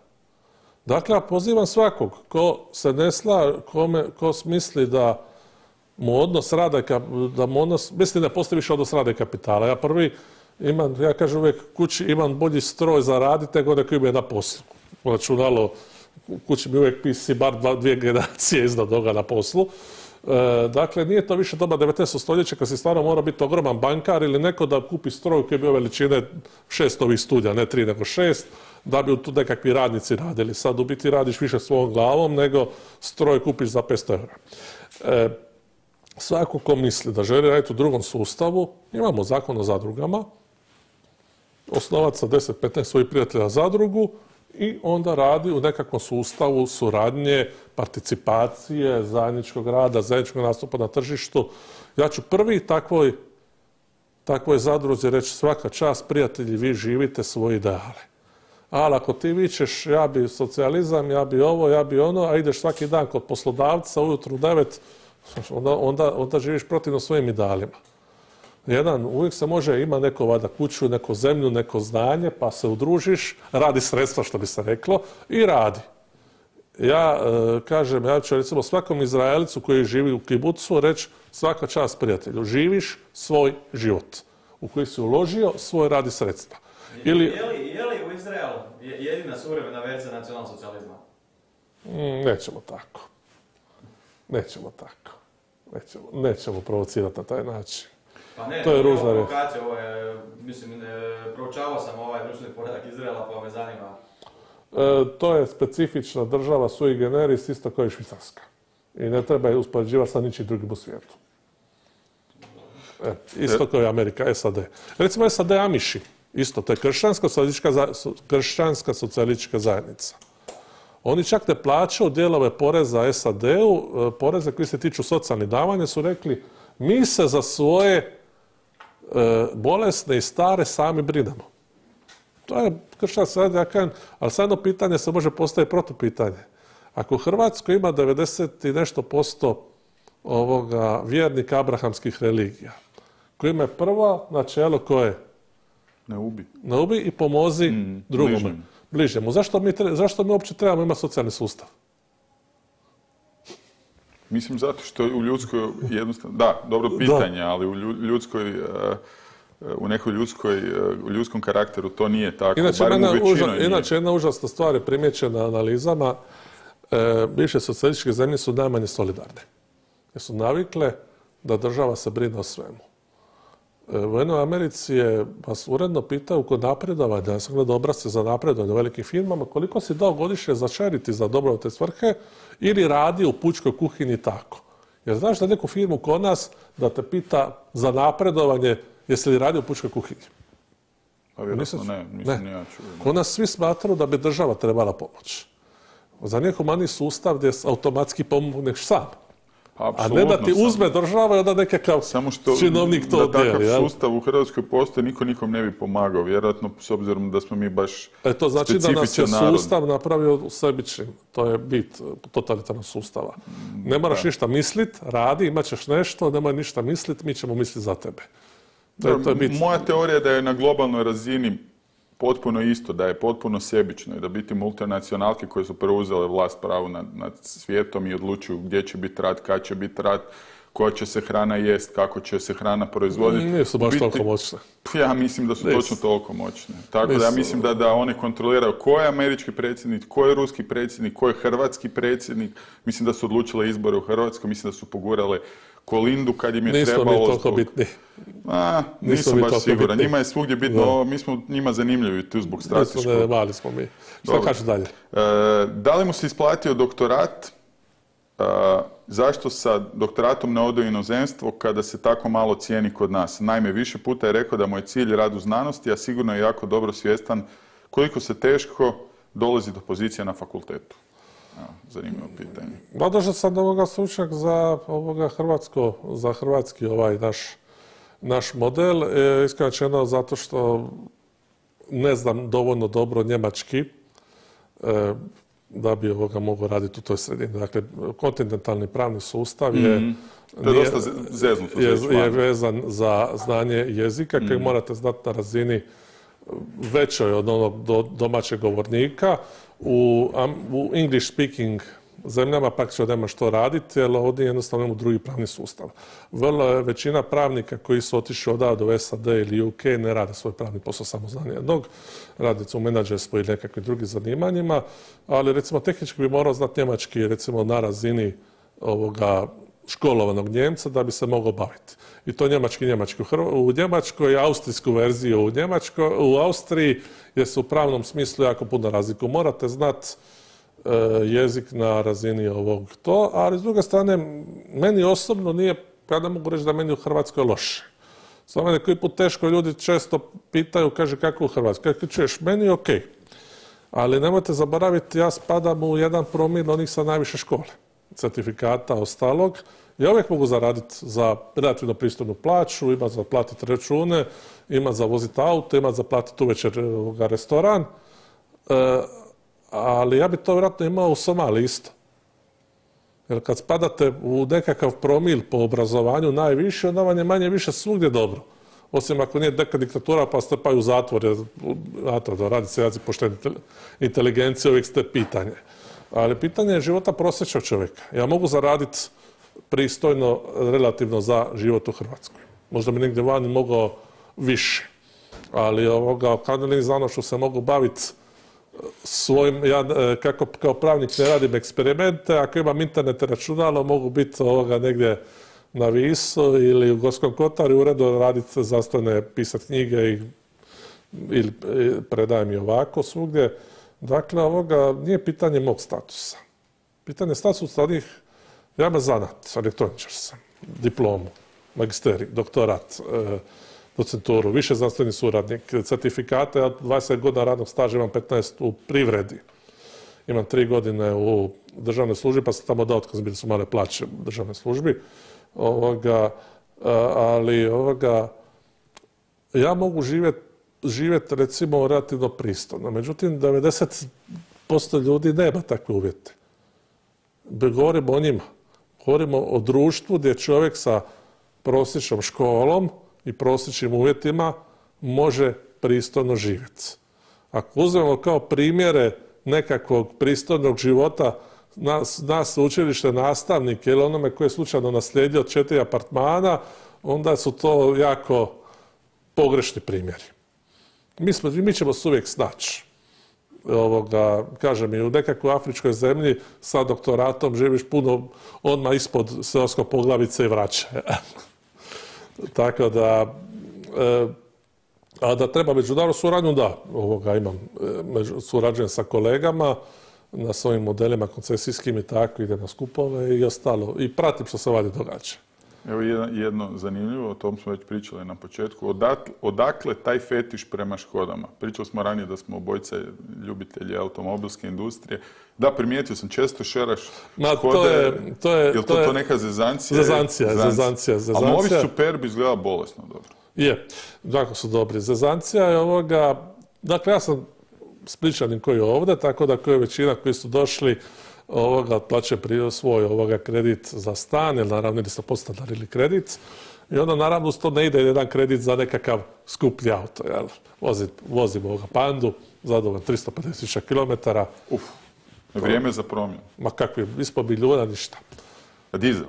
Dakle, ja pozivam svakog ko se ne sla, kome, ko misli da mu odnos rada, da mu odnos, mislim da postoji više odnos rada i kapitala. Ja prvi imam, ja kažem uvijek kući imam bolji stroj za raditi nego neko ima na poslu. Računalo, u kući mi uvijek P C bar dva, dvije generacije iznad toga na poslu. E, dakle, nije to više doba devetnaestog stoljeća kad si stvarno mora biti ogroman bankar ili neko da kupi stroj koji je bio veličine šest ovih studija, ne tri nego šest, da bi tu nekakvi radnici radili. Sad u biti radiš više svojom glavom nego stroj kupiš za petsto eura. E, svako ko misli da želi raditi u drugom sustavu, imamo zakon o zadrugama, osnovati sa deset petnaest svojih prijatelja zadrugu i onda radi u nekakvom sustavu suradnje, participacije, zajedničkog rada, zajedničkog nastupa na tržištu. Ja ću prvi takvoj, takvoj zadruzi reći svaka čast, prijatelji, vi živite svoje ideale. Ali ako ti vičeš ja bi socijalizam, ja bi ovo, ja bi ono, a ideš svaki dan kod poslodavca ujutru u devet, onda, onda, onda živiš protivno svojim idealima. Jedan, uvijek se može, ima neko vada kuću, neko zemlju, neko znanje, pa se udružiš, radi sredstva, što bi se reklo, i radi. Ja e, kažem, ja ću recimo svakom Izraelicu koji živi u kibucu reći svaka čast prijatelju, živiš svoj život u koji si uložio svoj rad i sredstva. Ili... Je, li, je li u Izraelu jedina suvremena verzija nacionalnog socijalizma? Mm, nećemo tako. Nećemo tako. Nećemo, nećemo provocirati na taj način. Pa ne, to je ružna reč. Ovo je, mislim, proučavao sam ovaj društveni poredak Izraela, pa me zanima. E, to je specifična država sui generis, isto kao i Švicarska. I ne treba je uspoređivati sa ničim drugim u svijetu. E, isto kao i Amerika, S A D. Recimo S A D Amiši, isto, to je kršćanska socijalistička, kršćanska socijalistička zajednica. Oni čak ne plaćaju dijelove poreza S A D-u, poreze koji se tiču socijalnih davanja, su rekli mi se za svoje e, bolesne i stare sami brinemo. To je kršćanska zajednica, ja kažem, ali sad jedno pitanje se može postaviti protupitanje. Ako u Hrvatskoj ima devedeset i nešto posto ovoga vjernika abrahamskih religija, koji ima prvo načelo koje? Ne ubi. Ne ubi i pomozi mm, drugome. Bližnjemu. Bližnjemu. Zašto mi, zašto mi uopće trebamo imati socijalni sustav? Mislim zato što u ljudskoj jednostavno, da, dobro pitanje, da. Ali u ljudskoj, u nekoj ljudskoj, u ljudskom karakteru to nije tako. Inače, jedna, uža, inače jedna užasna stvar je primjećena analizama, e, bivše socijalističke zemlje su najmanje solidarne. Jer su navikle da država se brine o svemu. U jednoj Americi je vas uredno pitaju kod napredovanja, ja sam gledao obrazce za napredovanje u velikim firmama, koliko si dao godišnje za charity, za dobrovoljne svrhe, ili radi u pučkoj kuhinji tako. Jer znaš da neku firmu kod nas da te pita za napredovanje jesi li radi u pučkoj kuhinji? Pa vjerojatno ne, nisam ni ja čuo. Kod nas svi smatraju da bi država trebala pomoći. Za nije humaniji sustav gdje automatski pomogneš sam. A ne da ti uzme država i onda nekakav činovnik to dijeli. Da takav sustav u Hrvatskoj postoji, niko nikom ne bi pomagao. Vjerojatno, s obzirom da smo mi baš specifičan narod. E to znači da nas je sustav napravio sebičnim. To je bit totalitarnog sustava. Ne moraš ništa mislit, radi, imat ćeš nešto, nemoj ništa mislit, mi ćemo misliti za tebe. To je, to je bit. Moja teorija je da je na globalnoj razini potpuno isto, da je potpuno sebično i da biti multinacionalke koje su preuzele vlast pravu nad, nad svijetom i odlučuju gdje će biti rat, kad će biti rat, koja će se hrana jest, kako će se hrana proizvoditi. Nisu baš biti, toliko moćne. Ja mislim da su Nisu. točno toliko moćne. Tako Nisu. da ja mislim da, da one kontroliraju ko je američki predsjednik, ko je ruski predsjednik, ko je hrvatski predsjednik. Mislim da su odlučile izbore u Hrvatskoj, mislim da su pogurale Kolindu kad im je Nisu trebalo... Nisu mi toliko bitni. A, nisam baš siguran. Njima je svugdje bitno, no. mi smo njima zanimljivi tu zbog strateškog. Ne, mali smo mi. Što kažeš dalje? E, da li mu se isplatio doktorat? E, zašto sa doktoratom ne ode u inozemstvo kada se tako malo cijeni kod nas? Naime, više puta je rekao da mu je cilj rad u znanosti, a sigurno je jako dobro svjestan koliko se teško dolazi do pozicije na fakultetu. Evo, zanimljivo pitanje. Održao sam ovoga stručnjak za ovoga hrvatsko, za hrvatski ovaj naš naš model, e, iskreno rečeno zato što ne znam dovoljno dobro njemački e, da bi ovoga mogao raditi u toj sredini. Dakle, kontinentalni pravni sustav je, mm-hmm. to je nije, dosta zeznuto, je, je vezan za znanje jezika mm-hmm. koji morate znati na razini većoj od onog do, domaćeg govornika. U, um, u English speaking zemljama praktično nema što raditi, jer ovdje jednostavno imamo drugi pravni sustav. Vrlo je većina pravnika koji su otišli odavde u S A D ili U K ne rade svoj pravni posao samo znanje jednog, radi u menadžerstvu ili nekakvim drugim zanimanjima, ali recimo tehnički bi morao znati njemački recimo na razini ovoga školovanog Njemca da bi se mogao baviti. I to njemački, njemački. U Njemačkoj, austrijsku verziju u Njemačkoj, u Austriji je se u pravnom smislu jako puno razliku. Morate znati e, jezik na razini ovog to, ali s druge strane, meni osobno nije, ja ne mogu reći da meni u Hrvatskoj loše. Samo mene koji put teško ljudi često pitaju, kaže kako u Hrvatskoj. Kako čuješ, meni je okej. Ali nemojte zaboraviti, ja spadam u jedan promil onih sa najviše škole, certifikata, ostalog. Ja uvijek mogu zaraditi za relativno pristojnu plaću, ima za platiti račune, ima za voziti auto, ima za platiti uvečer restoran. E, ali ja bi to vjerojatno imao u Somaliji isto. Jer kad spadate u nekakav promil po obrazovanju najviše, onda vam je manje više svugdje dobro. Osim ako nije neka diktatura pa strpaju u zatvor, jer da radi se jaci poštene inteligencije, uvijek ste pitanje. Ali pitanje je života prosječnog čovjeka. Ja mogu zaraditi pristojno, relativno za život u Hrvatskoj. Možda bi negdje vani mogao više. Ali ovoga, kad ne znanošću se mogu baviti svojim, ja kako kao pravnik ne radim eksperimente, ako imam internet računalo, mogu biti ovoga negdje na Visu ili u Gorskom kotaru i uredu raditi zastojne, pisati knjige i, ili predajem i ovako svugdje. Dakle, ovoga nije pitanje mog statusa. Pitanje statusa onih, ja me zanat, elektroničar sam, diplomu. magisterij, doktorat, docenturu, više znanstveni suradnik, certifikate, ja dvadeset godina radnog staža, imam petnaest u privredi. Imam tri godine u državnoj službi, pa sam tamo dao otkaz, bili su male plaće u državnoj službi. Ovoga, ali ovoga, ja mogu živjeti živjet, recimo relativno pristojno. Međutim, devedeset posto ljudi nema takve uvjete. Govorimo o njima. Govorimo o društvu gdje čovjek sa prosječnom školom i prosječnim uvjetima može pristojno živjeti. Ako uzmemo kao primjere nekakvog pristojnog života nas, nas učilište nastavnike ili onome koji je slučajno naslijedio četiri apartmana, onda su to jako pogrešni primjeri. Mi, smo, mi ćemo se uvijek snaći. Ovoga, kažem, i u nekakvoj afričkoj zemlji sa doktoratom živiš puno odmah ispod seoskog poglavice i vraća. Tako da, e, a da treba međunarodnu suradnju, da, ovoga imam, među, surađujem sa kolegama na svojim modelima koncesijskim i tako, ide na skupove i ostalo. I pratim što se vadi događa. Evo jedno zanimljivo, o tom smo već pričali na početku. Odakle, odakle taj fetiš prema Škodama? Pričali smo ranije da smo obojice ljubitelji automobilske industrije. Da, primijetio sam, često šeraš Ma, Škode. To je, to je, je li to, to, je, to neka zezancija? Zezancija, zezancija, zezancija. A novi Superb izgleda bolesno dobro. Je, jako su dobri. Zezancija je ovoga, dakle ja sam Spličanin koji je ovdje, tako da koja je većina koji su došli ovoga plaće prije svoj ovoga kredit za stan, jer naravno ili ste podstanarili kredit. I onda naravno uz to ne ide jedan kredit za nekakav skuplji auto. Jel? Vozim, vozim ovoga Pandu, zadovoljno tristo pedeset tisuća kilometara. Uf, vrijeme za promjenu. Ma kakvi, ispod milijuna ništa. A dizel?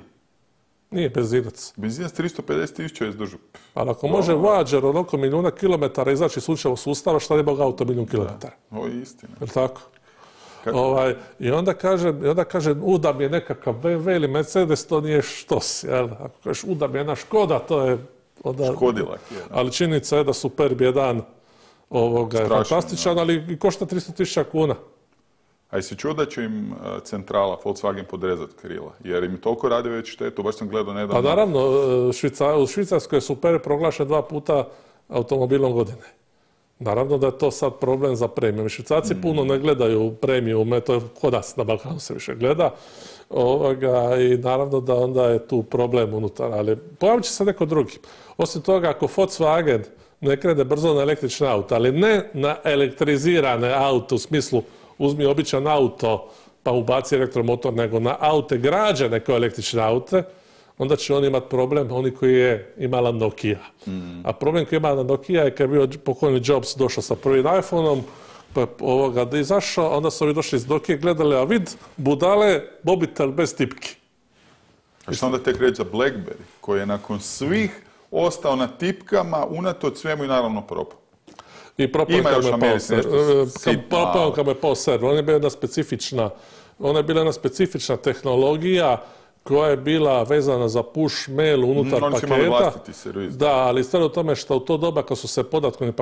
Nije benzinac. Benzinac tristo pedeset tisuća je izdržu. Ali ako može Voyager onoliko milijuna kilometara izaći slučajno sustava, šta ne mogu auto milijun kilometara? Ovo je istina. Je li tako? Ovaj, I onda kažem, i onda kažem uda mi je nekakav B M W ili Mercedes, to nije štos. Jel? Ako kažeš uda mi je jedna Škoda, to je... Onda, Škodilak je. Da. Ali činjenica je da Superb jedan ovoga je fantastičan, ali i košta tristo tisuća kuna. A jesi čuo da će im centrala Volkswagen podrezati krila? Jer im toliko radi već štetu, baš sam gledao nedavno. Pa naravno, Švica, u Švicarskoj je Superb proglašen dva puta automobilom godine. Naravno da je to sad problem za premiju. Švicarci mm. puno ne gledaju premiju, to je kod nas na Balkanu se više gleda. Ovoga, I naravno da onda je tu problem unutar, ali pojavit će se neko drugi. Osim toga, ako Volkswagen ne krene brzo na električne auto, ali ne na elektrizirane auto u smislu uzmi običan auto pa ubaci elektromotor, nego na aute građane kao električne aute, onda će on imati problem, oni koji je imala Nokia. Mm. A problem koji je imala Nokia je kad je bio pokojni Jobs došao sa prvim iPhone-om, pa ovoga da je izašao, onda su ovi došli iz Nokia gledali, a vid, budale, mobitel bez tipki. A što onda tek reći za BlackBerry, koji je nakon svih ostao na tipkama, unatoč svemu i naravno propao. I propao kad me pao server. On je bila jedna specifična, ona je bila jedna specifična tehnologija koja je bila vezana za push mail unutar mm, paketa. Servis, da, ali stvar u tome što u to doba kad su se podatkovni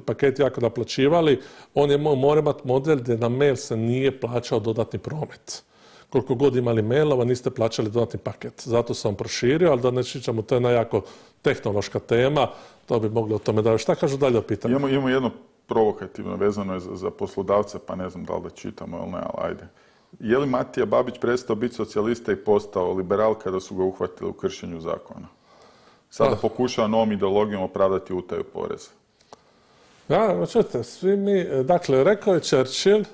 paketi jako naplaćivali, on je morao imati model gdje na mail se nije plaćao dodatni promet. Koliko god imali mailova, niste plaćali dodatni paket. Zato sam proširio, ali da ne čičamo, to je jedna jako tehnološka tema, to bi mogli o tome da... Šta kažu dalje o pitanju? Imamo, imamo jedno provokativno, vezano je za, za poslodavce, pa ne znam da li da čitamo ili ne, ali ajde. Je li Matija Babić prestao biti socijalista i postao liberal kada su ga uhvatili u kršenju zakona? Sada ah. pokušava novom ideologijom opravdati utaju poreza. Ja, čujte, svi mi... Dakle, rekao je Churchill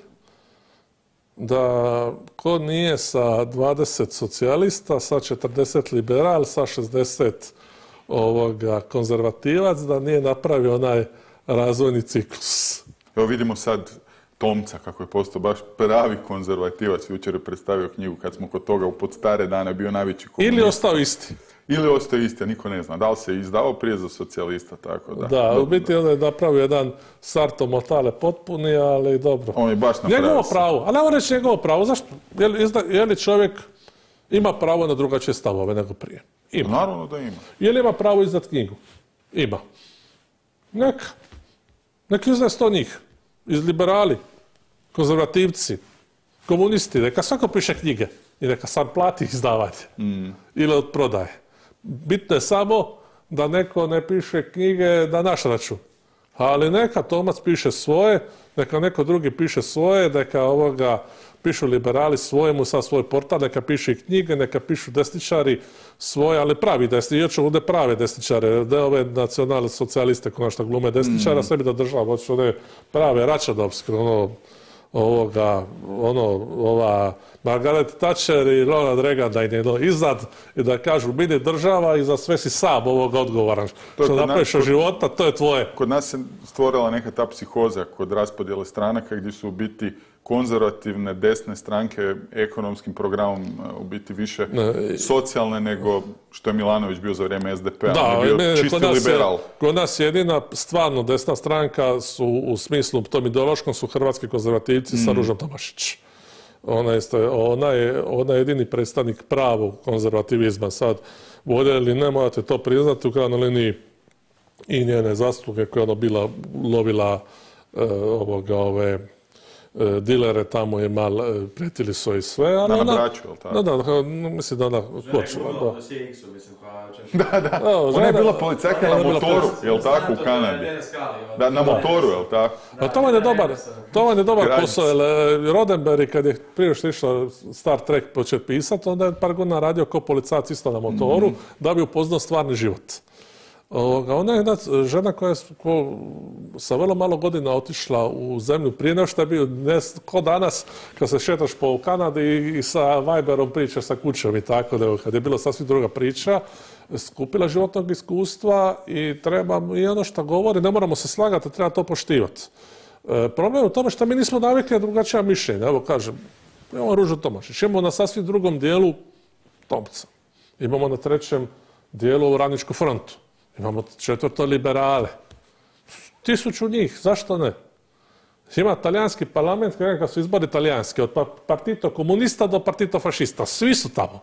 da ko nije sa dvadeset socijalista, sa četrdeset liberal, sa šezdeset ovoga konzervativac, da nije napravio onaj razvojni ciklus. Evo vidimo sad Tomca kako je postao baš pravi konzervativac. Jučer je predstavio knjigu kad smo kod toga u pod stare dane bio najveći komunist. Ili ostao isti. Ili ostao isti, a niko ne zna. Da li se izdao prije za socijalista, tako da. Da, u biti on je napravio jedan Sarto Mortale potpuni, ali dobro. On je baš napravio. Njegovo pravo, ali ne reći njegovo pravo. Zašto? Je li, je li čovjek ima pravo na drugačije stavove nego prije? Ima. Naravno da ima. Je li ima pravo izdati knjigu? Ima. Neka. Neki izdaje sto njih. Iz liberali, konzervativci, komunisti. Neka svako piše knjige i neka sam plati izdavanje. Mm. Ili od prodaje. Bitno je samo da neko ne piše knjige na naš račun. Ali neka Tomac piše svoje, neka neko drugi piše svoje, neka ovoga pišu liberali svojemu sa svoj portal, neka pišu i knjige, neka pišu desničari svoje, ali pravi desničari, još ovdje prave desničare, ne ove nacionalne socijaliste ko što glume desničara, mm. sebi da država, hoće one prave Račanovske, ono, ovoga, ono, ova Margaret Thatcher i Ronald Reagan da je iznad i da kažu mini država i za sve si sam ovoga odgovoran. Što napraviš od života, to je tvoje. Kod nas se stvorila neka ta psihoza kod raspodjele stranaka gdje su u biti konzervativne desne stranke ekonomskim programom u biti više ne, socijalne nego što je Milanović bio za vrijeme S D P-a. Da, on je bio čisti kod liberal. Je, kod nas jedina stvarno desna stranka su u smislu tom ideološkom su hrvatski konzervativci mm. sa Ružom Tomašić. Ona je, ona, je, ona je jedini predstavnik pravog konzervativizma. Sad, voljeli ne morate to priznati u krajnjoj liniji i njene zasluge koje ona bila lovila e, ovoga, ove dilere tamo je mal, pretili su i sve, ali ona... ona... braću, je li tako? Da, da, mislim da ona... Žena je bila u C X-u, mislim, pa... Da, da, ona je bila policajka na motoru, je li tako, u Kanadi? Da, na motoru, je li tako? A to vam je dobar, to vam je dobar posao, jer Roddenberry, kad je prije što išao Star Trek početi pisati, onda je par godina radio kao policajac isto na motoru, mm. da bi upoznao stvarni život. Ona je jedna žena koja je ko, sa vrlo malo godina otišla u zemlju prije nego što je bio, ne, ko danas kad se šetaš po Kanadi i, i sa Viberom pričaš sa kućom i tako, da kad je bila sasvim druga priča, skupila životnog iskustva i treba, i ono što govori, ne moramo se slagati, treba to poštivati. E, problem je u tome što mi nismo navikli na drugačija mišljenja. Evo kažem, imamo Ružu Tomašić, imamo na sasvim drugom dijelu Tomca, imamo na trećem dijelu Radničku frontu. Imamo četvrto liberale. Tisuću njih, zašto ne? Ima talijanski parlament, kad su izbori talijanski, od partito komunista do partito fašista. Svi su tamo.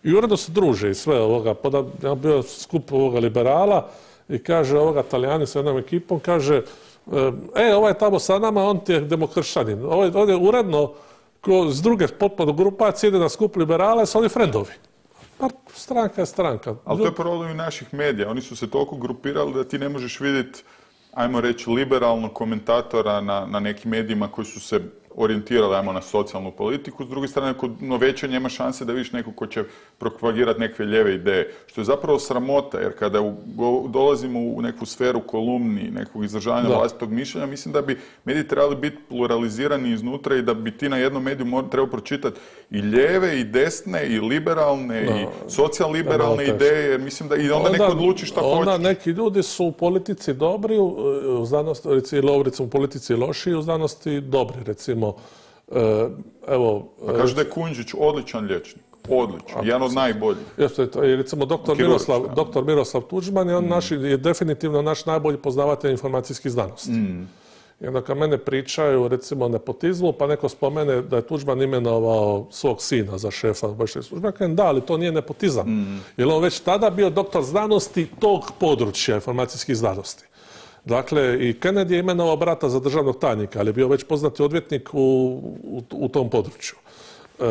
I uredno se druže i sve ovoga. Ja bio skup ovoga liberala i kaže ovoga Talijani sa jednom ekipom, kaže e, ovaj je tamo sa nama, on ti je demokršćanin. Ovaj, on je uredno ko, s druge potpuno grupacije ide na skup liberala, su oni frendovi. Pa stranka je stranka. Ali to je problem i naših medija. Oni su se toliko grupirali da ti ne možeš vidjeti, ajmo reći, liberalnog komentatora na, na nekim medijima koji su se orijentirali, ajmo, na socijalnu politiku. S druge strane, kod noveća nema šanse da vidiš nekog ko će propagirati neke lijeve ideje. Što je zapravo sramota, jer kada u, go, dolazimo u neku sferu kolumni, nekog izražavanja vlastitog mišljenja, mislim da bi mediji trebali biti pluralizirani iznutra i da bi ti na jednom mediju trebao pročitati i lijeve, i desne, i liberalne, no, i socijalliberalne ideje, jer mislim da i onda, onda neko odluči šta hoće. Onda neki ljudi su u politici dobri, u znanosti, recimo u politici loši, u znanosti dobri, recimo. Evo, pa kaže da je Kujundžić odličan liječnik. Odličan, jedan od najboljih. Jeste, recimo doktor Miroslav, doktor Miroslav Tuđman je, on mm. naš, je definitivno naš najbolji poznavatelj informacijskih znanosti. Mm. I onda kad mene pričaju recimo o nepotizmu, pa neko spomene da je Tuđman imenovao svog sina za šefa obavještajne službe, kažem da, ali to nije nepotizam. Mm. Jer on već tada bio doktor znanosti tog područja informacijskih znanosti. Dakle, i Kennedy je imenovao brata za državnog tajnika, ali je bio već poznati odvjetnik u, u, u tom području. E,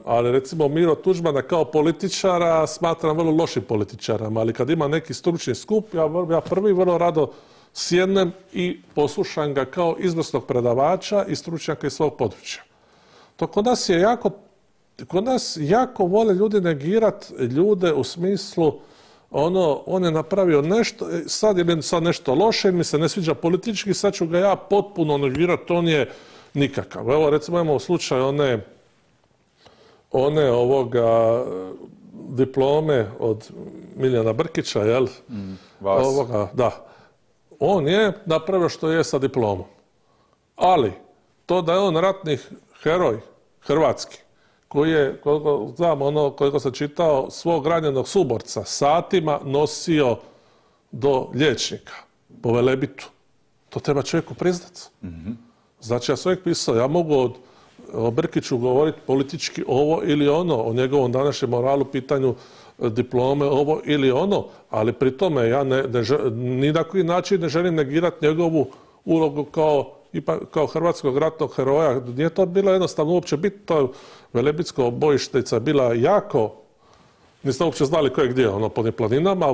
ali recimo Miro Tuđmana kao političara smatram vrlo lošim političarom, ali kad ima neki stručni skup, ja, ja prvi vrlo rado sjednem i poslušam ga kao izvrsnog predavača i stručnjaka iz svog područja. To kod nas je jako, kod nas jako vole ljudi negirati ljude u smislu ono, on je napravio nešto, sad je sad nešto loše, mi se ne sviđa politički, sad ću ga ja potpuno negirati, on je nikakav. Evo, recimo, imamo slučaj one, one ovoga diplome od Miljana Brkića, jel? Mm, vas. Ovoga, da. On je napravio što je sa diplomom. Ali, to da je on ratni heroj, hrvatski, koji je, koliko znam, ono, koliko sam čitao, svog ranjenog suborca satima nosio do liječnika po Velebitu. To treba čovjeku priznati. Mm-hmm. Znači, ja sam uvijek pisao, ja mogu od, o Brkiću govoriti politički ovo ili ono, o njegovom današnjem moralu, pitanju diplome, ovo ili ono, ali pri tome ja ne, ne, ni na koji način ne želim negirati njegovu ulogu kao kao hrvatskog ratnog heroja. Nije to bilo jednostavno uopće biti, to Velebitsko bojištica bila jako, Niste uopće znali ko je gdje, ono, po planinama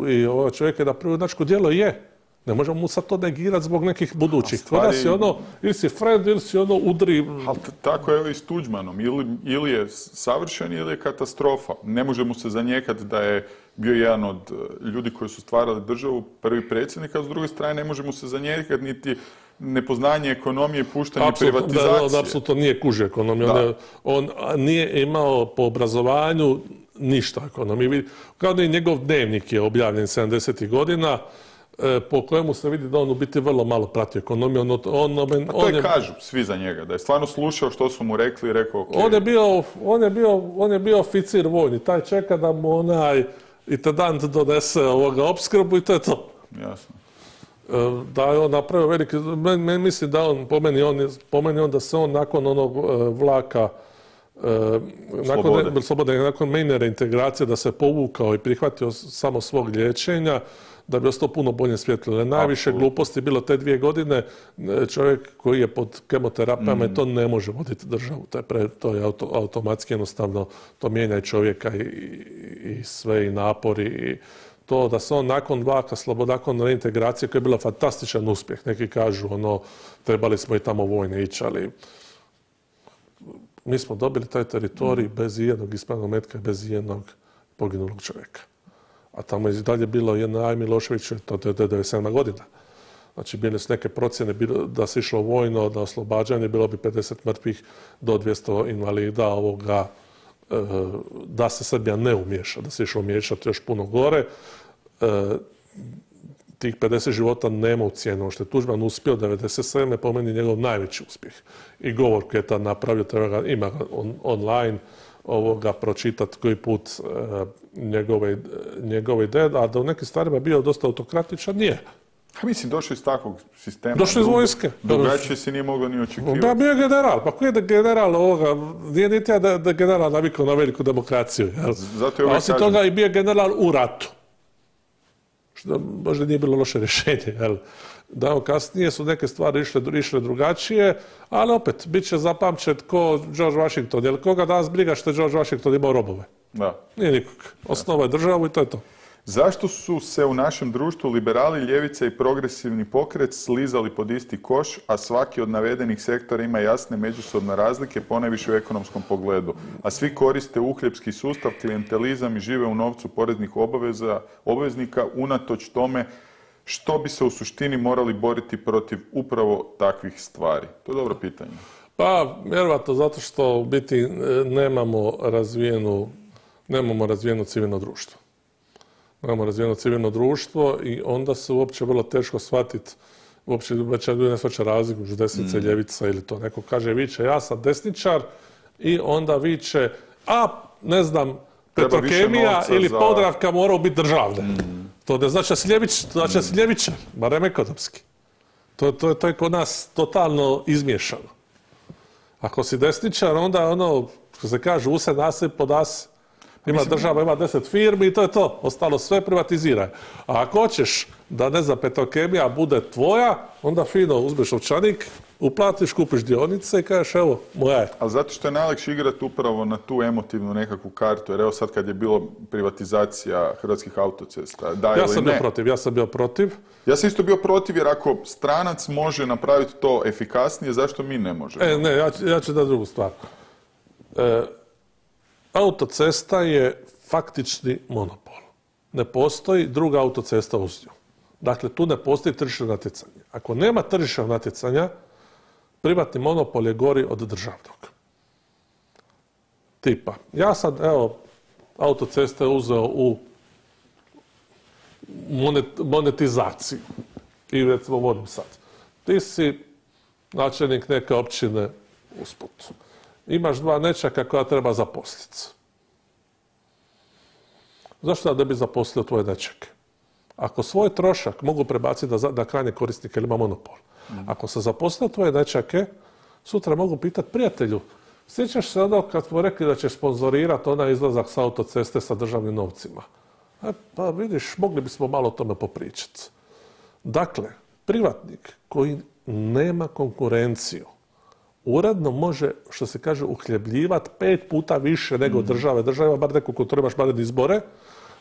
i ovaj čovjek je napravio junačko djelo, je. Ne možemo mu sad to negirati zbog nekih budućih. Stvari... Kod nas je ono, ili si friend, ili si ono udri. Ali tako je i s Tuđmanom. Ili, ili je savršen, ili je katastrofa. Ne možemo se zanijekati da je bio jedan od ljudi koji su stvarali državu, prvi predsjednik, a s druge strane ne možemo se zanijekati niti nepoznanje ekonomije, puštanje Apsolutno, privatizacije. Da, on apsolutno nije kužio ekonomiju. On, je, on nije imao po obrazovanju ništa ekonomije. Kao da i njegov dnevnik je objavljen sedamdesetih godina, po kojemu se vidi da on u biti vrlo malo prati ekonomiju. On, on, on, A to je, je kažu svi za njega, da je stvarno slušao što su mu rekli i rekao ok. On je bio, on je bio, on je bio oficir vojni, taj čeka da mu onaj intendant donese ovoga opskrbu i to je to. Jasno. Da je on napravio veliki, men, mislim da on, po meni on, po meni on da se on nakon onog vlaka nakon slobode, nakon mejne reintegracije da se povukao i prihvatio samo svog liječenja, da bi ostao puno bolje svjetlo. Najviše gluposti bilo te dvije godine. Čovjek koji je pod kemoterapijama mm. to ne može voditi državu. To je, pre, to je auto, automatski jednostavno, to mijenja i čovjeka i, i, i sve i napori. I to da se on nakon vlaka sloboda, nakon reintegracije koja je bila fantastičan uspjeh. Neki kažu ono, trebali smo i tamo vojne ići, ali mi smo dobili taj teritorij mm. bez ijednog ispravnog metka i bez ijednog poginulog čovjeka. A tamo je i dalje bilo jedna Aj Milošević, to je devedeset sedma godina. Znači, bile su neke procjene da se išlo vojno, da oslobađanje, bilo bi pedeset mrtvih do dvjesto invalida ovoga, da se Srbija ne umiješa, da se išlo umiješati još puno gore. Tih pedeset života nema u cijenu. Što je Tuđman uspio devedeset sedme po meni njegov najveći uspjeh. I govor koji je tad napravio, treba ga, ima ga on, online, ovoga pročitati koji put e, njegove, njegove ideje, a da u nekim stvarima je bio dosta autokratičan, nije. A mislim, došao iz takvog sistema. Došao iz vojske. Drugačije se nije moglo ni očekivati. Ja bio je general, pa koji je general ovoga, nije niti ja da, da general navikao na veliku demokraciju. Jel? Zato je a osim kažem... toga i bio general u ratu. Što možda nije bilo loše rješenje, jel? Da, kasnije su neke stvari išle, išle drugačije, ali opet, bit će zapamćen ko George Washington, jer koga danas briga što je George Washington imao robove? Da. Nije nikog. Osnovao je državu i to je to. Zašto su se u našem društvu liberali, ljevica i progresivni pokret slizali pod isti koš, a svaki od navedenih sektora ima jasne međusobne razlike, ponajviše u ekonomskom pogledu, a svi koriste uhljebski sustav, klijentelizam i žive u novcu poreznih obaveza, obveznika, unatoč tome što bi se u suštini morali boriti protiv upravo takvih stvari? To je dobro pitanje. Pa, vjerovatno zato što u biti nemamo razvijenu, nemamo razvijeno civilno društvo. Nemamo razvijeno civilno društvo i onda se uopće vrlo teško shvatiti, uopće već ljudi ne shvaća razliku među desnice i mm. ljevica ili to. Neko kaže viče ja sam desničar i onda viče a ne znam Petrokemija ili za... Podravka moraju biti državne. Mm. To ne znači da si ljevič, znači da si ljevičar, barem ekonomski. To, to, to je kod nas totalno izmiješano. Ako si desničar, onda ono, što se kaže, use nasip pod as. Ima Mislim... država, ima deset firmi i to je to. Ostalo sve privatiziraj. A ako hoćeš da, ne znam, Petrokemija bude tvoja, onda fino uzmeš novčanik, uplatiš, kupiš dionice i kažeš evo, moja je. Ali zato što je najlakše igrati upravo na tu emotivnu nekakvu kartu, jer evo sad kad je bilo privatizacija Hrvatskih autocesta, da ja ili sam ne. bio protiv, ja sam bio protiv. Ja sam isto bio protiv jer ako stranac može napraviti to efikasnije, zašto mi ne možemo? E, ne, ja, ja ću da drugu stvar. E, autocesta je faktični monopol. Ne postoji druga autocesta uz nju. Dakle, tu ne postoji tržišno natjecanje. Ako nema tržišnog natjecanja, privatni monopol je gori od državnog. Tipa, ja sad, evo, autoceste uzeo u monet, monetizaciju. I recimo vodim sad. Ti si načelnik neke općine usput. Imaš dva nečaka koja treba zaposliti. Zašto da bi zaposlio tvoje nečake? Ako svoj trošak mogu prebaciti da, da krajnje korisnike ili ima monopol. Mm. Ako se zaposlio tvoje nečake, sutra mogu pitati prijatelju, sjećaš se ono kad smo rekli da će sponzorirati onaj izlazak sa autoceste sa državnim novcima? E, pa vidiš, mogli bismo malo o tome popričati. Dakle, privatnik koji nema konkurenciju, uredno može, što se kaže, uhljebljivati pet puta više nego države. Država ima bar neku kontrolu, imaš bar izbore,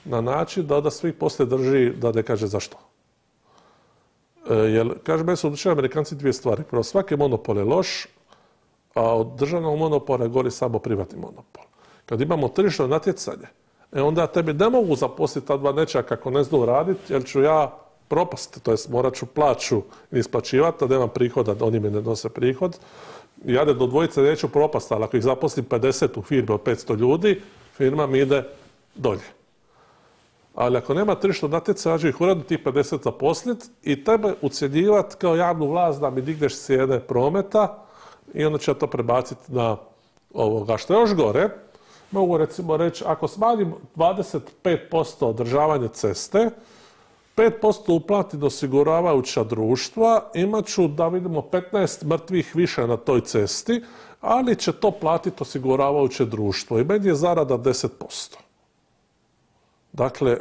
na način da onda svih poslije drži da ne kaže zašto. E, jer, kaže, meni su odlučili Amerikanci dvije stvari. Prvo, svaki monopol je loš, a od državnog monopola gori samo privatni monopol. Kad imamo tržišno natjecanje, e onda tebi ne mogu zaposliti ta dva nečaka kako ne znaju raditi, jer ću ja propast, to jest morat ću plaću isplaćivati, da nemam prihoda, da oni mi ne nose prihod. Ja do dvojice neću propast, ali ako ih zaposlim pedeset u firmi od petsto ljudi, firma mi ide dolje. Ali ako nema tržišno natjecanja, ja ću ih uredno tih pedeset zaposliti i tebe ucjenjivati kao javnu vlast da mi digneš cijene prometa i onda će ja to prebaciti na ovoga. Što je još gore, mogu recimo reći, ako smanjim dvadeset pet posto održavanje ceste, pet posto uplatim osiguravajuća društva, imat ću da vidimo petnaest mrtvih više na toj cesti, ali će to platiti osiguravajuće društvo i meni je zarada deset posto. Dakle,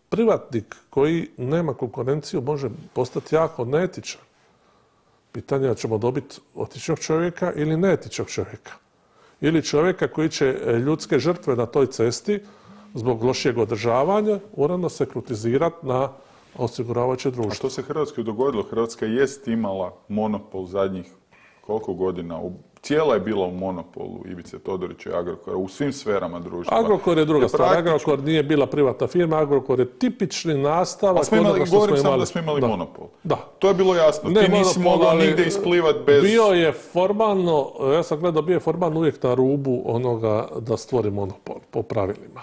privatnik koji nema konkurenciju može postati jako neetičan. Pitanje je ćemo dobiti etičnog čovjeka ili neetičnog čovjeka. Ili čovjeka koji će ljudske žrtve na toj cesti zbog lošijeg održavanja uredno se kritizirati na osiguravajuće društvo. A što se Hrvatskoj dogodilo? Hrvatska jest imala monopol zadnjih koliko godina? Cijela je bila u monopolu Ivice Todorića i Agrokora u svim sferama društva. Agrokor je druga stvar. Agrokor nije bila privatna firma, Agrokor je tipični nastavak onoga što smo imali. Govorim samo da smo imali da. monopol. Da. To je bilo jasno. Ne, Ti nisi monopol, mogao ali nigdje isplivati bez... Bio je formalno, ja sam gledao, bio je formalno uvijek na rubu onoga da stvori monopol po pravilima.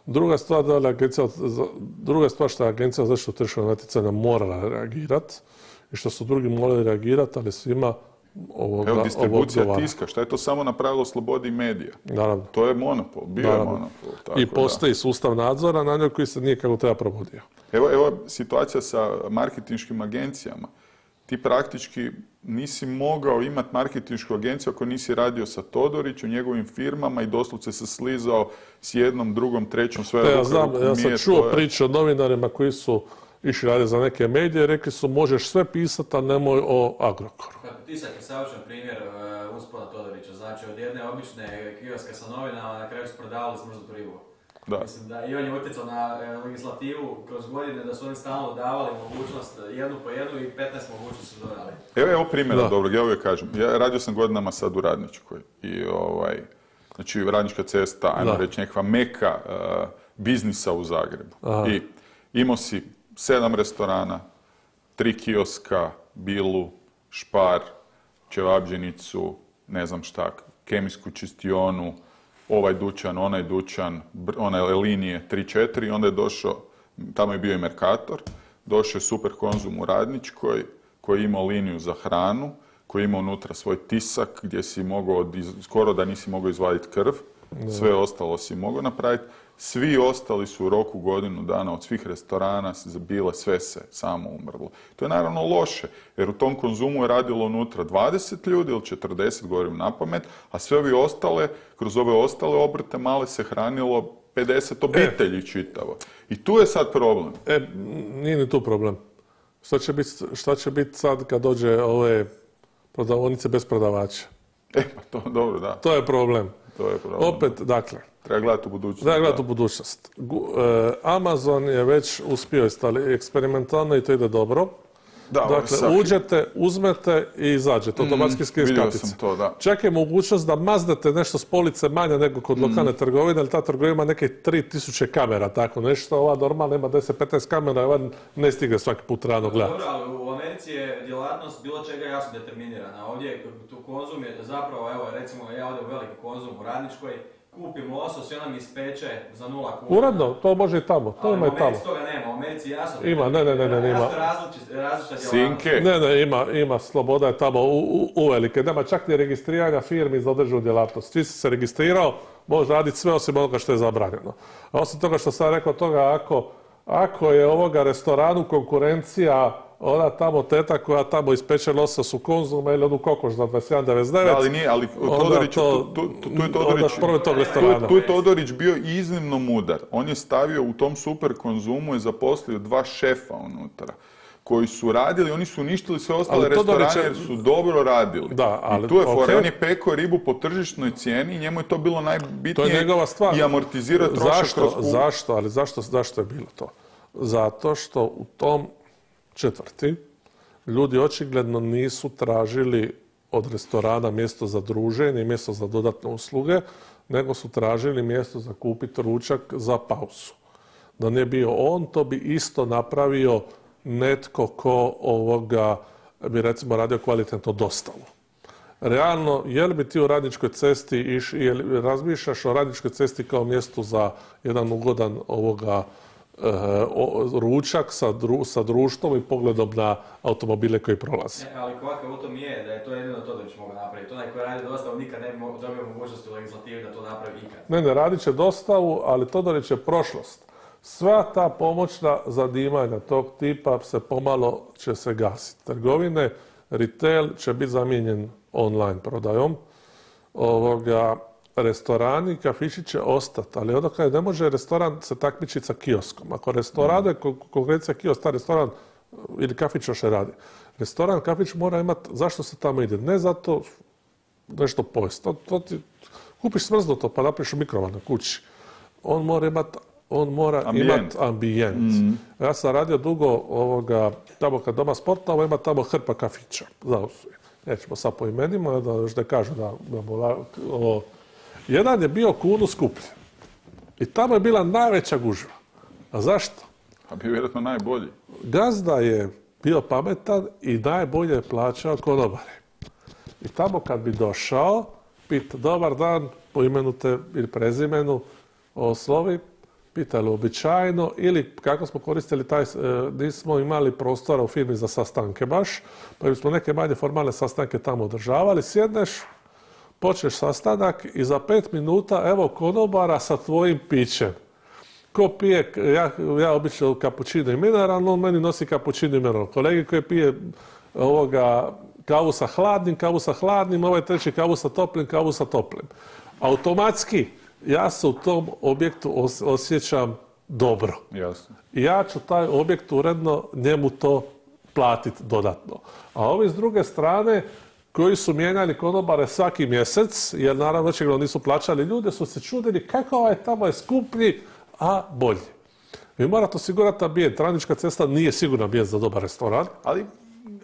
Druga stvar, da li agencija, druga stvar što je Agencija za zaštitu tržišnog natjecanja morala reagirati i što su drugi morali reagirati, ali svima ovoga, Evo, distribucija tiska, šta je to samo napravilo slobodi medija? Naravno. To je monopol, bio je monopol. Tako I postoji da. sustav nadzora na njoj koji se nije kako treba provodio. Evo, evo situacija sa marketinškim agencijama. Ti praktički nisi mogao imati marketinšku agenciju ako nisi radio sa Todorićem, njegovim firmama i doslovce se slizao s jednom, drugom, trećom, sve ja znam, ja sam čuo je... priče o novinarima koji su išli raditi za neke medije, rekli su možeš sve pisati, a nemoj o Agrokoru. Tisak je savršen primjer uh, uspona Todorića. Znači, od jedne obične kioske sa novinama na kraju su prodavali smrznutu ribu. Da. Mislim da i on je utjecao na e, legislativu kroz godine da su oni stalno davali mogućnost jednu po jednu i petnaest mogućnosti su dodali. Evo, evo primjera dobrog, ja uvijek kažem. Ja radio sam godinama sad u Radničkoj i ovaj, znači Radnička cesta, ajmo reći nekakva meka uh, biznisa u Zagrebu. Aha. I imao si sedam restorana, tri kioska, Bilu, Špar, Čevabdžinicu, ne znam šta, kemijsku čistionu, ovaj dućan, onaj dućan, one linije tri četiri, onda je došao, tamo je bio i Mercator, došao je Super Konzum u Radničkoj, koji je imao liniju za hranu, koji je imao unutra svoj tisak, gdje si mogao, skoro da nisi mogao izvaditi krv, sve ostalo si mogao napraviti. Svi ostali su u roku godinu dana od svih restorana bile, sve se samo umrlo. To je naravno loše, jer u tom Konzumu je radilo unutra dvadeset ljudi ili četrdeset, govorim na pamet, a sve ovi ostale, kroz ove ostale obrte male se hranilo pedeset obitelji e. čitavo. I tu je sad problem. E, nije ni tu problem. Šta će biti, šta će biti sad kad dođe ove prodavonice bez prodavača? E, pa to dobro, da. To je problem. To je problem. Opet, dakle, treba gledati u budućnost. Treba gledati u budućnost. Amazon je već uspio eksperimentalno i to ide dobro. Da, dakle, uđete, uzmete i izađete, automatski skriz mm, kartice. To, da. Čak je mogućnost da maznete nešto s police manje nego kod mm. lokalne trgovine, ali ta trgovina ima neke tri tisuće kamera, tako nešto. Ova normalna ima deset petnaest kamera, ova ne stigne svaki put rano gledati. Dobro, ali u Americi je djelatnost bilo čega jasno determinirana. Ovdje tu Konzum je zapravo, evo recimo ja ovdje u veliki Konzum u Radničkoj, kupim losos i ona mi ispeče za nula kuna. Uredno, to može i tamo, to ima i tamo. U Americi toga nema, u Americi jasno. Ima, ne, ne, ne, ne, ima. Jasno različita djelatnost. Ne, ne, ima, ima, sloboda je tamo uvelike. Nema čak ni registriranja firmi za određenu djelatnost. Ti si se registrirao, možeš raditi sve osim onoga što je zabranjeno. A osim toga što sam rekao toga, ako, ako je ovoga restoranu konkurencija ona tamo teta koja tamo ispeče losos u Konzumu ili onu kokoš za dvadeset jedan devedeset devet. Da, ali nije, ali Todorić, to, tu, tu, tu je Todorić, tu, tu je Todorić bio iznimno mudar. On je stavio u tom Super Konzumu i zaposlio dva šefa unutra. koji su radili, oni su uništili sve ostale Ali restorane Todorić je- jer su dobro radili. Da, ali- I tu je fora, okej. on je pekao ribu po tržišnoj cijeni i njemu je to bilo To je najbitnije njegova stvar. i amortizira trošak Zašto? kroz kup. Zašto? Ali zašto, zašto je bilo to? Zato što u tom četvrti ljudi očigledno nisu tražili od restorana mjesto za druženje i mjesto za dodatne usluge, nego su tražili mjesto za kupiti ručak za pauzu. Da nije bio on, to bi isto napravio netko ko ovoga bi recimo radio kvalitetno dostavu. Realno, je li bi ti u Radničkoj cesti iš, je li razmišljaš o Radničkoj cesti kao mjestu za jedan ugodan ovoga e, o- ručak sa, dru, sa društvom i pogledom na automobile koji prolaze? Ne, ali kvaka u tom je da je to jedino Todorić mogao napraviti. Onaj koji radi dostavu nikad ne bi mo- dobio mogućnosti u legislativi da to napravi ikad. Ne, ne, radit će dostavu, ali Todorić je prošlost. Sva ta pomoćna zanimanja tog tipa se pomalo će se gasiti. Trgovine, retail će biti zamijenjen online prodajom. Ovoga, restorani, kafići će ostati, ali onda kada ne može restoran se takmičiti sa kioskom. Ako restoran je kon- konkurencija kiosk, ta restoran ili kafić još ne radi. Restoran, kafić mora imati, zašto se tamo ide? Ne zato nešto pojesti. To, to ti, kupiš smrznuto pa napraviš u mikrovalnoj kući. On mora imati on mora Ambijent. imati ambijent. Ja sam radio dugo ovoga, tamo kad doma sportova, ima tamo hrpa kafića. Znao su je. Nećemo sad po imenima, da još ne kažu da, da mola- ovo. Jedan je bio kunu skuplji. I tamo je bila najveća gužva. A zašto? A bio vjerojatno najbolji. Gazda je bio pametan i najbolje je plaćao konobare. I tamo kad bi došao, pita dobar dan, po imenu te ili prezimenu, oslovi, pitali uobičajeno ili kako smo koristili taj, e, nismo imali prostora u firmi za sastanke baš, pa smo neke manje formalne sastanke tamo održavali, sjedneš, počneš sastanak i za pet minuta evo konobara sa tvojim pićem. Ko pije, ja, ja obično kapućino i mineralno, on meni nosi kapućino i mineralno. Kolegi koji pije ovoga kavu sa hladnim, kavu sa hladnim, ovaj treći kavu sa toplim, kavu sa toplim. Automatski ja se u tom objektu os- osjećam dobro. Jasno. I ja ću taj objekt uredno njemu to platiti dodatno. A ovi s druge strane koji su mijenjali konobare svaki mjesec, jer naravno očigledno nisu plaćali ljude, su se čudili kako ovaj tamo je skuplji, a bolji. Vi morate osigurati ambijent. Radnička cesta nije sigurno ambijent za dobar restoran, Ali,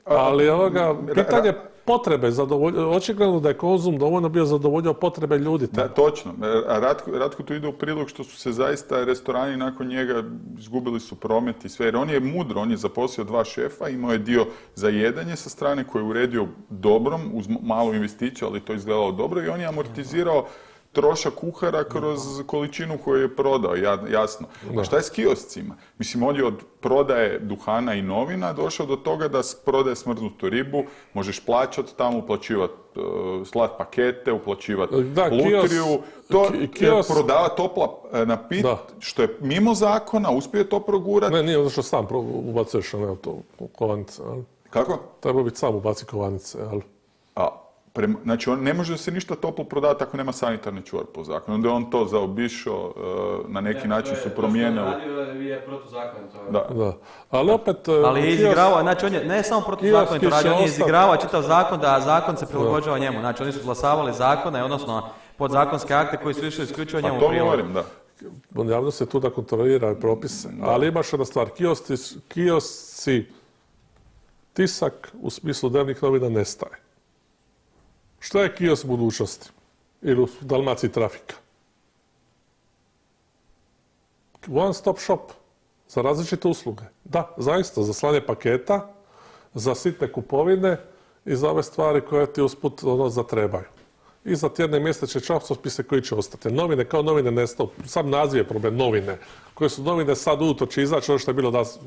a- ali ovoga, ra- pitanje ra- potrebe, zadovolj- očigledno da je Konzum dovoljno bio zadovoljio potrebe ljudi. Da, točno. A Ratko, Ratko tu ide u prilog što su se zaista restorani nakon njega izgubili su promet i sve. Jer on je mudro, on je zaposlio dva šefa, imao je dio za jedanje sa strane koji je uredio dobrom, uz m- malu investiciju, ali to je izgledalo dobro i on je amortizirao trošak kuhara kroz količinu koju je prodao, ja- jasno. A šta je s kioscima? Mislim, on je od prodaje duhana i novina došao do toga da s- prodaje smrznutu ribu, možeš plaćati tamo, uplaćivati uh, slat pakete, uplaćivati Da, lutriju, kios- to ki- e, kios- prodava topla e, napit, Da. što je mimo zakona, uspio je to progurati. Ne, nije zato što sam pro- ubacuješ ne, to u kovanice. jel? Kako? Treba biti sam ubaci kovanice. Jel? A, prema- znači, on ne može se ništa toplo prodavati ako nema sanitarni čvor po zakonu. Onda je on to zaobišao, e, na neki Ne, način to su je- promijenili. To što je radio je protuzakonito. Da. Da. Ali opet... e, Ali je kios- izigravao, znači on je ne samo protuzakonito kioski će radio, on je ostati. izigravao čitav zakon da zakon se prilagođava njemu. Znači oni su izglasavali zakone, odnosno podzakonske akte koji su išli isključivo Pa njemu u to prilog. govorim, da. Javnost je tu da kontrolira propise. Ali imaš jedna stvar, kiosci, kiosci, tisak u smislu dnevnih novina nestaje. Šta je kiosk budućnosti? Ili u Dalmaciji trafika? One stop shop za različite usluge. Da, zaista, za slanje paketa, za sitne kupovine i za ove stvari koje ti usput ono, zatrebaju. I za tjedne mjesečne časopise koji će ostati. Novine kao novine nestaju. Sam naziv je problem, novine. Koje su novine sad ujutro će izaći ono što je bilo danas,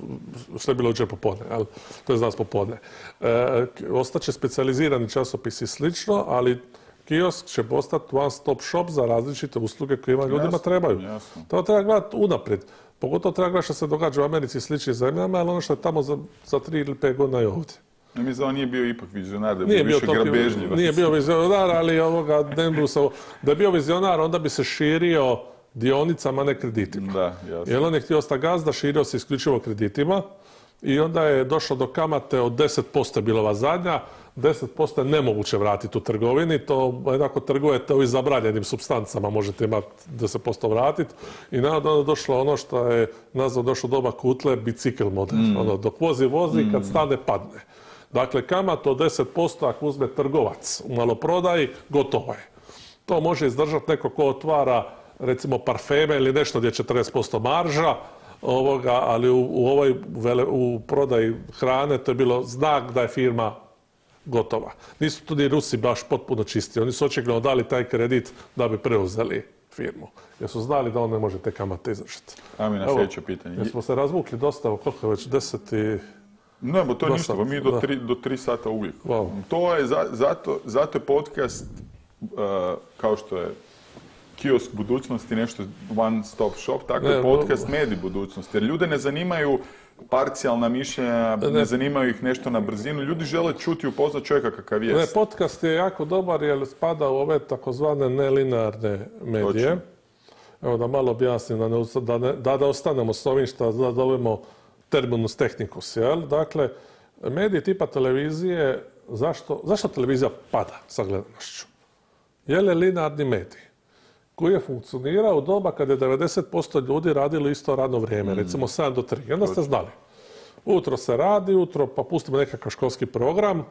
što je bilo jučer popodne. jel? To je danas popodne. E, ostaće specijalizirani časopisi i slično, ali kiosk će postati one stop shop za različite usluge koje ima ljudima Jasno, trebaju. jasno. To treba gledati unaprijed. Pogotovo treba gledati što se događa u Americi i sličnim zemljama, ali ono što je tamo za, za tri ili pet godina je ovdje. Ja mislim da on nije bio ipak vizionar, da je Nije bio bio, više toliko- grabežljivac. nije bio vizionar, ali ovoga, ne bi se- da je bio vizionar, onda bi se širio dionicama, ne kreditima. Da, jasno. Jer on je htio ostati gazda, širio se isključivo kreditima i onda je došlo do kamate od deset posto je bila ova zadnja, deset posto je nemoguće vratiti u trgovini, to jednako trgujete ovim zabranjenim supstancama, možete imati deset posto vratiti i onda je došlo ono što je nazvao došlo doba Kutle, bicikl model, mm. ono, dok vozi, vozi, kad stane, padne. Dakle, kamata od deset posto ako uzme trgovac u maloprodaji, gotovo je. To može izdržati neko ko otvara recimo parfeme ili nešto gdje je četrdeset posto marža, ovoga, ali u, u ovoj vele, u prodaji hrane to je bilo znak da je firma gotova. Nisu tu ni Rusi baš potpuno čisti. Oni su očigledno dali taj kredit da bi preuzeli firmu. Jer su znali da on ne može te kamate izdržati. A mi na sljedeće pitanje. Jer smo se razvukli dosta, koliko je već deset i... Ne, bo to je ništa, mi do tri, do tri sata uvijek. Wow. To je, za, zato, zato je podcast, uh, kao što je kiosk budućnosti, nešto one stop shop, tako je podcast medij budućnosti. Jer ljude ne zanimaju parcijalna mišljenja, ne, ne zanimaju ih nešto na brzinu. Ljudi žele čuti i upoznat čovjeka kakav jest. Ne, podcast je jako dobar jer spada u ove takozvane nelinearne medije. Točno. Evo da malo objasnim, da, ne, da, ne, da, da ostanemo s ovim što da zovemo terminus technicus. Jel? Dakle, mediji tipa televizije, zašto, zašto televizija pada sa gledanošću? Je li linearni medij koji je funkcionirao u doba kada je devedeset posto ljudi radilo isto radno vrijeme, mm. recimo sedam do tri. I onda ste znali, utro se radi, utro pa pustimo nekakav školski program,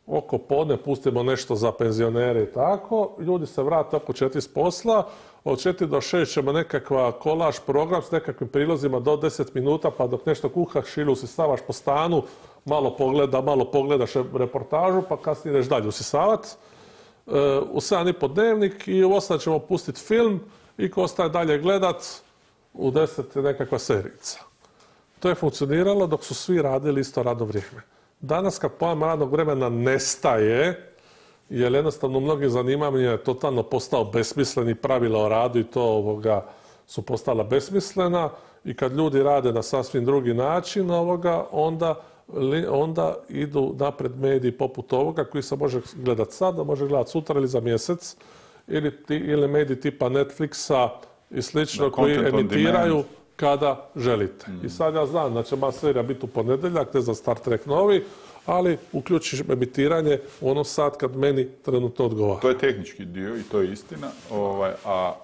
oko podne pustimo nešto za penzionere i tako, ljudi se vrate oko četiri s posla, od četiri do šest ćemo nekakva kolaž program s nekakvim prilozima do deset minuta, pa dok nešto kuhaš ili usisavaš po stanu, malo pogleda, malo pogledaš reportažu, pa kasnije ideš dalje usisavati. U sedam i po dnevnik i u osam ćemo pustiti film i ko ostaje dalje gledat, u deset je nekakva serijica. To je funkcioniralo dok su svi radili isto radno vrijeme. Danas kad pojam radnog vremena nestaje, jer jednostavno mnogi zanimanja je totalno postao besmisleni, pravila o radu i to ovoga su postala besmislena i kad ljudi rade na sasvim drugi način ovoga, onda onda idu napred mediji poput ovoga koji se može gledati sada, može gledati sutra ili za mjesec, ili, ti, ili mediji tipa Netflixa i slično koji emitiraju kada želite. Mm. I sad ja znam da će ma serija biti u ponedjeljak, ne za Star Trek novi, ali uključiš emitiranje u onom sat kad meni trenutno odgovara. To je tehnički dio i to je istina, ovaj, a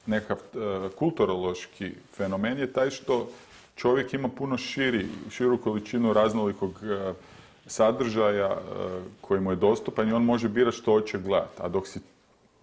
nekav uh, kulturološki fenomen je taj što čovjek ima puno širi, širu količinu raznolikog uh, sadržaja uh, koji mu je dostupan i on može birati što hoće gledati. A dok si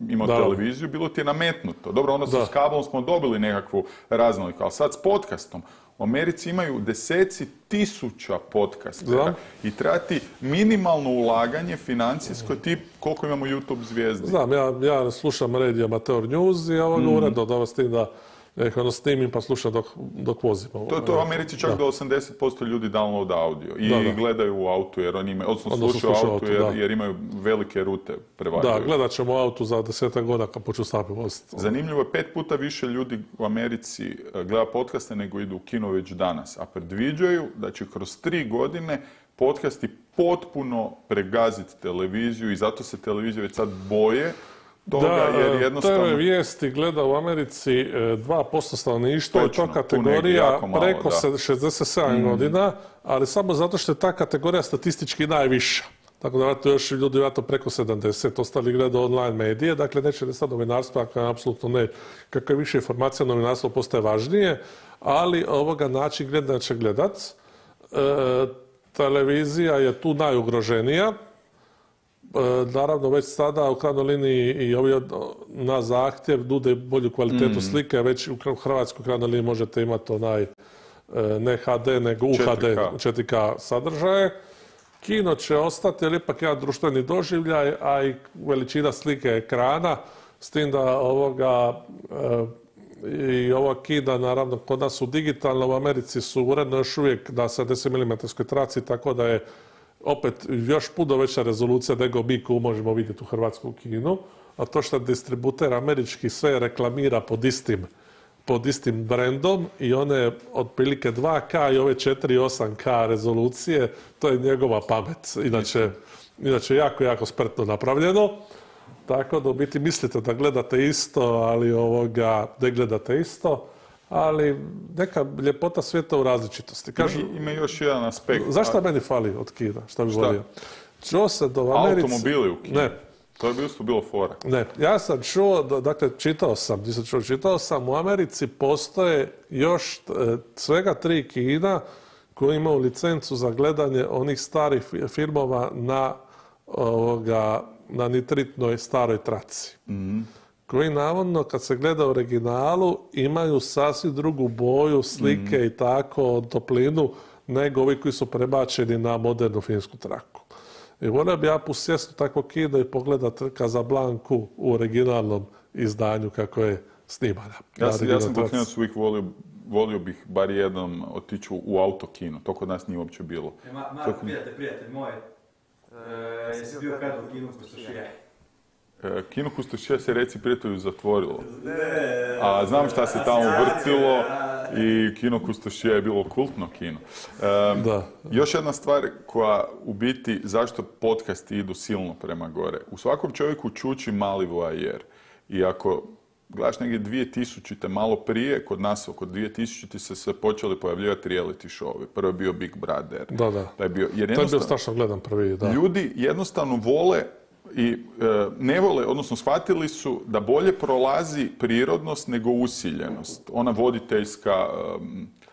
imao da. televiziju, bilo ti je nametnuto. Dobro, onda s kablom smo dobili nekakvu raznoliku, ali sad s podcastom. U Americi imaju deseci tisuća podcastera i treba ti minimalno ulaganje financijsko tip koliko imamo YouTube zvijezdi. Znam, ja, ja slušam Radio Amateur News i ovo mm. uredno da vas tim da Eko, ono snimim pa slušam dok, dok vozim. To, to u Americi čak da. do osamdeset posto ljudi download audio i da, da. gledaju u autu jer oni imaju, odnosno slušaju autu, autu jer, jer imaju velike rute prevaljaju. Da, gledat ćemo u autu za desetak godina kad poču sami voziti. Zanimljivo je, pet puta više ljudi u Americi gleda podcaste nego idu u kino već danas, a predviđaju da će kroz tri godine podcasti potpuno pregaziti televiziju i zato se televizije već sad boje toga, da, jer jednostavno... Te vijesti gleda u Americi dva posto stanovništva i to kategorija malo, preko da. šezdeset sedam mm. godina, ali samo zato što je ta kategorija statistički najviša. Tako da vratno još ljudi vratno preko sedamdeset, ostali gleda online medije, dakle neće ne sad novinarstvo, ako je apsolutno ne, kakva je više informacija, novinarstvo postaje važnije, ali ovoga način gledanja će gledat. E, televizija je tu najugroženija. Naravno, već sada u krajnjoj liniji i ovi na zahtjev nude bolju kvalitetu mm. slike, već u Hrvatskoj krajnjoj liniji možete imati onaj ne ha de nego u ha de četiri ka sadržaje. Kino će ostati, jer ipak jedan društveni doživljaj, a i veličina slike ekrana, s tim da ovoga i ova kina, naravno, kod nas su digitalna, u Americi su uredno još uvijek na sedamdeset milimetarskoj traci, tako da je opet još puno veća rezolucija nego mi koju možemo vidjeti u hrvatskom kinu, a to što distributer američki sve reklamira pod istim, pod istim brendom i one otprilike dva ka i ove četiri i osam ka rezolucije, to je njegova pamet. Inače, inače jako, jako spretno napravljeno. Tako da u biti mislite da gledate isto, ali ovoga ne gledate isto. ali neka ljepota svijeta u različitosti. Kažu, ima, ima još jedan aspekt. Zašto meni fali od Kina? Šta bi Šta? volio? Čuo sam da u Americi... Automobili u Kini. Ne. To je bilo, bilo fora. Ne, ja sam čuo, da, dakle, čitao sam, nisam čuo, čitao sam, u Americi postoje još e, svega tri kina koji imaju licencu za gledanje onih starih filmova na, ovoga, na nitritnoj staroj traci. Mm-hmm. Koji navodno, kad se gleda u originalu, imaju sasvim drugu boju, slike mm-hmm. i tako, toplinu, nego ovi koji su prebačeni na modernu filmsku traku. I volio bi ja pusjesti takvo kino i pogledati Casablancu u originalnom izdanju kako je snimana. Ja, sam, ja sam kao klinac uvijek volio, volio bih bar jednom otići u autokino. To kod nas nije uopće bilo. E, Ma, Marko, Toko... prijatelj, prijatelj moj, e, jesi bio kad u kinu Kustošije? E, kino Kustošije se reci prijatelju zatvorilo. A znam šta se tamo vrtilo i kino Kustošije je bilo kultno kino. E, da. Još jedna stvar koja u biti, zašto podcasti idu silno prema gore. U svakom čovjeku čuči mali voajer. I ako gledaš negdje dvije tisućite malo prije, kod nas oko dvije tisućite se sve počeli pojavljivati reality show. Prvo je bio Big Brother. Da, da. Da je bio, jer to je bio strašno gledam prvi, da. Ljudi jednostavno vole i e, ne vole, odnosno shvatili su da bolje prolazi prirodnost nego usiljenost. Ona voditeljska e,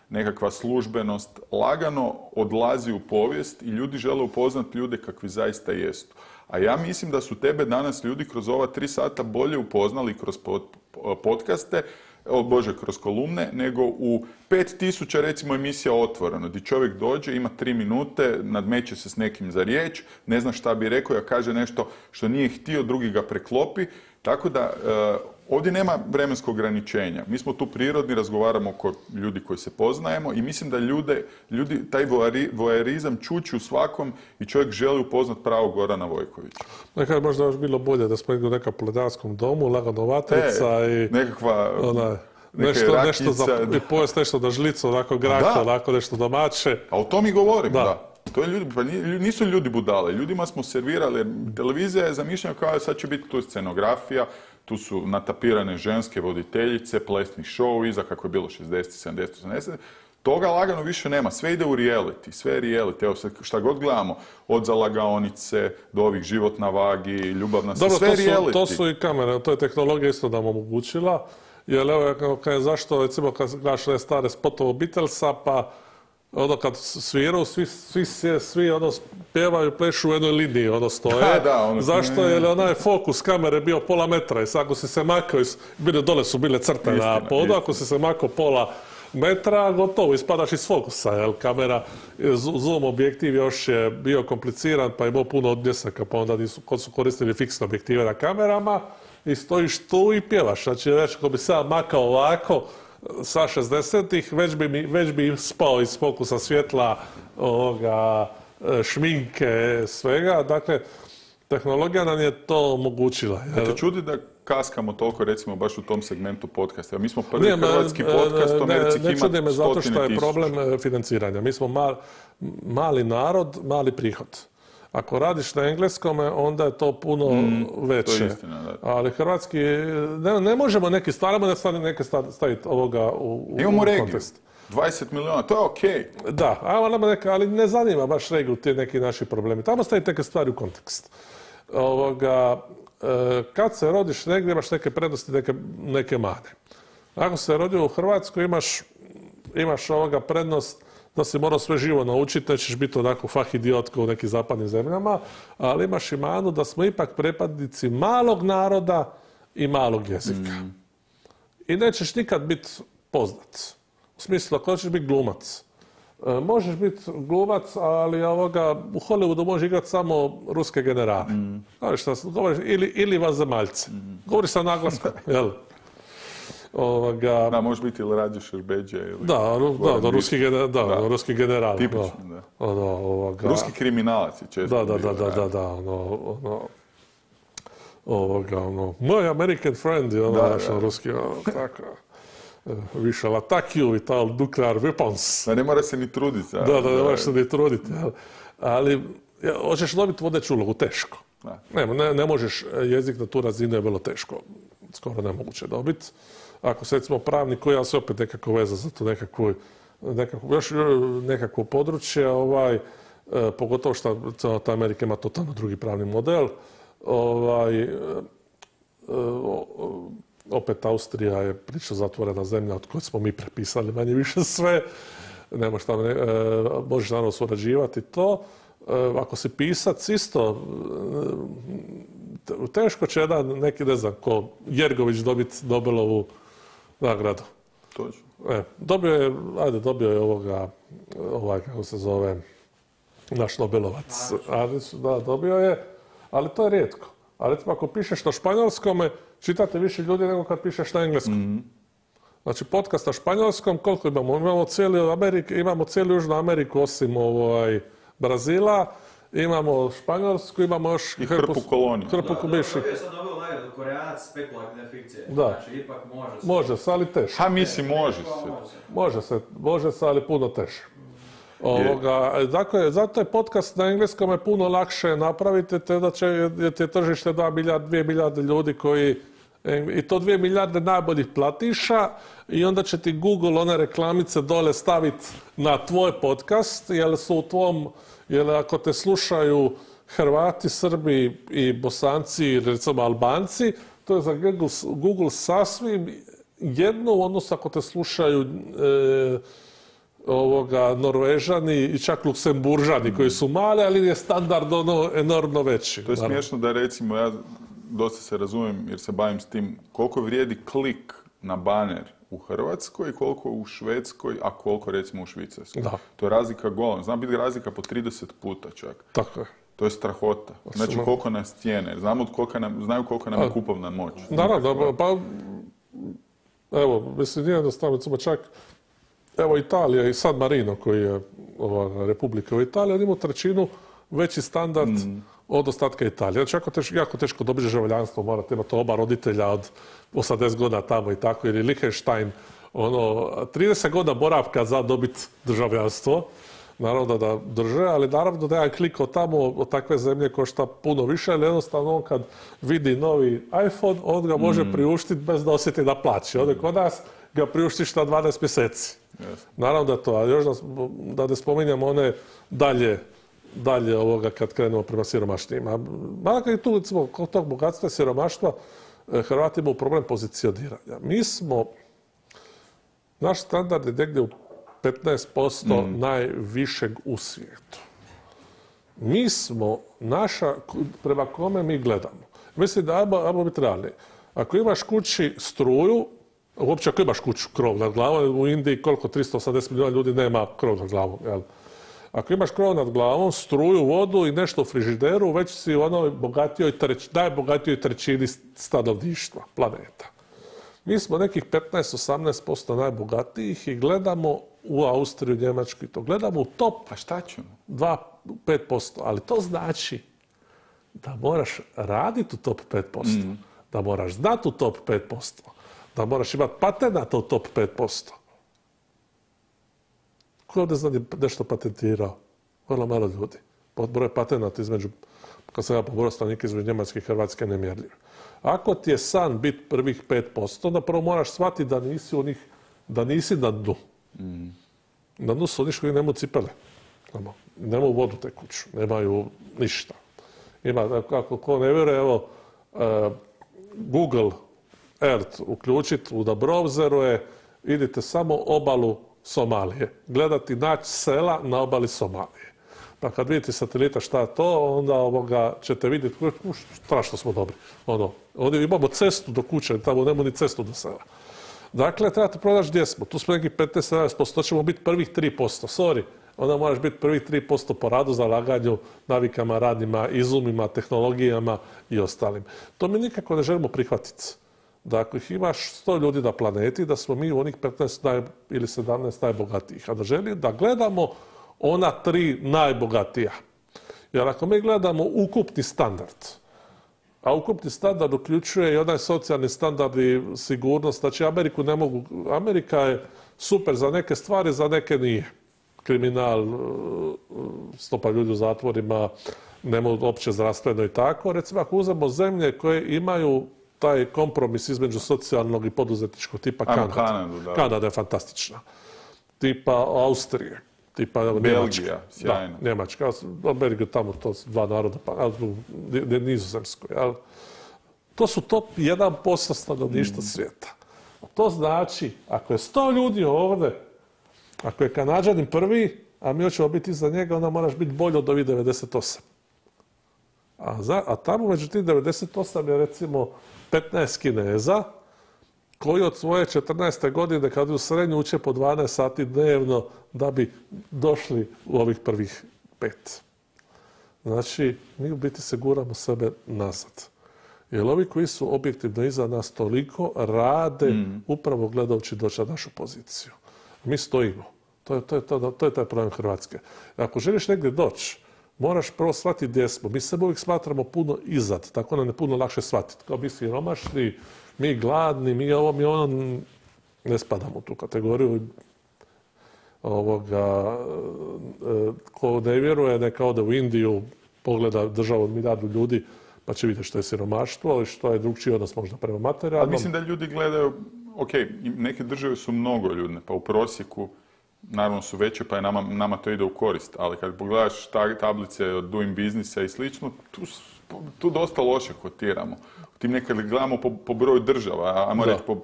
nekakva službenost lagano odlazi u povijest i ljudi žele upoznati ljude kakvi zaista jesu. A ja mislim da su tebe danas ljudi kroz ova tri sata bolje upoznali kroz pod, podcaste, o Bože, kroz kolumne, nego u pet tisuća recimo emisija Otvoreno, gdje čovjek dođe, ima tri minute, nadmeće se s nekim za riječ, ne zna šta bi rekao, ja kaže nešto što nije htio, drugi ga preklopi. Tako da e, ovdje nema vremenskog ograničenja. Mi smo tu prirodni, razgovaramo oko ljudi koji se poznajemo i mislim da ljude, ljudi, taj voajerizam čuči u svakom i čovjek želi upoznat pravog Gorana Vojkovića. Nekad možda još bilo bolje da smo igli u nekom pledarskom domu, lagano vatrica e, i... nekakva... Ona, nešto, nešto za, i pojest nešto da žlicu, onako graka, onako nešto domaće. A o tom i govorim, da. da. To je ljudi, pa nisu ljudi budale, ljudima smo servirali, televizija je zamišljena kao sad će biti tu scenografija, tu su natapirane ženske voditeljice, plesni show, iza kako je bilo šezdeset, sedamdeset, osamdeset. Toga lagano više nema, sve ide u reality, sve je reality. Evo šta god gledamo, od zalagaonice do ovih život na vagi, ljubavna se, sve je reality. To su i kamere, to je tehnologija isto nam omogućila. Jer evo, kada zašto, recimo, kad gledaš ne stare spotove Beatlesa, pa ono kad sviraju, svi, svi, svi ono, pjevaju, plešu u jednoj liniji, ono stoje. Da, da, ono, zašto? Ne... Jer onaj fokus kamere bio pola metra i sad ako si se makao, bile, dole su bile crte istina, na podu, ako si se makao pola metra, gotovo, ispadaš iz fokusa, jel, kamera, zoom objektiv još je bio kompliciran, pa je imao puno odmjesaka, pa onda nisu, kod su koristili fiksne objektive na kamerama i stojiš tu i pjevaš. Znači, već ako bi sad makao ovako, sa šezdesetih, već bi, mi, već bi spao iz fokusa svjetla, ovoga, šminke, svega. Dakle, tehnologija nam je to omogućila. Ne te čudi da kaskamo toliko, recimo, baš u tom segmentu podcasta. Mi smo prvi ne, hrvatski podcast, u Americi ima ne čudi me zato što je problem financiranja. Mi smo mal, mali narod, mali prihod. Ako radiš na engleskome, onda je to puno mm, veće. To je istina, da. Ali hrvatski, ne, ne možemo neki stvaramo da stane neke staviti ovoga u, u Imamo regiju, kontekst. dvadeset milijuna, to je okej. Okay. Da, neka, ali ne zanima baš regiju ti neki naši problemi. Tamo staviti neke stvari u kontekst. Ovoga, kad se rodiš negdje, imaš neke prednosti, neke, neke mane. Ako se rodio u Hrvatskoj, imaš, imaš ovoga prednost da si morao sve živo naučiti, nećeš biti onako fah idiot kao u nekim zapadnim zemljama, ali imaš i manu da smo ipak prepadnici malog naroda i malog jezika. Mm. I nećeš nikad biti poznat. U smislu, ako hoćeš biti glumac. E, možeš biti glumac, ali ovoga, u Hollywoodu može igrati samo ruske generale. Mm. Govoriš, govoriš, ili, ili vanzemaljce. Mm. Govoriš sa naglaskom, jel? Ovoga... Da, može biti ili Rađe Šerbeđe ili... Da, da, da, ruski, gener, da, da. ruski general. Tipično, da. Ono, ovoga... Ruski kriminalac je često. Da, da, da, da, da, da, ono, ono, ovoga, ono, moj American friend je ono, naš ruski, ono, tako, we shall attack you with all nuclear weapons. Da, ne mora se ni truditi. Da, da, da, ne moraš se ni truditi, ali ja, hoćeš dobiti vodeću ulogu, teško. Ne, ne, ne možeš, jezik na tu razinu je vrlo teško. skoro nemoguće dobiti. Ako se recimo pravnik koji, ali se opet nekako veza za to nekakvu, nekako, još nekakvo područje, ovaj, e, pogotovo što ta Amerika ima totalno drugi pravni model. Ovaj, e, o, opet Austrija je prilično zatvorena zemlja od koje smo mi prepisali manje više sve. Nema šta, ne, e, možeš naravno surađivati to. E, ako si pisac isto, e, teško će jedan neki, ne znam, ko Jergović dobiti Nobelovu nagradu. Točno. E, dobio je, ajde, dobio je ovoga, ovaj, kako se zove, naš Nobelovac. Ali, da, dobio je, ali to je rijetko. A recimo, ako pišeš na španjolskome, čitate više ljudi nego kad pišeš na engleskom. Mm-hmm. Znači, podcast na španjolskom, koliko imamo? Imamo cijelu Ameriku, imamo cijelu Južnu Ameriku, osim ovaj, Brazila, imamo Španjolsku, imamo još i hrpu koloniju. Hrpu kubiši. Da, je sad dobio nagradu Koreanac spekulativne fikcije. Da. Znači, ipak može se. Može se, ali teško. Ha, mislim, može se. Može se, može se, ali puno teže. Ovoga, dakle, zato je podcast na engleskom je puno lakše napraviti, te da će, jer ti je tržište dva milijarde, dvije milijarde ljudi koji, i to dvije milijarde najboljih platiša, i onda će ti Google one reklamice dole staviti na tvoj podcast, jer su u tvom, jer ako te slušaju Hrvati, Srbi i Bosanci, recimo Albanci, to je za Google, Google sasvim jedno u odnosu ako te slušaju e, ovoga, Norvežani i čak Luksemburžani koji su mali, ali je standard ono enormno veći. To je smiješno da recimo, ja dosta se razumijem jer se bavim s tim, koliko vrijedi klik na baner u Hrvatskoj, koliko u Švedskoj, a koliko recimo u Švicarskoj. Da. To je razlika golem. Zna biti razlika po trideset puta čak. Tako je. To je strahota. Znači koliko nas cijene. Znamo koliko nam, znaju koliko nam je kupovna moć. Naravno, pa evo, mislim, nije jednostavno, recimo čak evo Italija i San Marino koji je ova Republika u Italiji, on ima trećinu veći standard mm. od ostatka Italije. Znači jako teško, jako teško dobiti državljanstvo, morate imati oba roditelja od osamdeset godina tamo i tako, ili Liechtenstein, ono, trideset godina boravka za dobiti državljanstvo. Naravno da drže, ali naravno da jedan klik od tamo, od takve zemlje košta puno više, ali jednostavno on kad vidi novi iPhone, on ga može mm. priuštiti bez da osjeti da plaći. Ovdje kod nas ga priuštiš na dvanaest mjeseci. Yes. Naravno da to, a još da, da ne spominjamo one dalje, dalje ovoga kad krenemo prema siromašnijima. Malako i tu, recimo, kod tog bogatstva i siromaštva, Hrvati imaju problem pozicioniranja. Mi smo, naš standard je negdje u petnaest posto mm. najvišeg u svijetu. Mi smo, naša, prema kome mi gledamo. Mislim da, ajmo, ajmo biti realni. Ako imaš kući struju, uopće ako imaš kuću, krov nad glavom, u Indiji koliko tristo osamdeset milijuna ljudi nema krov nad glavom. Jel? Ako imaš krov nad glavom, struju, vodu i nešto u frižideru, već si u onoj bogatijoj treć, najbogatijoj trećini stanovništva planeta. Mi smo nekih petnaest do osamnaest posto najbogatijih i gledamo u Austriju, Njemačku i to. Gledamo u top. A šta ćemo? dva do pet posto. Ali to znači da moraš raditi u top pet posto. Mm. Da moraš znati u top pet posto. Da moraš imati patenata u top pet posto. Ko je ovdje zna nešto patentirao? Vrlo malo ljudi. Broj patenata između, kad sam ja pobrao stanovnika između Njemačke i Hrvatske, nemjerljiv. Ako ti je san biti prvih pet posto, onda prvo moraš shvatiti da nisi u njih, da nisi na dnu. Mm. Na dnu su oni koji nemaju cipele. Nemaju vodu tekuću, nemaju ništa. Ima, ako ko ne vjeruje, evo, uh, Google Earth uključiti u da browseru je, idite samo obalu Somalije. Gledati naći sela na obali Somalije. Pa kad vidite satelita šta je to, onda ovoga ćete vidjeti, strašno smo dobri. Ono, ovdje imamo cestu do kuće, tamo nemamo ni cestu do sela. Dakle, trebate pronaći gdje smo. Tu smo nekih petnaest do sedamnaest posto, to ćemo biti prvih tri posto. Sorry, onda moraš biti prvih tri posto po radu, zalaganju, navikama, radnima, izumima, tehnologijama i ostalim. To mi nikako ne želimo prihvatiti. Da ako ih imaš sto ljudi na planeti, da smo mi u onih petnaest naj, ili sedamnaest najbogatijih. A da želim da gledamo ona tri najbogatija. Jer ako mi gledamo ukupni standard, a ukupni standard uključuje i onaj socijalni standard i sigurnost, znači Ameriku ne mogu, Amerika je super za neke stvari, za neke nije. Kriminal, stopa ljudi u zatvorima, nema opće zdravstveno i tako. Recimo ako uzmemo zemlje koje imaju taj kompromis između socijalnog i poduzetničkog tipa Ajmo Kanada. Kanadu, da. Kanada je fantastična. Tipa Austrije. Tipa evo, Belgija, Njemačka. sjajno. Da, Njemačka. Belgija tamo to su dva naroda, pa ali u Ni- Nizozemskoj. Ali to su top jedan posto stanovništva svijeta. To znači, ako je sto ljudi ovdje, ako je Kanađanin prvi, a mi hoćemo biti iza njega, onda moraš biti bolji od ovih devedeset osam. A, za, a tamo među tih devedeset osam je recimo petnaest Kineza, koji od svoje četrnaeste godine kad u srednju uče po dvanaest sati dnevno da bi došli u ovih prvih pet. Znači, mi u biti se guramo sebe nazad. Jer ovi koji su objektivno iza nas toliko rade mm. upravo gledajući doći na našu poziciju. Mi stojimo. To je, to je, to, to je taj problem Hrvatske. Ako želiš negdje doći, moraš prvo shvatiti gdje smo. Mi sebe uvijek smatramo puno izad, tako nam je puno lakše shvatiti. Kao mi siromašni, mi gladni, mi ovo, mi ono, ne spadamo u tu kategoriju. Ovoga, ko ne vjeruje, neka ode u Indiju, pogleda državu milijardu ljudi, pa će vidjeti što je siromaštvo, ali što je drugčiji odnos možda prema materijalnom. Ali mislim da ljudi gledaju, ok, neke države su mnogo ljudne, pa u prosjeku naravno su veće, pa je nama, nama to ide u korist, ali kad pogledaš ta, tablice od Doing Businessa i slično, tu, tu dosta loše kotiramo. Tim nekad gledamo po, po broju država, ajmo reći po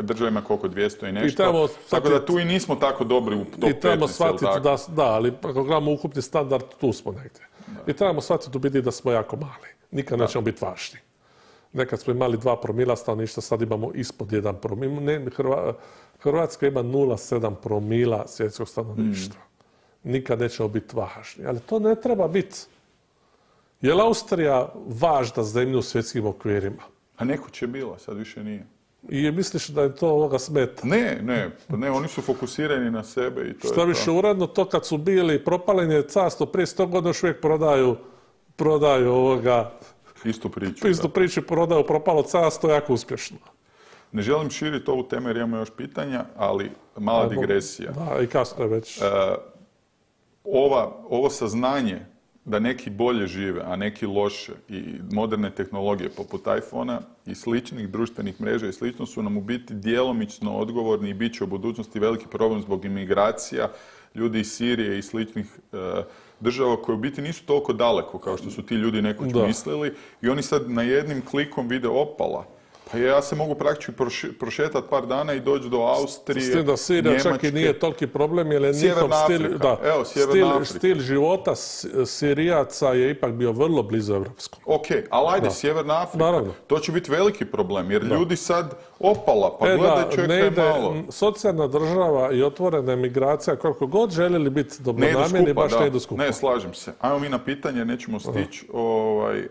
država ima koliko, dvjesto i nešto, I tako da tu i nismo tako dobri u top petnaest. I trebamo shvatiti da, da, ali ako gledamo ukupni standard, tu smo negdje. Da. I trebamo shvatiti u biti da smo jako mali. Nikad da. nećemo biti važni. Nekad smo imali dva promila stanovništva, sad imamo ispod jedan promil. Ne, Hrva, Hrvatska ima nula zarez sedam promila svjetskog stanovništva. Mm. Nikad nećemo biti važni. Ali to ne treba biti. Je li Austrija važna zemlja u svjetskim okvirima? A neko će bila, sad više nije. I misliš da je to ovoga smeta? Ne, ne, ne, oni su fokusirani na sebe i to Što je više to. uredno, to kad su bili propaljen je carstvo prije sto godina još uvijek prodaju, prodaju ovoga... Istu priču. Istu da. priču prodaju propalo carstvo jako uspješno. Ne želim širiti ovu temu jer imamo još pitanja, ali mala digresija. Da, i kasno je već. E, ova, ovo saznanje da neki bolje žive, a neki loše i moderne tehnologije poput iPhona i sličnih društvenih mreža i slično su nam u biti djelomično odgovorni i bit će u budućnosti veliki problem zbog imigracija ljudi iz Sirije i sličnih e, država koje u biti nisu toliko daleko kao što su ti ljudi nekoć da. mislili i oni sad na jednim klikom vide opala. Pa ja se mogu praktički prošetati par dana i doći do Austrije, S tim da Sirija Njemačke. čak i nije toliki problem, jer je njihov stil, da, Evo, stil, stil života Sirijaca je ipak bio vrlo blizu evropskom. Ok, ali ajde, da. Sjeverna Afrika, Naravno. to će biti veliki problem, jer da. ljudi sad opala, pa e, gledaj da, čekaj malo. Socijalna država i otvorena emigracija, koliko god željeli biti dobronamjerni, baš ne idu skupa. Ne, slažem se. Ajmo mi na pitanje, nećemo stići. Ovaj...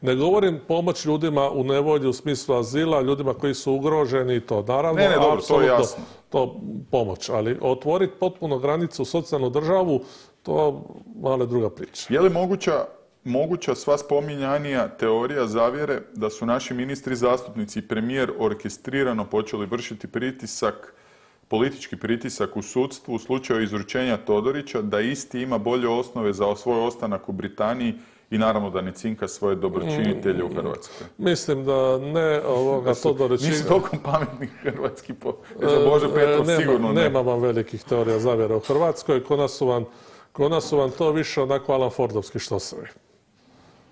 Ne govorim pomoć ljudima u nevolji u smislu azila, ljudima koji su ugroženi i to. Naravno, ne, ne, dobro, to je jasno. To pomoć, ali otvoriti potpuno granicu u socijalnu državu, to malo druga priča. Je li moguća, moguća sva spominjanija teorija zavjere da su naši ministri, zastupnici i premijer orkestrirano počeli vršiti pritisak, politički pritisak u sudstvu u slučaju izručenja Todorića, da isti ima bolje osnove za svoj ostanak u Britaniji i naravno da ne cinka svoje dobročinitelje u Hrvatskoj? Mislim da ne ovoga Todorića... Nisu toliko pametni hrvatski po... Za Bože Petrov nema, sigurno ne. Nema vam velikih teorija zavjere u Hrvatskoj. Kod nas su vam, kod nas su vam to više onako Alan Fordovski štosevi.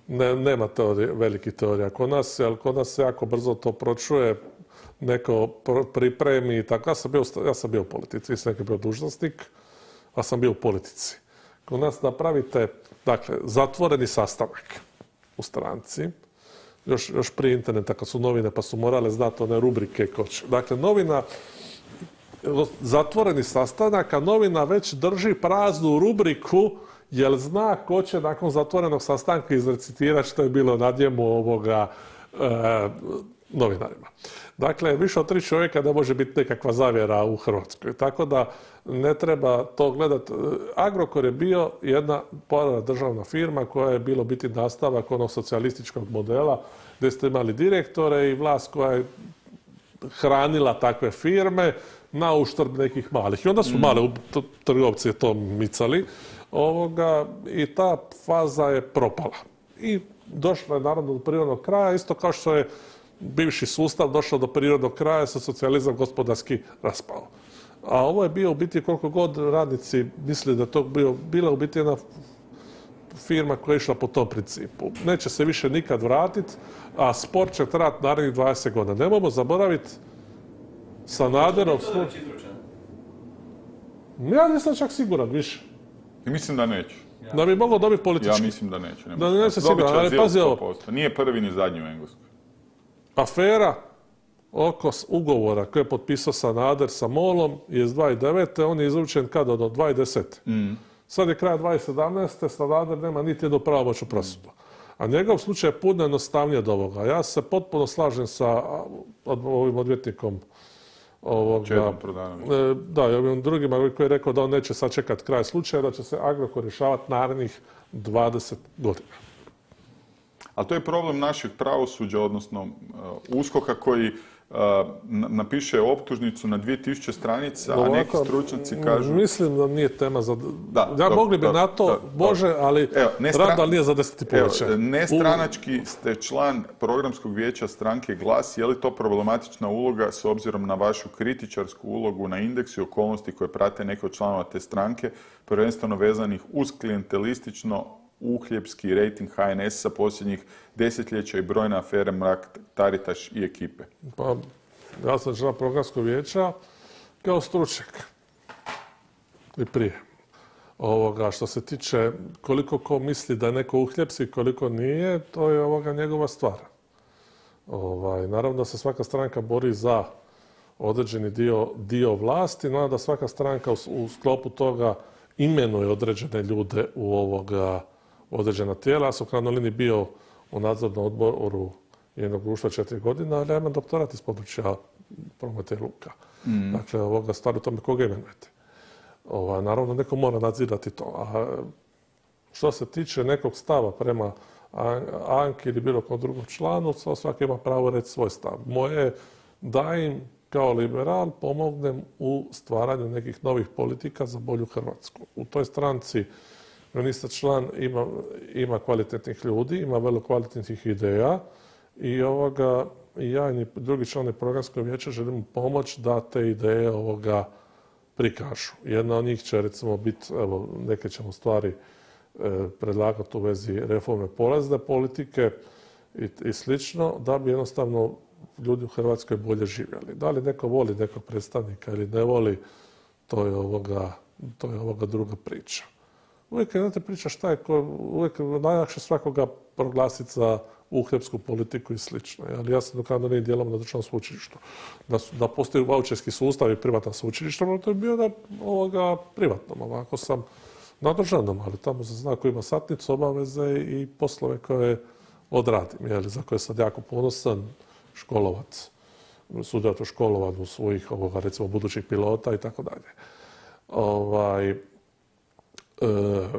Ne, nema teorije, velikih teorija kod nas, ali kod nas se jako brzo to pročuje, neko pripremi i tako. Ja sam bio, ja sam bio u politici, nisam neki bio dužnosnik, a sam bio u politici. Kod nas napravite, dakle, zatvoreni sastanak u stranci, još, još prije interneta kad su novine pa su morale znati one rubrike koč. Dakle, novina, zatvoreni sastanak, a novina već drži praznu rubriku jer zna ko će nakon zatvorenog sastanka izrecitirati što je bilo na njemu ovoga e, novinarima. Dakle, više od tri čovjeka ne može biti nekakva zavjera u Hrvatskoj. Tako da ne treba to gledati. Agrokor je bio jedna državna firma koja je bilo biti nastavak onog socijalističkog modela gdje ste imali direktore i vlast koja je hranila takve firme na uštrb nekih malih. I onda su mm. male trgovci to micali ovoga, i ta faza je propala. I došla je naravno do prirodnog kraja, isto kao što je bivši sustav došao do prirodnog kraja, se socijalizam gospodarski raspao. A ovo je bio u biti koliko god radnici misli da to bio, bila u biti jedna firma koja je išla po tom principu. Neće se više nikad vratiti, a sport će trajati narednih dvadeset godina. Nemojmo zaboraviti Sanaderov slučaj. Ja nisam čak siguran više. I mislim da neće. Da bi mogao dobiti politički. Ja mislim da neće. Da neće siguran, ali pazi ovo. Nije prvi ni zadnji u Engleskoj. Afera oko ugovora koje je potpisao Sanader sa MOL-om je iz dvadeset devete. On je izručen kada? Do dvadeset desete. Mm. Sad je kraj dvadeset sedamnaeste. Sanader nema niti jednu pravomoćnu presudu. A njegov slučaj je puno jednostavnije od ovoga. Ja se potpuno slažem sa ovim odvjetnikom ovoga, da, i ovim drugima koji je rekao da on neće sad čekati kraj slučaja, da će se Agrokor rješavati narednih dvadeset godina. Ali to je problem našeg pravosuđa, odnosno uh, uskoka koji uh, napiše optužnicu na dvije tisuće stranica, ovako, a neki stručnjaci kažu... Mislim da nije tema za... Da, ja mogli bi na to, Bože, da, ali rad da nije za deset i pol večer. Nestranački ste član programskog vijeća stranke Glas. Je li to problematična uloga s obzirom na vašu kritičarsku ulogu na Indeksu i okolnosti koje prate neke od članova te stranke, prvenstveno vezanih uz klijentelistično uhljebski rejting H N S-a posljednjih desetljeća i brojne afere Mrak-Taritaš i ekipe? Pa, ja sam član programskog vijeća kao stručnjak i prije. Ovoga, što se tiče koliko ko misli da je neko uhljebski, koliko nije, to je ovoga njegova stvar. Ovaj, naravno da se svaka stranka bori za određeni dio, dio vlasti, naravno da svaka stranka u, u sklopu toga imenuje određene ljude u ovoga određena tijela. Ja sam u krajnjoj liniji bio u nadzornom odboru jednog društva četiri godina, ali ja imam doktorat iz područja prometa i luka. Mm. Dakle, ovoga stvari u tome koga imenujete. Ova, naravno, neko mora nadzirati to. A što se tiče nekog stava prema Anki ili bilo kom drugom članu, svaki ima pravo reći svoj stav. Moje je da im kao liberal pomognem u stvaranju nekih novih politika za bolju Hrvatsku. U toj stranci ministar član ima, ima kvalitetnih ljudi, ima vrlo kvalitetnih ideja i ovoga, ja i drugi članovi programskog vijeća želimo pomoći da te ideje ovoga prikažu. Jedna od njih će recimo biti, evo, neke ćemo stvari e, predlagati u vezi reforme porezne politike i, i slično, da bi jednostavno ljudi u Hrvatskoj bolje živjeli. Da li neko voli nekog predstavnika ili ne voli, to je ovoga, to je ovoga druga priča. Uvijek je priča šta je, uvijek je najlakše svakoga proglasiti za uhljebsku politiku i slično. Ali ja sam dokazano nije dijelom na državnom sveučilištu. Da, da postoji vaučerski sustav i privatna sveučilišta, to je bio na ovoga privatnom. Ovako sam na državnom, ali tamo se zna ko ima satnicu, obaveze i poslove koje odradim, jeli, za koje sam jako ponosan, školovac, sudjelovati u školovanju svojih ovoga, recimo budućih pilota i tako dalje. Ovaj, E,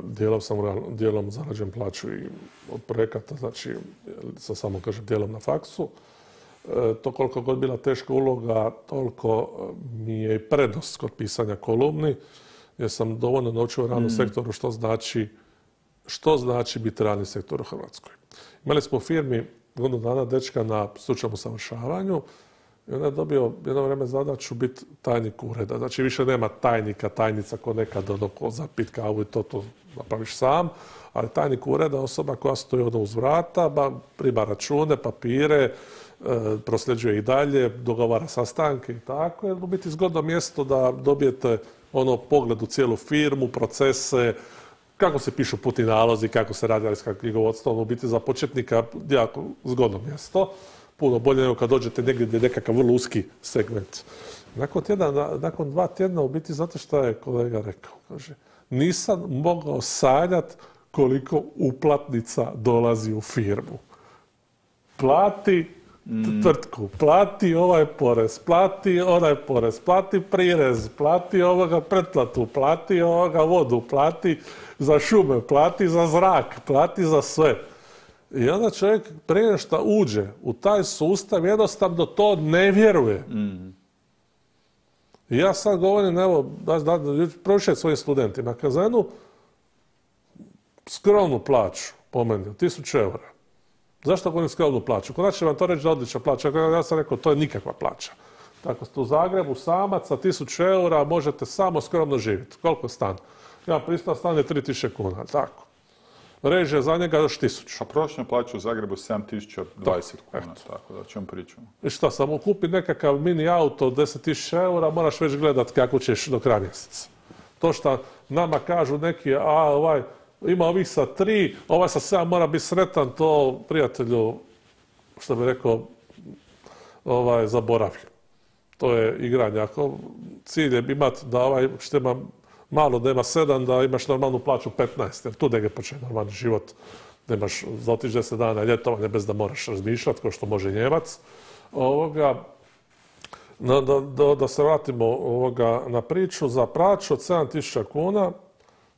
dijelom sam dijelom zarađujem plaću i od projekata, znači sa samo kažem dijelom na faksu. E, to koliko god bila teška uloga, toliko mi je i prednost kod pisanja kolumni, jer sam dovoljno naučio u realnom mm. sektoru što znači, što znači biti realni sektor u Hrvatskoj. Imali smo u firmi godinu dana dečka na stručnom usavršavanju i onda je dobio jedno vrijeme zadaću biti tajnik ureda. Znači više nema tajnika, tajnica ko nekad ono ko za pit kavu i to, to napraviš sam, ali tajnik ureda je osoba koja stoji ono uz vrata, ba, prima račune, papire, e, prosljeđuje ih dalje, dogovara sastanke i tako. Je u biti zgodno mjesto da dobijete ono pogled u cijelu firmu, procese, kako se pišu putni nalozi, kako se radi knjigovodstvo, u biti za početnika jako zgodno mjesto. Puno bolje nego kad dođete negdje gdje je nekakav vrlo uski segment. Nakon, tjedna, nakon dva tjedna u biti, zato što je kolega rekao, kaže, nisam mogao sanjati koliko uplatnica dolazi u firmu. Plati mm. tvrtku, plati ovaj porez, plati onaj porez, plati prirez, plati ovoga pretplatu, plati ovoga vodu, plati za šume, plati za zrak, plati za sve. I onda čovjek prije što uđe u taj sustav jednostavno to ne vjeruje. Mm. I ja sad govorim, evo, da, da, da prošet svojim studentima, kad za jednu skromnu plaću, po meni, tisuću eura, Zašto govorim skromnu plaću? Konačno će vam to reći da je odlična plaća. Ja sam rekao, to je nikakva plaća. Tako ste u Zagrebu samac sa tisuću eura možete samo skromno živjeti. Koliko stan? Ja pristan stan je tri tisuće kuna, tako. Režije za njega još tisuću. A prošla plaća u Zagrebu sedam tisuća dvadeset kuna, tako da o čem pričamo. I šta, samo kupi nekakav mini auto od deset tisuća eura, moraš već gledat kako ćeš do kraja mjeseca. To što nama kažu neki, a ovaj, ima ovih sa tri, ovaj sa sedam mora biti sretan, to prijatelju, što bi rekao, ovaj, zaboravi. To je igranje. Ako cilj je imati da ovaj što ima malo da ima sedam, da imaš normalnu plaću petnaest, jer tu da ga počne normalni život, da imaš za otići deset dana ljetovanje bez da moraš razmišljati, kao što može Njemac. Ovoga, da, da, da se vratimo ovoga na priču, za plaću od sedam tisuća kuna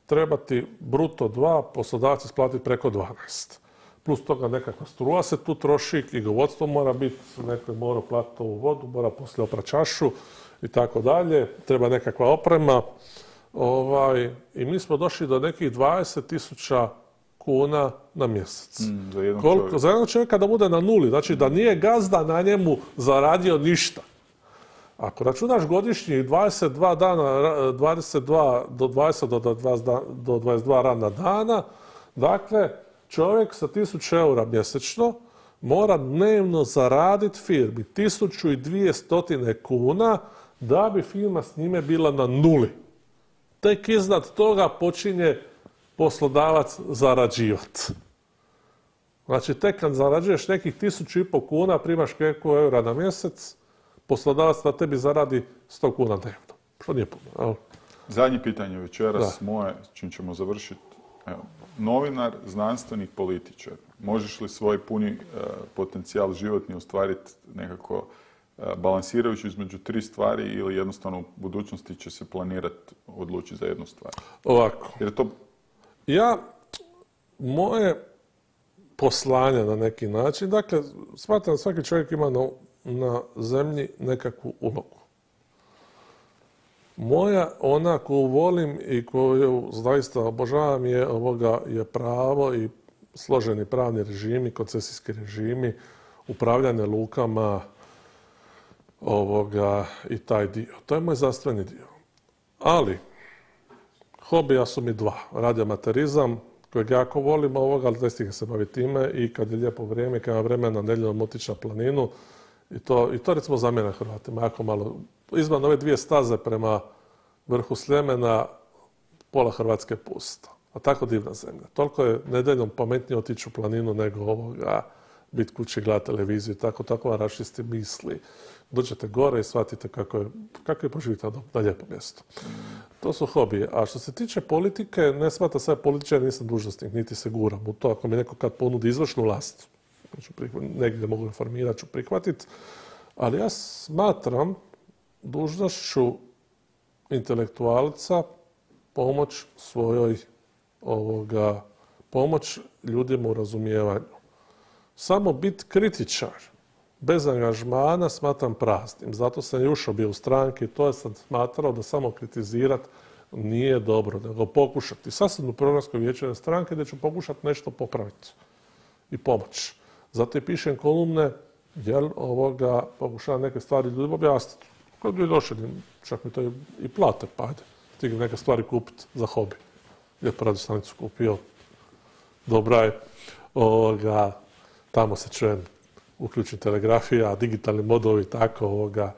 treba ti bruto dva, poslodavac isplatiti preko dvanaest. Plus toga nekakva struja se tu troši, knjigovodstvo mora biti, neko je mora platiti ovu vodu, mora poslije oprati čašu i tako dalje, treba nekakva oprema. Ovaj, I mi smo došli do nekih dvadeset tisuća kuna na mjesec. Mm, za jednog Koliko, čovjeka. za jednog čovjeka da bude na nuli, znači da nije gazda na njemu zaradio ništa. Ako računaš godišnji dvadeset dva dana, dvadeset dva do dvadeset do dvadeset dva radna dana, dakle, čovjek sa tisuću eura mjesečno mora dnevno zaraditi firmi tisuću dvjesto kuna da bi firma s njime bila na nuli. Tek iznad toga počinje poslodavac zarađivati. Znači, tek kad zarađuješ nekih tisuću i pol kuna, primaš koliko eura na mjesec, poslodavac na tebi zaradi sto kuna dnevno. Što nije puno. Zadnje pitanje večeras, Da. moje, čim ćemo završiti. Evo, novinar, znanstvenik, političar. Možeš li svoj puni e, potencijal životni ostvariti nekako e, balansirajući između tri stvari ili jednostavno u budućnosti će se planirati odlučiti za jednu stvar? Ovako. Jer je to Ja, moje poslanje na neki način, dakle, smatram da svaki čovjek ima na, na zemlji nekakvu ulogu. Moja, ona koju volim i koju zaista obožavam je, ovoga, je pravo i složeni pravni režimi, koncesijski režimi, upravljanje lukama ovoga, i taj dio. To je moj zdravstveni dio. Ali, hobija su mi dva. Radioamaterizam, kojeg jako volim ovoga, ali ne stigne se baviti time i kad je lijepo vrijeme, kad ima vremena nedjeljom otići na planinu. I to, i to recimo za mene Hrvatima jako malo. Izvan ove dvije staze prema vrhu Sljemena, pola Hrvatske pusta. A tako divna zemlja. Toliko je nedjeljom pametnije otići u planinu nego ovoga, biti kući, gledati televiziju i tako, tako vam rašisti misli. Dođete gore i shvatite kako je, kako je poživite na lijepom mjestu. To su hobije. A što se tiče politike, ne smatra se političar, nisam dužnosnik, niti se guram u to. Ako mi neko kad ponudi izvršnu vlast, negdje mogu reformirati, ću prihvatiti. Ali ja smatram dužnošću intelektualca pomoć svojoj ovoga, pomoć ljudima u razumijevanju. Samo biti kritičar bez angažmana smatram praznim. Zato sam i ušao bio u stranke i to sam smatrao da samo kritizirati nije dobro, nego pokušati. Sad sam u programskoj vijeću stranke gdje ću pokušati nešto popraviti i pomoći. Zato i pišem kolumne, jer ovoga pokušavam neke stvari ljudima objasniti. Kad bi došli, čak mi to i plate, pa ajde, stigli neke stvari kupiti za hobi. Lijepo radio stanicu kupio, dobra je, ovoga, tamo se čujem, uključim telegrafija, digitalni modovi, tako ovoga.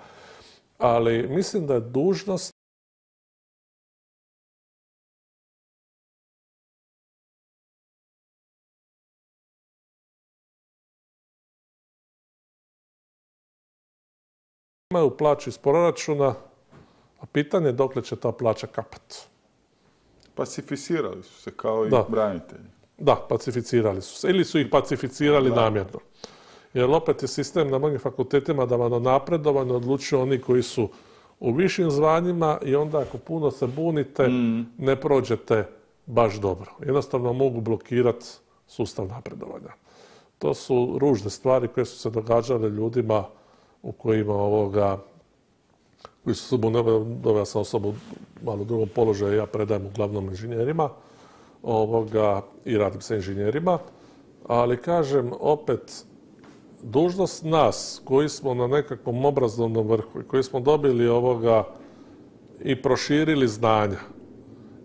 Ali mislim da je dužnost imaju plaću iz proračuna, a pitanje je dokle će ta plaća kapat. pacificirali su se kao i Da. branitelji. Da, pacificirali su se. Ili su ih pacificirali Da. namjerno. Jer opet je sistem na mnogim fakultetima da vam o napredovanju odlučuju oni koji su u višim zvanjima i onda ako puno se bunite, ne prođete baš dobro. Jednostavno mogu blokirati sustav napredovanja. To su ružne stvari koje su se događale ljudima u kojima ovoga, koji su se doveo sam osobu u malo drugom položaju, ja predajem uglavnom inženjerima ovoga, i radim sa inženjerima, ali kažem opet, dužnost nas koji smo na nekakvom obrazovnom vrhu i koji smo dobili ovoga i proširili znanja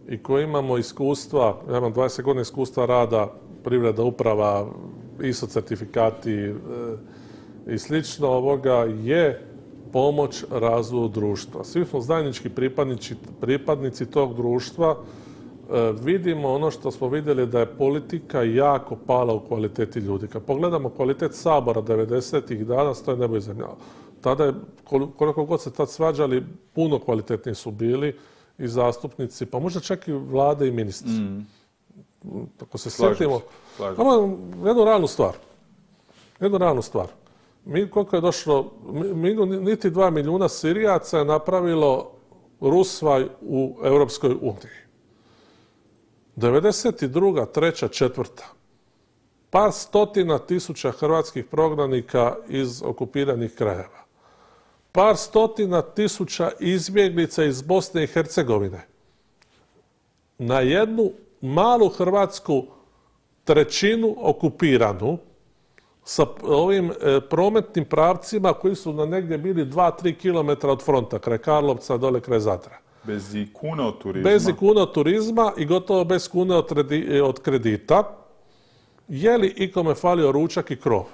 i koji imamo iskustva, ja imam dvadeset godina iskustva rada, privreda, uprava, I S O certifikati e, i slično ovoga, je pomoć razvoju društva. Svi smo zajednički pripadnici, pripadnici tog društva. E, vidimo ono što smo vidjeli da je politika jako pala u kvaliteti ljudi. Kad pogledamo kvalitet Sabora devedesetih dana, stoje nebo i zemlja. Tada je, koliko god se tad svađali, puno kvalitetniji su bili i zastupnici, pa možda čak i vlade i ministri. Mm. Ako se sjetimo, imamo jednu realnu stvar. Jednu realnu stvar. Mi, koliko je došlo, mi, niti dva milijuna Sirijaca je napravilo rusvaj u Europskoj uniji. devedeset druga, treća, četvrta. Par stotina tisuća hrvatskih prognanika iz okupiranih krajeva. Par stotina tisuća izbjeglica iz Bosne i Hercegovine. Na jednu malu Hrvatsku trećinu okupiranu sa ovim e, prometnim pravcima koji su na negdje bili dva do tri kilometra od fronta, kraj Karlovca, dole kraj Zadra. Bez i kune od turizma. Bez i kune od turizma i gotovo bez kune od, od kredita. Je li ikome falio ručak i krov?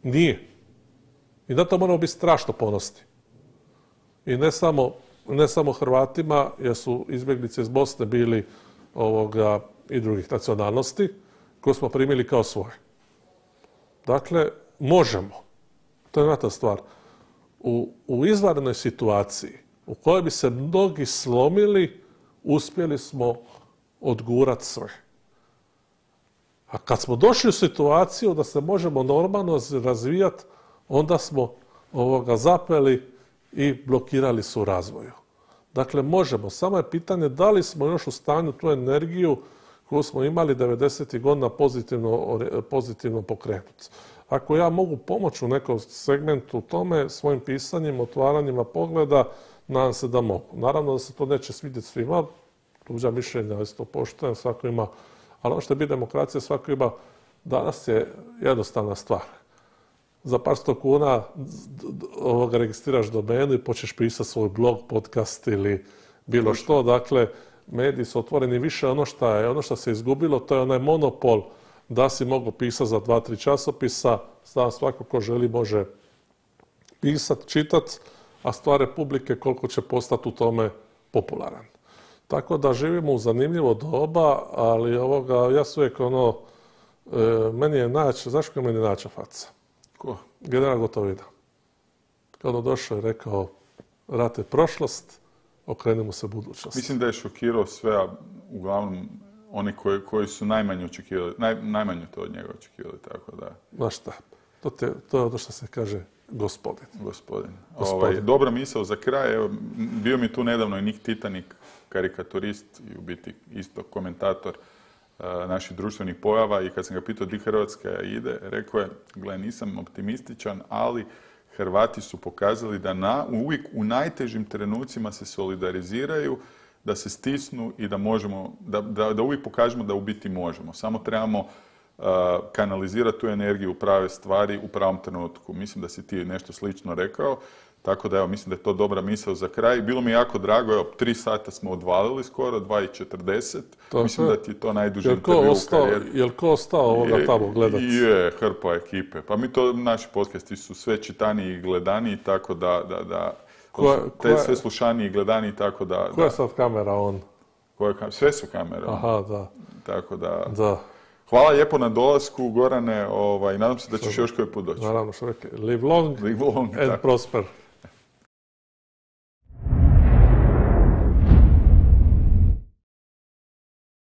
Nije. I na to moramo biti strašno ponosni. I ne samo, ne samo Hrvatima, jer su izbjeglice iz Bosne bili ovoga, i drugih nacionalnosti, koje smo primili kao svoje. Dakle, možemo. To je jedna ta stvar. U, u izvanrednoj situaciji u kojoj bi se mnogi slomili, uspjeli smo odgurati sve. A kad smo došli u situaciju da se možemo normalno razvijati, onda smo ovoga zapeli i blokirali su u razvoju. Dakle, možemo. Samo je pitanje da li smo još u stanju tu energiju koju smo imali devedesetih godina pozitivno, pozitivno pokrenuti. Ako ja mogu pomoći u nekom segmentu tome, svojim pisanjem, otvaranjima pogleda, nadam se da mogu. Naravno da se to neće svidjeti svima, tuđa mišljenja, ja to poštujem, svako ima, ali ono što je biti demokracija, svako ima, danas je jednostavna stvar. Za par sto kuna ovoga registriraš domenu i počneš pisati svoj blog, podcast ili bilo što. Dakle, mediji su otvoreni više. Ono što je, ono što se izgubilo, to je onaj monopol da si mogu pisati za dva, tri časopisa. Znam, svako ko želi može pisati, čitati, a stvar Republike koliko će postati u tome popularan. Tako da živimo u zanimljivo doba, ali ovoga, ja su uvijek ono, e, meni je naći, znaš kako je meni naća faca? Ko? General Gotovina. Kad on došao i rekao, rat je prošlost, okrenemo se budućnosti. Mislim da je šokirao sve, a uglavnom oni koji, koji su najmanje očekivali, naj, najmanje to od njega očekivali, tako da... Znaš šta, to, te, to je ono što se kaže gospodin. Gospodin. gospodin. Ovaj, dobra misao za kraj, evo, bio mi tu nedavno i Nik Titanik, karikaturist i u biti isto komentator uh, naših društvenih pojava i kad sam ga pitao di Hrvatska ide, rekao je, gle, nisam optimističan, ali Hrvati su pokazali da na, uvijek u najtežim trenucima se solidariziraju, da se stisnu i da možemo, da, da, da uvijek pokažemo da u biti možemo. Samo trebamo uh, kanalizirati tu energiju u prave stvari u pravom trenutku. Mislim da si ti nešto slično rekao, tako da evo, mislim da je to dobra misao za kraj. Bilo mi jako drago, evo, tri sata smo odvalili skoro, dva i četrdeset. Mislim da ti je to najduži intervju u karijeri. Jel ko ostao ovoga tamo gledati? Je, hrpa ekipe. Pa mi to, naši podcasti su sve čitaniji i gledaniji, tako da, da, da koja, te koja, sve slušaniji i gledaniji, tako da... Koja je sad kamera on? Koja, sve su kamere. Aha, da. Tako da... Da. Hvala lijepo na dolasku, Gorane, ovaj, nadam se da ćeš još koji put doći. Naravno, što reke, live long, live long and tako. prosper.